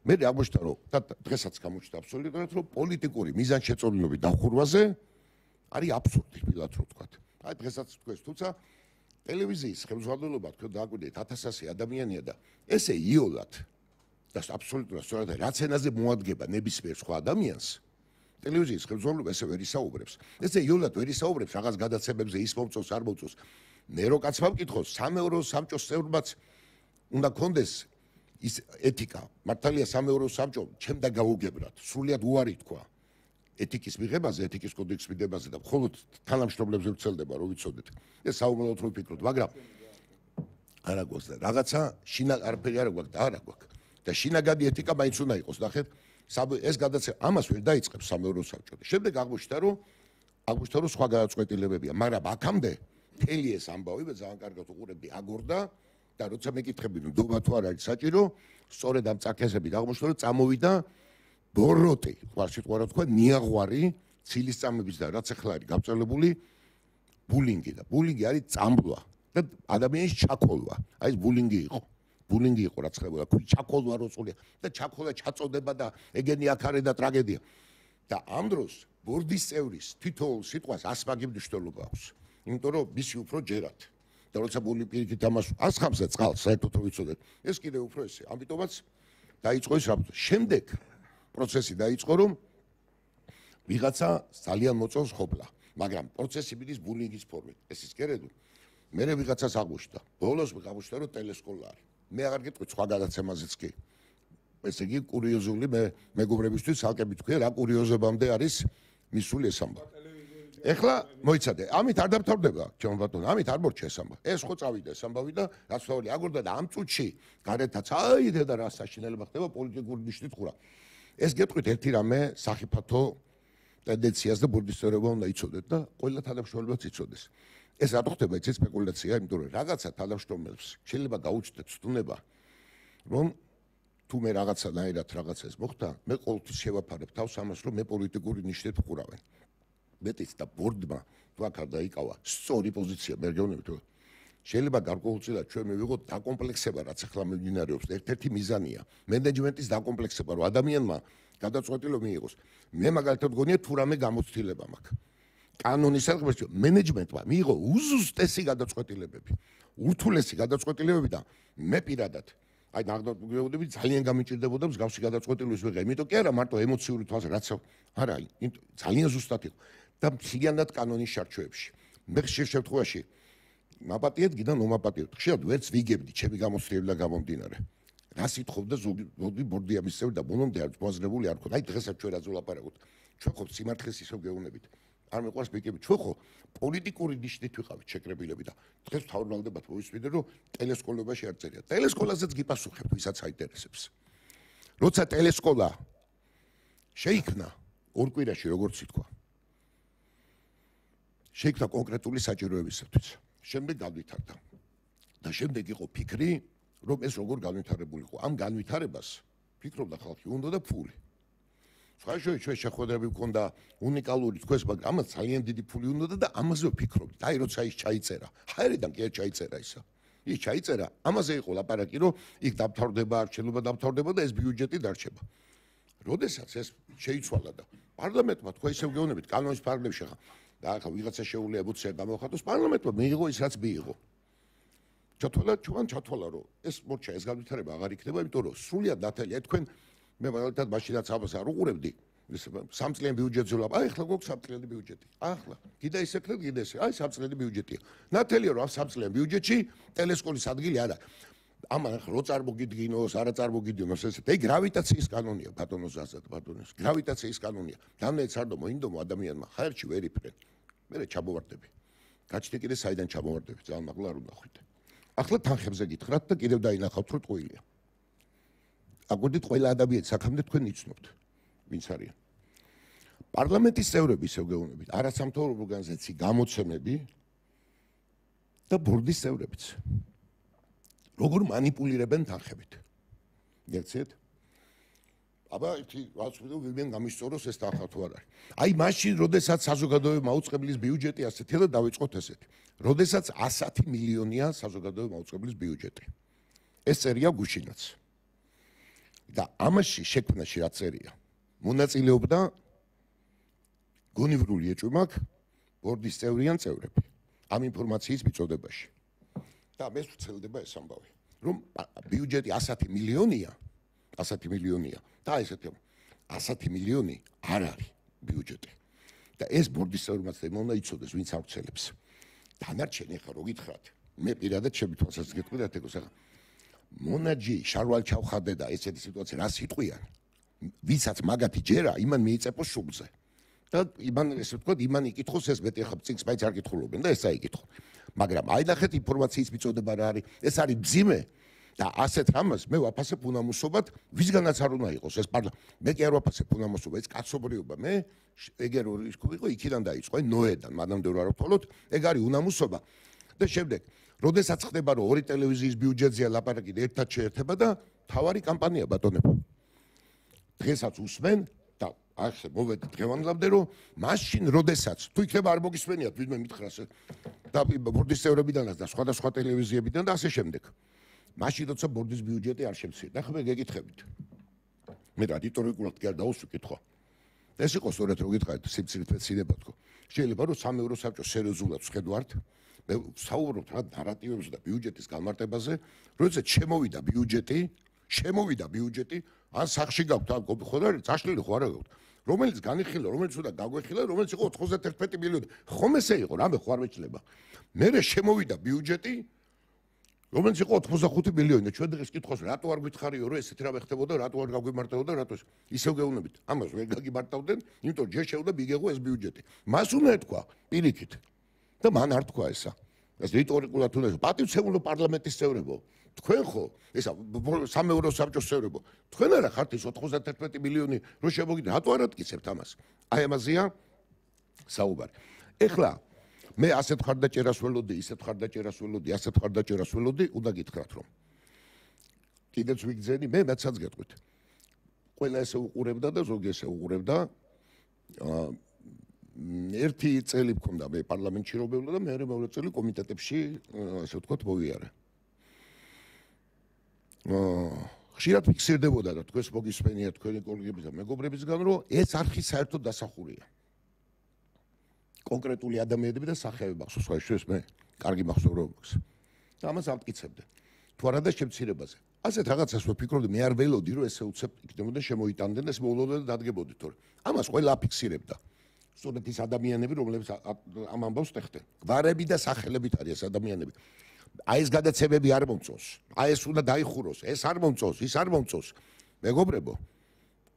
მე აღმოჩნდა რომ და დღესაც გამოჩნდა აბსოლუტურად რომ პოლიტიკური მიზანშეწონილობის დახურვაზე არის აბსურდი, თბილად რო ვთქვათ. აი დღესაც თქვენს, თუმცა ტელევიზიის ხელმძღვანელობა თქვენ დააკვირდით ათასასი ადამიანია და ესე იოლად და აბსოლუტურად სწორად რაც ენაზე მოადგება ნებისმიერ სხვა ადამიანს ტელევიზიის ხელმძღვანელობა ესე ვერ ისაუბრებს. ესე იოლად ვერ ისაუბრებს რაღაც გადაცემებზე ის მომწონს არ მომწონს. მე რო კაცმა მკითხოს სამეურო სამჭოს წევრებმაც უნდა კონდეს ის ეთიკა. მართალია სამეურო სამჭო ჩემ და გაუგებრად სრულიად უარი თქვა ეთიკის მიღებაზე, ეთიკის კოდექსის მიღებაზე და მხოლოდ თანამშრომლებზე ვცელდება რომ ვიცოდეთ. ეს საუბრობთ რომ ვფიქროთ, მაგრამ არა გვაქვს და რაღაცა შინა არაფერი არ გვაქვს და არა გვაქვს. და შინაგანი ეთიკა მაინც უნდა იყოს, ნახეთ. ეს გადაცემა ამას ვერ დაიწყებს სამეურო საბჭო. შემდეგ აღმოჩნდა რომ აღმოჩნდა რომ სხვა გადაწყვეტილებებია, მაგრამ აქამდე მთელი ეს ამბავი მე ძალიან კარგად უყურებდი აგორდა და როცა მეკითხები რომ დობა თუ არ არის საჭირო, სწორედ ამ წაკესებით აღმოჩნდა რომ წამოვიდა ბოროტი, ვარშიტ ყარა თქვა ნიაღვარი, ცილისწამების და რაც ახლა არის გაწელებული ბულინგი და ბულინგი არის წამბლა და ადამიანის ჩაქოლვა. აი ეს ბულინგი იყო. ბულინგი იყო რაც ხდება, თუ ჩაქოლვა როწულია და ჩაქოლა ჩაწოდება და ეგენი აქარე და ტრაგედია. და ამ დროს ბორდის წევრის თითოეულ სიტყვას ასმაგი მნიშვნელობა აქვს. იმიტომ რომ მისი უფრო ჯერათ. და როცა ბული პირიქით ამას ასხამს წყალს, საერთოდ რო ვიცოდეთ, ეს კიდევ უფრო ესე. ამიტომაც დაიწყო ეს რაბო. შემდეგ პროცესი დაიწყო რომ ვიღაცა ძალიან მოწონს ყოფლა, მაგრამ პროცესი მიდის ბულინგის ფორმით. ეს ის კერედო. მე ვიღაცას აღმოჩნდა. ბოლოს აღმოჩნდა რომ ტელესკოლა არის. მე აღარ გეტყვი სხვა გადაცემაზეც კი. ესე იგი კურიოზული მე მეგობრებისთვის ალკე მითქვია რა კურიოზებამდე არის მისული ეს ამბავი. ეხლა მოიცადე, ამით არ დამთავრდება, ჩემო ბატონო, ამით არ მორჩა ეს ამბავი. ეს ხო წავიდა ეს ამბავი და რაც თავი აგორდა და ამ წუთში გარეთაც აიდე და რა საშინელება ხდება პოლიტიკური ნიშნით ხურა. ეს გეტყვით ერთი რამე სახიფათო ტენდენციას და ბურდისწერება უნდა იცოდეთ და ყველა თანამშრომლობაც იცოდეს. ეს რატო ხდება ეს სპეკულაცია, იმიტომ რომ რაღაცა თანამშრომლებს შეიძლება გაუჩნდეთ ცდუნება, რომ თუ მე რაღაცანაირად რაღაცას მოხდა, მე ყოველთვის შევაფარებ თავს ამას, რომ მე პოლიტიკური ნიშნით ვხურავენ. მეტიც და ბორდმა თუ აქ არ დაიკავა სწორი პოზიცია, მე გეუბნებით რომ შეიძლება გარკვეულწილად ჩვენ მივიღოთ დაკომპლექსება, რაც ახლა მიმდინარეობს. ერთ-ერთი მიზანია მენეჯმენტის დაკომპლექსება, რომ ადამიანმა გადაწყვეტილება მიიღოს. მე მაგალითად გონია თუ რამე გამოცდილება მაქვს. კანონის საქმეში მენეჯმენტმა მიიღო უზუსტესი გადაწყვეტილებები, ურთულესი გადაწყვეტილებები და მე პირადად აი ნახდები ძალიან გამიჭირდებოდა მსგავსი გადაწყვეტილების ვიღე. იმიტომ კი არა მარტო ემოციური თვალს რაც არა, ძალიან ზუსტად იყო და მთლიანად კანონის შარჩოებში. მე ხშირ შემთხვევაში მაპატიეთ გიდან მომაპატიოთ. ხშირად ვერც ვიგებდი ჩემი გამოცდილება გამომდინარე. რა სიტყობდა ზოგი ბორდია მისწევ და ბოლომდე არ მოაზრებული არ ხოთ. აი დღესაც ჩვენ რაც ვლაპარაკობთ. ჩვენ ხო სიმართლეს ისევ გეუბნებით. არ მეყვარს ბიკები. ჩვენ ხო პოლიტიკური ნიშნით ვიყავით შეკრებილები და დღეს თავრალდებათ მოვისმინე რომ ტელესკოლებაში არ წერია. ტელესკოლაზეც გიპასუხებთ ვისაც აინტერესებს. როცა ტელესკოლა შეიქმნა ორ კვირაში როგორც ითქვა. შეიქმნა კონკრეტული საჭიროებისათვის. შემდეგ განვითარდა. და შემდეგ იყო ფიქრი, რომ ეს როგორ განვითარებული იყო. ამ განვითარებას ფიქრობდა ხალხი, უნდა და ფული. სხვაშორის ჩვენ შეხვედრები გვქონდა უნიკალური თქვენს, მაგრამ ამას ძალიან დიდი ფული უნდა და ამაზე ვფიქრობთ. აი როცა ის ჩაიწერა, ჰაერიდან კი არ ჩაიწერა ისა. ის ჩაიწერა, ამაზე იყო ლაპარაკი, რომ იქ დამთავრდება, არჩევნობა დამთავრდება და ეს ბიუჯეტი დარჩება. როდესაც ეს შეიცვალა და პარლამენტმა თქვა ისევ გეუბნებით, კანონის ფარგლებში ხა და ახლა ვიღაცა შეუძლია ემოცია გამოხატოს, პარლამენტმა მიიღო ის რაც მიიღო. ჩათვალა, ჩვენ ჩათვალა, რომ ეს მორჩა ეს განვითარება აღარ იქნება, იმიტომ რომ სრულიად ნათელია თქვენ მე მაგალითად მაშინაც ამას არ უყურებდი. სამწლიანი ბიუჯეტზე ვლაპარაკობ. აი ახლა გვაქვს სამწლიანი ბიუჯეტი. ახლა კიდე ისექნეთ, კიდე ესე. აი სამწლიანი ბიუჯეტია. ნათელია რომ ამ სამწლიან ბიუჯეტში ტელესკოლის ადგილი არა. ამან ახლა რო წარმოგიდგინოს, არა წარმოგიდგინოს ესეთ. აი გრავიტაციის კანონია ბატონო ზაზად, ბატონოს. გრავიტაციის კანონია. დამნეც არ მომინდომო ადამიანმა ხაერში ვერ იფრენ. მე ჩამოვარდები. გაჩნდა კიდე საიდან ჩამოვარდები, ძალიან მაღლა არ უნდა ხვიდე. ახლა თანხებზე გითხრათ და კიდევ დაინახავთ რომ ტყუილია. აგვედით ყველა ადამიანი საქამდე თქვენ იცნობთ ვინც არიან. პარლამენტის წევრები ისევ გეუბნებით, არასამთავრობო ორგანიზაციის გამოცემები და ბორდის წევრებიც. როგორ მანიპულირებენ თანხებით. გერცეთ? აბა ერთი რაც ვიდეო ვიმენ გამისწოროს ეს თანხა თუ არ არის. აი მაშინ, როდესაც საზოგადოებრივი მაუწყებლის ბიუჯეტი ასეთია და დავიწყოთ ესეთი. როდესაც ასი მილიონია საზოგადოებრივი მაუწყებლის ბიუჯეტი. ეს წერია გუშინაც. და ამაში შექმნაში რა წერია? მონაწილეობდა გონივრული ეჭვმაკ ბორდის წევრიან წევრები ამ ინფორმაციის მიწოდებაში. და მე ვცელდება ეს ამბავი, რომ ბიუჯეტი ასი მილიონია, ასი მილიონია და ესეთი ასი მილიონი არ არის ბიუჯეტი. და ეს ბორდის წევრებმაც უნდა იცოდეს, ვინც აღწელებს. დანარჩენი ხა რო გითხრათ, მე პირადად ჩემი თვალსაზრისით გეტყვით ეგოს ახლა მონაჯი შარვალ ჩავხადე და ესეთი სიტუაცია რა სიტყვიან ვისაც მაგათი ჯერა იმან მიიწეპოს შუბზე და იმან ესე ვთქვათ იმან იკითხოს ეს მეტი ახლა წინს მაინც არ კითხულობენ და ეს აიკითხო მაგრამ აი ნახეთ ინფორმაციის მიწოდება რა არის ეს არის ბძიმე და ასეთ რამას მე ვაფასებ უნამუსობად ვისგანაც არ უნდა იყოს ეს პარლა მე კი არ ვაფასებ უნამუსობა ეს კაცობრიობა მე ეგერ ორი იყო იქიდან დაიწყო აი ნოედან მანამდე რა ვთვალოთ ეგ არის უნამუსობა და შემდეგ როდესაც ხდება რომ ორი ტელევიზიის ბიუჯეტზეა ლაპარაკი და ერთად შეერთება და თავარი კამპანია ბატონებო. დღესაც უსმენ და ახლა მოვედი დღევანდლამდე რომ მაშინ როდესაც თუ იქნება არ მოგისმენიათ ვინმე მითხრას და ბორდის წევრებიდანაც და სხვადასხვა ტელევიზიებიდან და ასე შემდეგ. მაშინ როცა ბორდის ბიუჯეტი არ შემცირდა. ახლა მე გეკითხებით. მე რადიტორიკულად კი არ დაუსვი კითხვა. ეს იყო სწორედ რო გითხარით სიმცირით მეცინებად თქო. შეიძლება რომ სამი ევრო საბჭოს სერიოზულად ვხედავთ მე საუბრობთ რა ნარატივებზე და ბიუჯეტის განმარტებაზე, როდესაც შემოვიდა ბიუჯეტი, შემოვიდა ბიუჯეტი, ან სახში გაქვთ, ან ხო და წაშლილი ხო არა გაქვთ. რომელიც განიხილა, რომელიც უნდა გაგვეხილა, რომელიც იყო ოთხმოცდაერთმეტი მილიონი. ხომ ესე იყო, რამე ხო არ მეჩლება. მერე შემოვიდა ბიუჯეტი, რომელიც იყო ოცდახუთი მილიონი და ჩვენ დღეს კითხავს, რატო არ გითხარიო, რომ ესეთი რამე ხდებოდა, რატო არ გაგვიმარტებოდა, რატო ისევ გეუბნებით. ამას ვერ გაგიმარტავდნენ, იმიტომ ჯერ შეუდა მიგეღო ეს ბიუჯეტი. მას უნდა ეთქვა პირიქით. და მან არ თქვა ესა. ეს რიტორიკულად უნდა პატივცემულო პარლამენტის წევრებო. თქვენ ხო ესა სამი ევრო საბჭოს წევრებო. თქვენ არა ხართ ის ოცდაერთმეტი მილიონი რო შემოგიდა, რატო არ ატკიცებთ ამას? აი ამაზეა საუბარი. ეხლა მე ასეთ ხარდაჭერას ველოდი, ისეთ ხარდაჭერას ველოდი, ასეთ ხარდაჭერას ველოდი, უნდა გითხრათ რომ კიდეც ვიგძენი, მე მეცაც გეტყვით. ყველა ესე უყურებდა და ზოგი ესე უყურებდა. აა ერთი წელი მქონდა მე პარლამენტში რობეულა და მე მეორე წელი კომიტეტებში ასე ვთქვათ მოვიარე. აა ხშირად ფიქსირდებოდა და თქვენს მოგისმენია თქვენი კოლეგების და მეგობრებისგან რომ ეს არხი საერთოდ დასახურია. კონკრეტული ადამიანები და სახეები მახსოვს, სხვა შეს მე კარგი მახსოვრო მაქვს. და ამას ამტკიცებდა. თუ არა და შემცირებაზე. ასეთ რაღაცას ვფიქრობდი, მე არ ველოდი, რომ ესე უცებ იქნებოდა შემოიტანდნენ, ეს მოულოდა და დადგებოდი, თორე ამას ყველა აფიქსირებდა. სწორედ ის ადამიანები, რომლებიც ამ ამბავს ტეხდნენ. გვარები და სახელებით არის ეს ადამიანები. აი ეს გადაცემები არ მომწონს. აი ეს უნდა დაიხუროს, ეს არ მომწონს, ის არ მომწონს. მეგობრებო,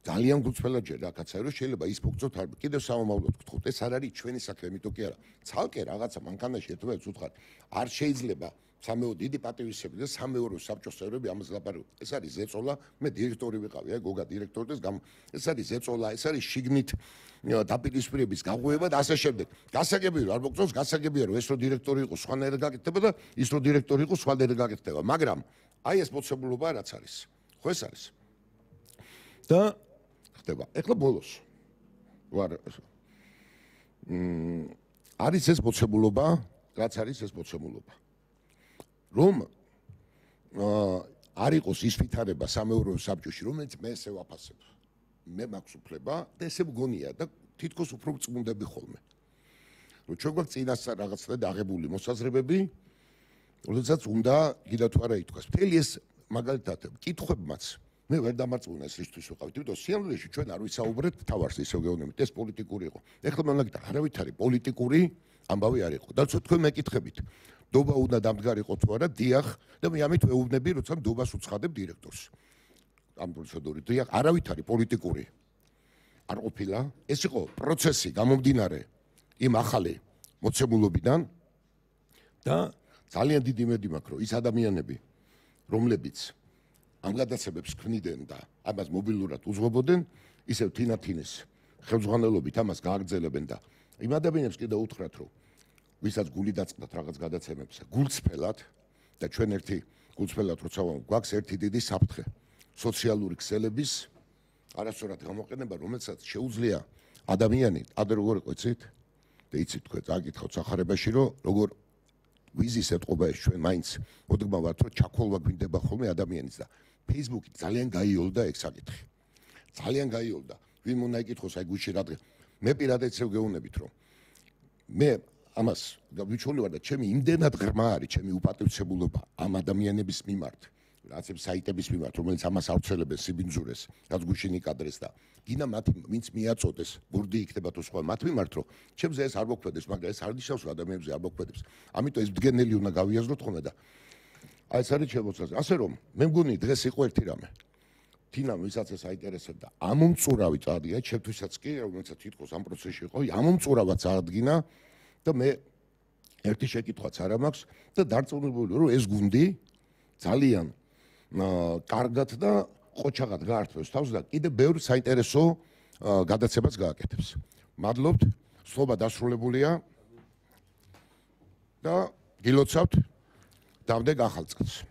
ძალიან გულწრფელად ჯერ რაღაცა რომ შეიძლება ის მოგწოთ არ კიდევ სამომავლოდ გთხოვთ. ეს არ არის ჩვენი საქმე, იმიტომ კი არა. ცალკე რაღაცა მანქანაში ერთმანეთს უთხარ. არ შეიძლება სამეო დიდი პატივისცემი და სამეორო საბჭოს წევრები ამას ლაპარაკობენ. ეს არის ზეწოლა, მე დირექტორი ვიყავი, აი გოგა დირექტორდეს გამ ეს არის ზეწოლა, ეს არის შიგნით დაპირისპირების გაღვევა და ასე შემდეგ. გასაგებია რომ არ მოგწონს, გასაგებია რომ ეს რო დირექტორი იყო, სხვანაირად გაკეთდება და ის რო დირექტორი იყო, სხვანაირად გაკეთდება, მაგრამ აი ეს მოცემულობა რაც არის. ხო ეს არის. და ხდება. ეხლა ბოლოს ვარ მ არის ეს მოცემულობა, რაც არის ეს მოცემულობა. რომ არ იყოს ის ვითარება სამეურვეო საბჭოში, რომელიც მე ესე ვაფასებ. მე მაქვს უფლება და ესე მგონია და თითქოს უფრო წმუნდები ხოლმე. რომ ჩვენ გვაქვს წინასწარ რაღაცა დაღებული მოსაზრებები, როდესაც უნდა კიდევ თუ არა ითქვას. მთელი ეს მაგალითად კითხვებმაც მე ვერ დამარწმუნა ეს რისთვის ვიყავით, იმიტომ სიამოვნებაში ჩვენ არ ვისაუბრეთ თავარს ისევ გეუბნებით, ეს პოლიტიკური იყო. ეხლა მაგალითად არავითარი პოლიტიკური ამბავი არ იყო. და თქვენ მეკითხებით, დობა უნდა დამდგარიყო თუ არა, დიახ, და მე ამით ვეუბნები, როცა დობას უცხადებ დირექტორს. ამ პროცედურით, დიახ, არავითარი პოლიტიკური არ ყოფილა. ეს იყო პროცესი გამომდინარე იმ ახალი მოცემულობიდან და ძალიან დიდი იმედი მაქვს, რომ ის ადამიანები, რომლებიც ამ გადაცემებს ქმნიდნენ და ამას მობილურად უძღვებოდნენ, ისევ თინათინის ხელმძღვანელობით ამას გააგრძელებენ და იმ ადამიანებს კიდევ უთხრათ, რომ ვისაც გული დაწყდათ რაღაც გადაცემებს, გულწრფელად და ჩვენ ერთი გულწრფელად როცა გვაქვს ერთი დიდი საფრთხე სოციალური ქსელების არასწორად გამოყენება, რომელსაც შეუძლია ადამიანი, ადრე როგორ იყო იცით? და იცით თქვენ წაკითხავთ სახარებაში, რომ როგორ ვიზის ეთყობა ეს ჩვენ მაინც მოდგმა ვართ, რომ ჩაქოლვა გვინდება ხოლმე ადამიანის და Facebook-ი ძალიან გაიოლდა ეგ საკითხი. ძალიან გაიოლდა. ვინ უნდა იკითხოს აი გუშინ რადგან მე პირადად ისევ გეუბნებით, რომ მე ამას გავიჩვენე ვარ და ჩემი იმდენად ღრმა არის ჩემი უპატივცემულობა ამ ადამიანების მიმართ, რაც იმ საიტების მიმართ, რომელიც ამას ავრცელებენ სიბინძურეს, რაც გუშინ იკადრეს და გინდა მათ ვინც მიაწოდეს, ბურდი იქნება თუ სხვა მათ მიმართ, რომ ჩემზე ეს არ მოქმედებს, მაგრამ ეს არ ნიშნავს, რომ ადამიანებზე არ მოქმედებს. ამიტომ ეს მდგენელი უნდა გავიაზროთ ხოლმე და აი ეს არის შემოცაზე. ასე რომ მე მგონი დღეს იყო ერთი რამე. თინამ ვისაც ეს აინტერესებდა, ამომწურავი წადია, ჩემთვისაც კი, რომელსაც თითქოს ამ პროცესში იყო, ამომწურავად წარადგინა და მე ერთი შეკითხვაც არ მაქვს და დარწმუნებული რომ ეს გუნდი ძალიან კარგად და ყოჩაღად გაართვევს თავს და კიდე ბევრ საინტერესო გადაცემას გააკეთებს. მადლობთ, სლობა დასრულებულია და გილოცავთ დამდეგ ახალ წელს.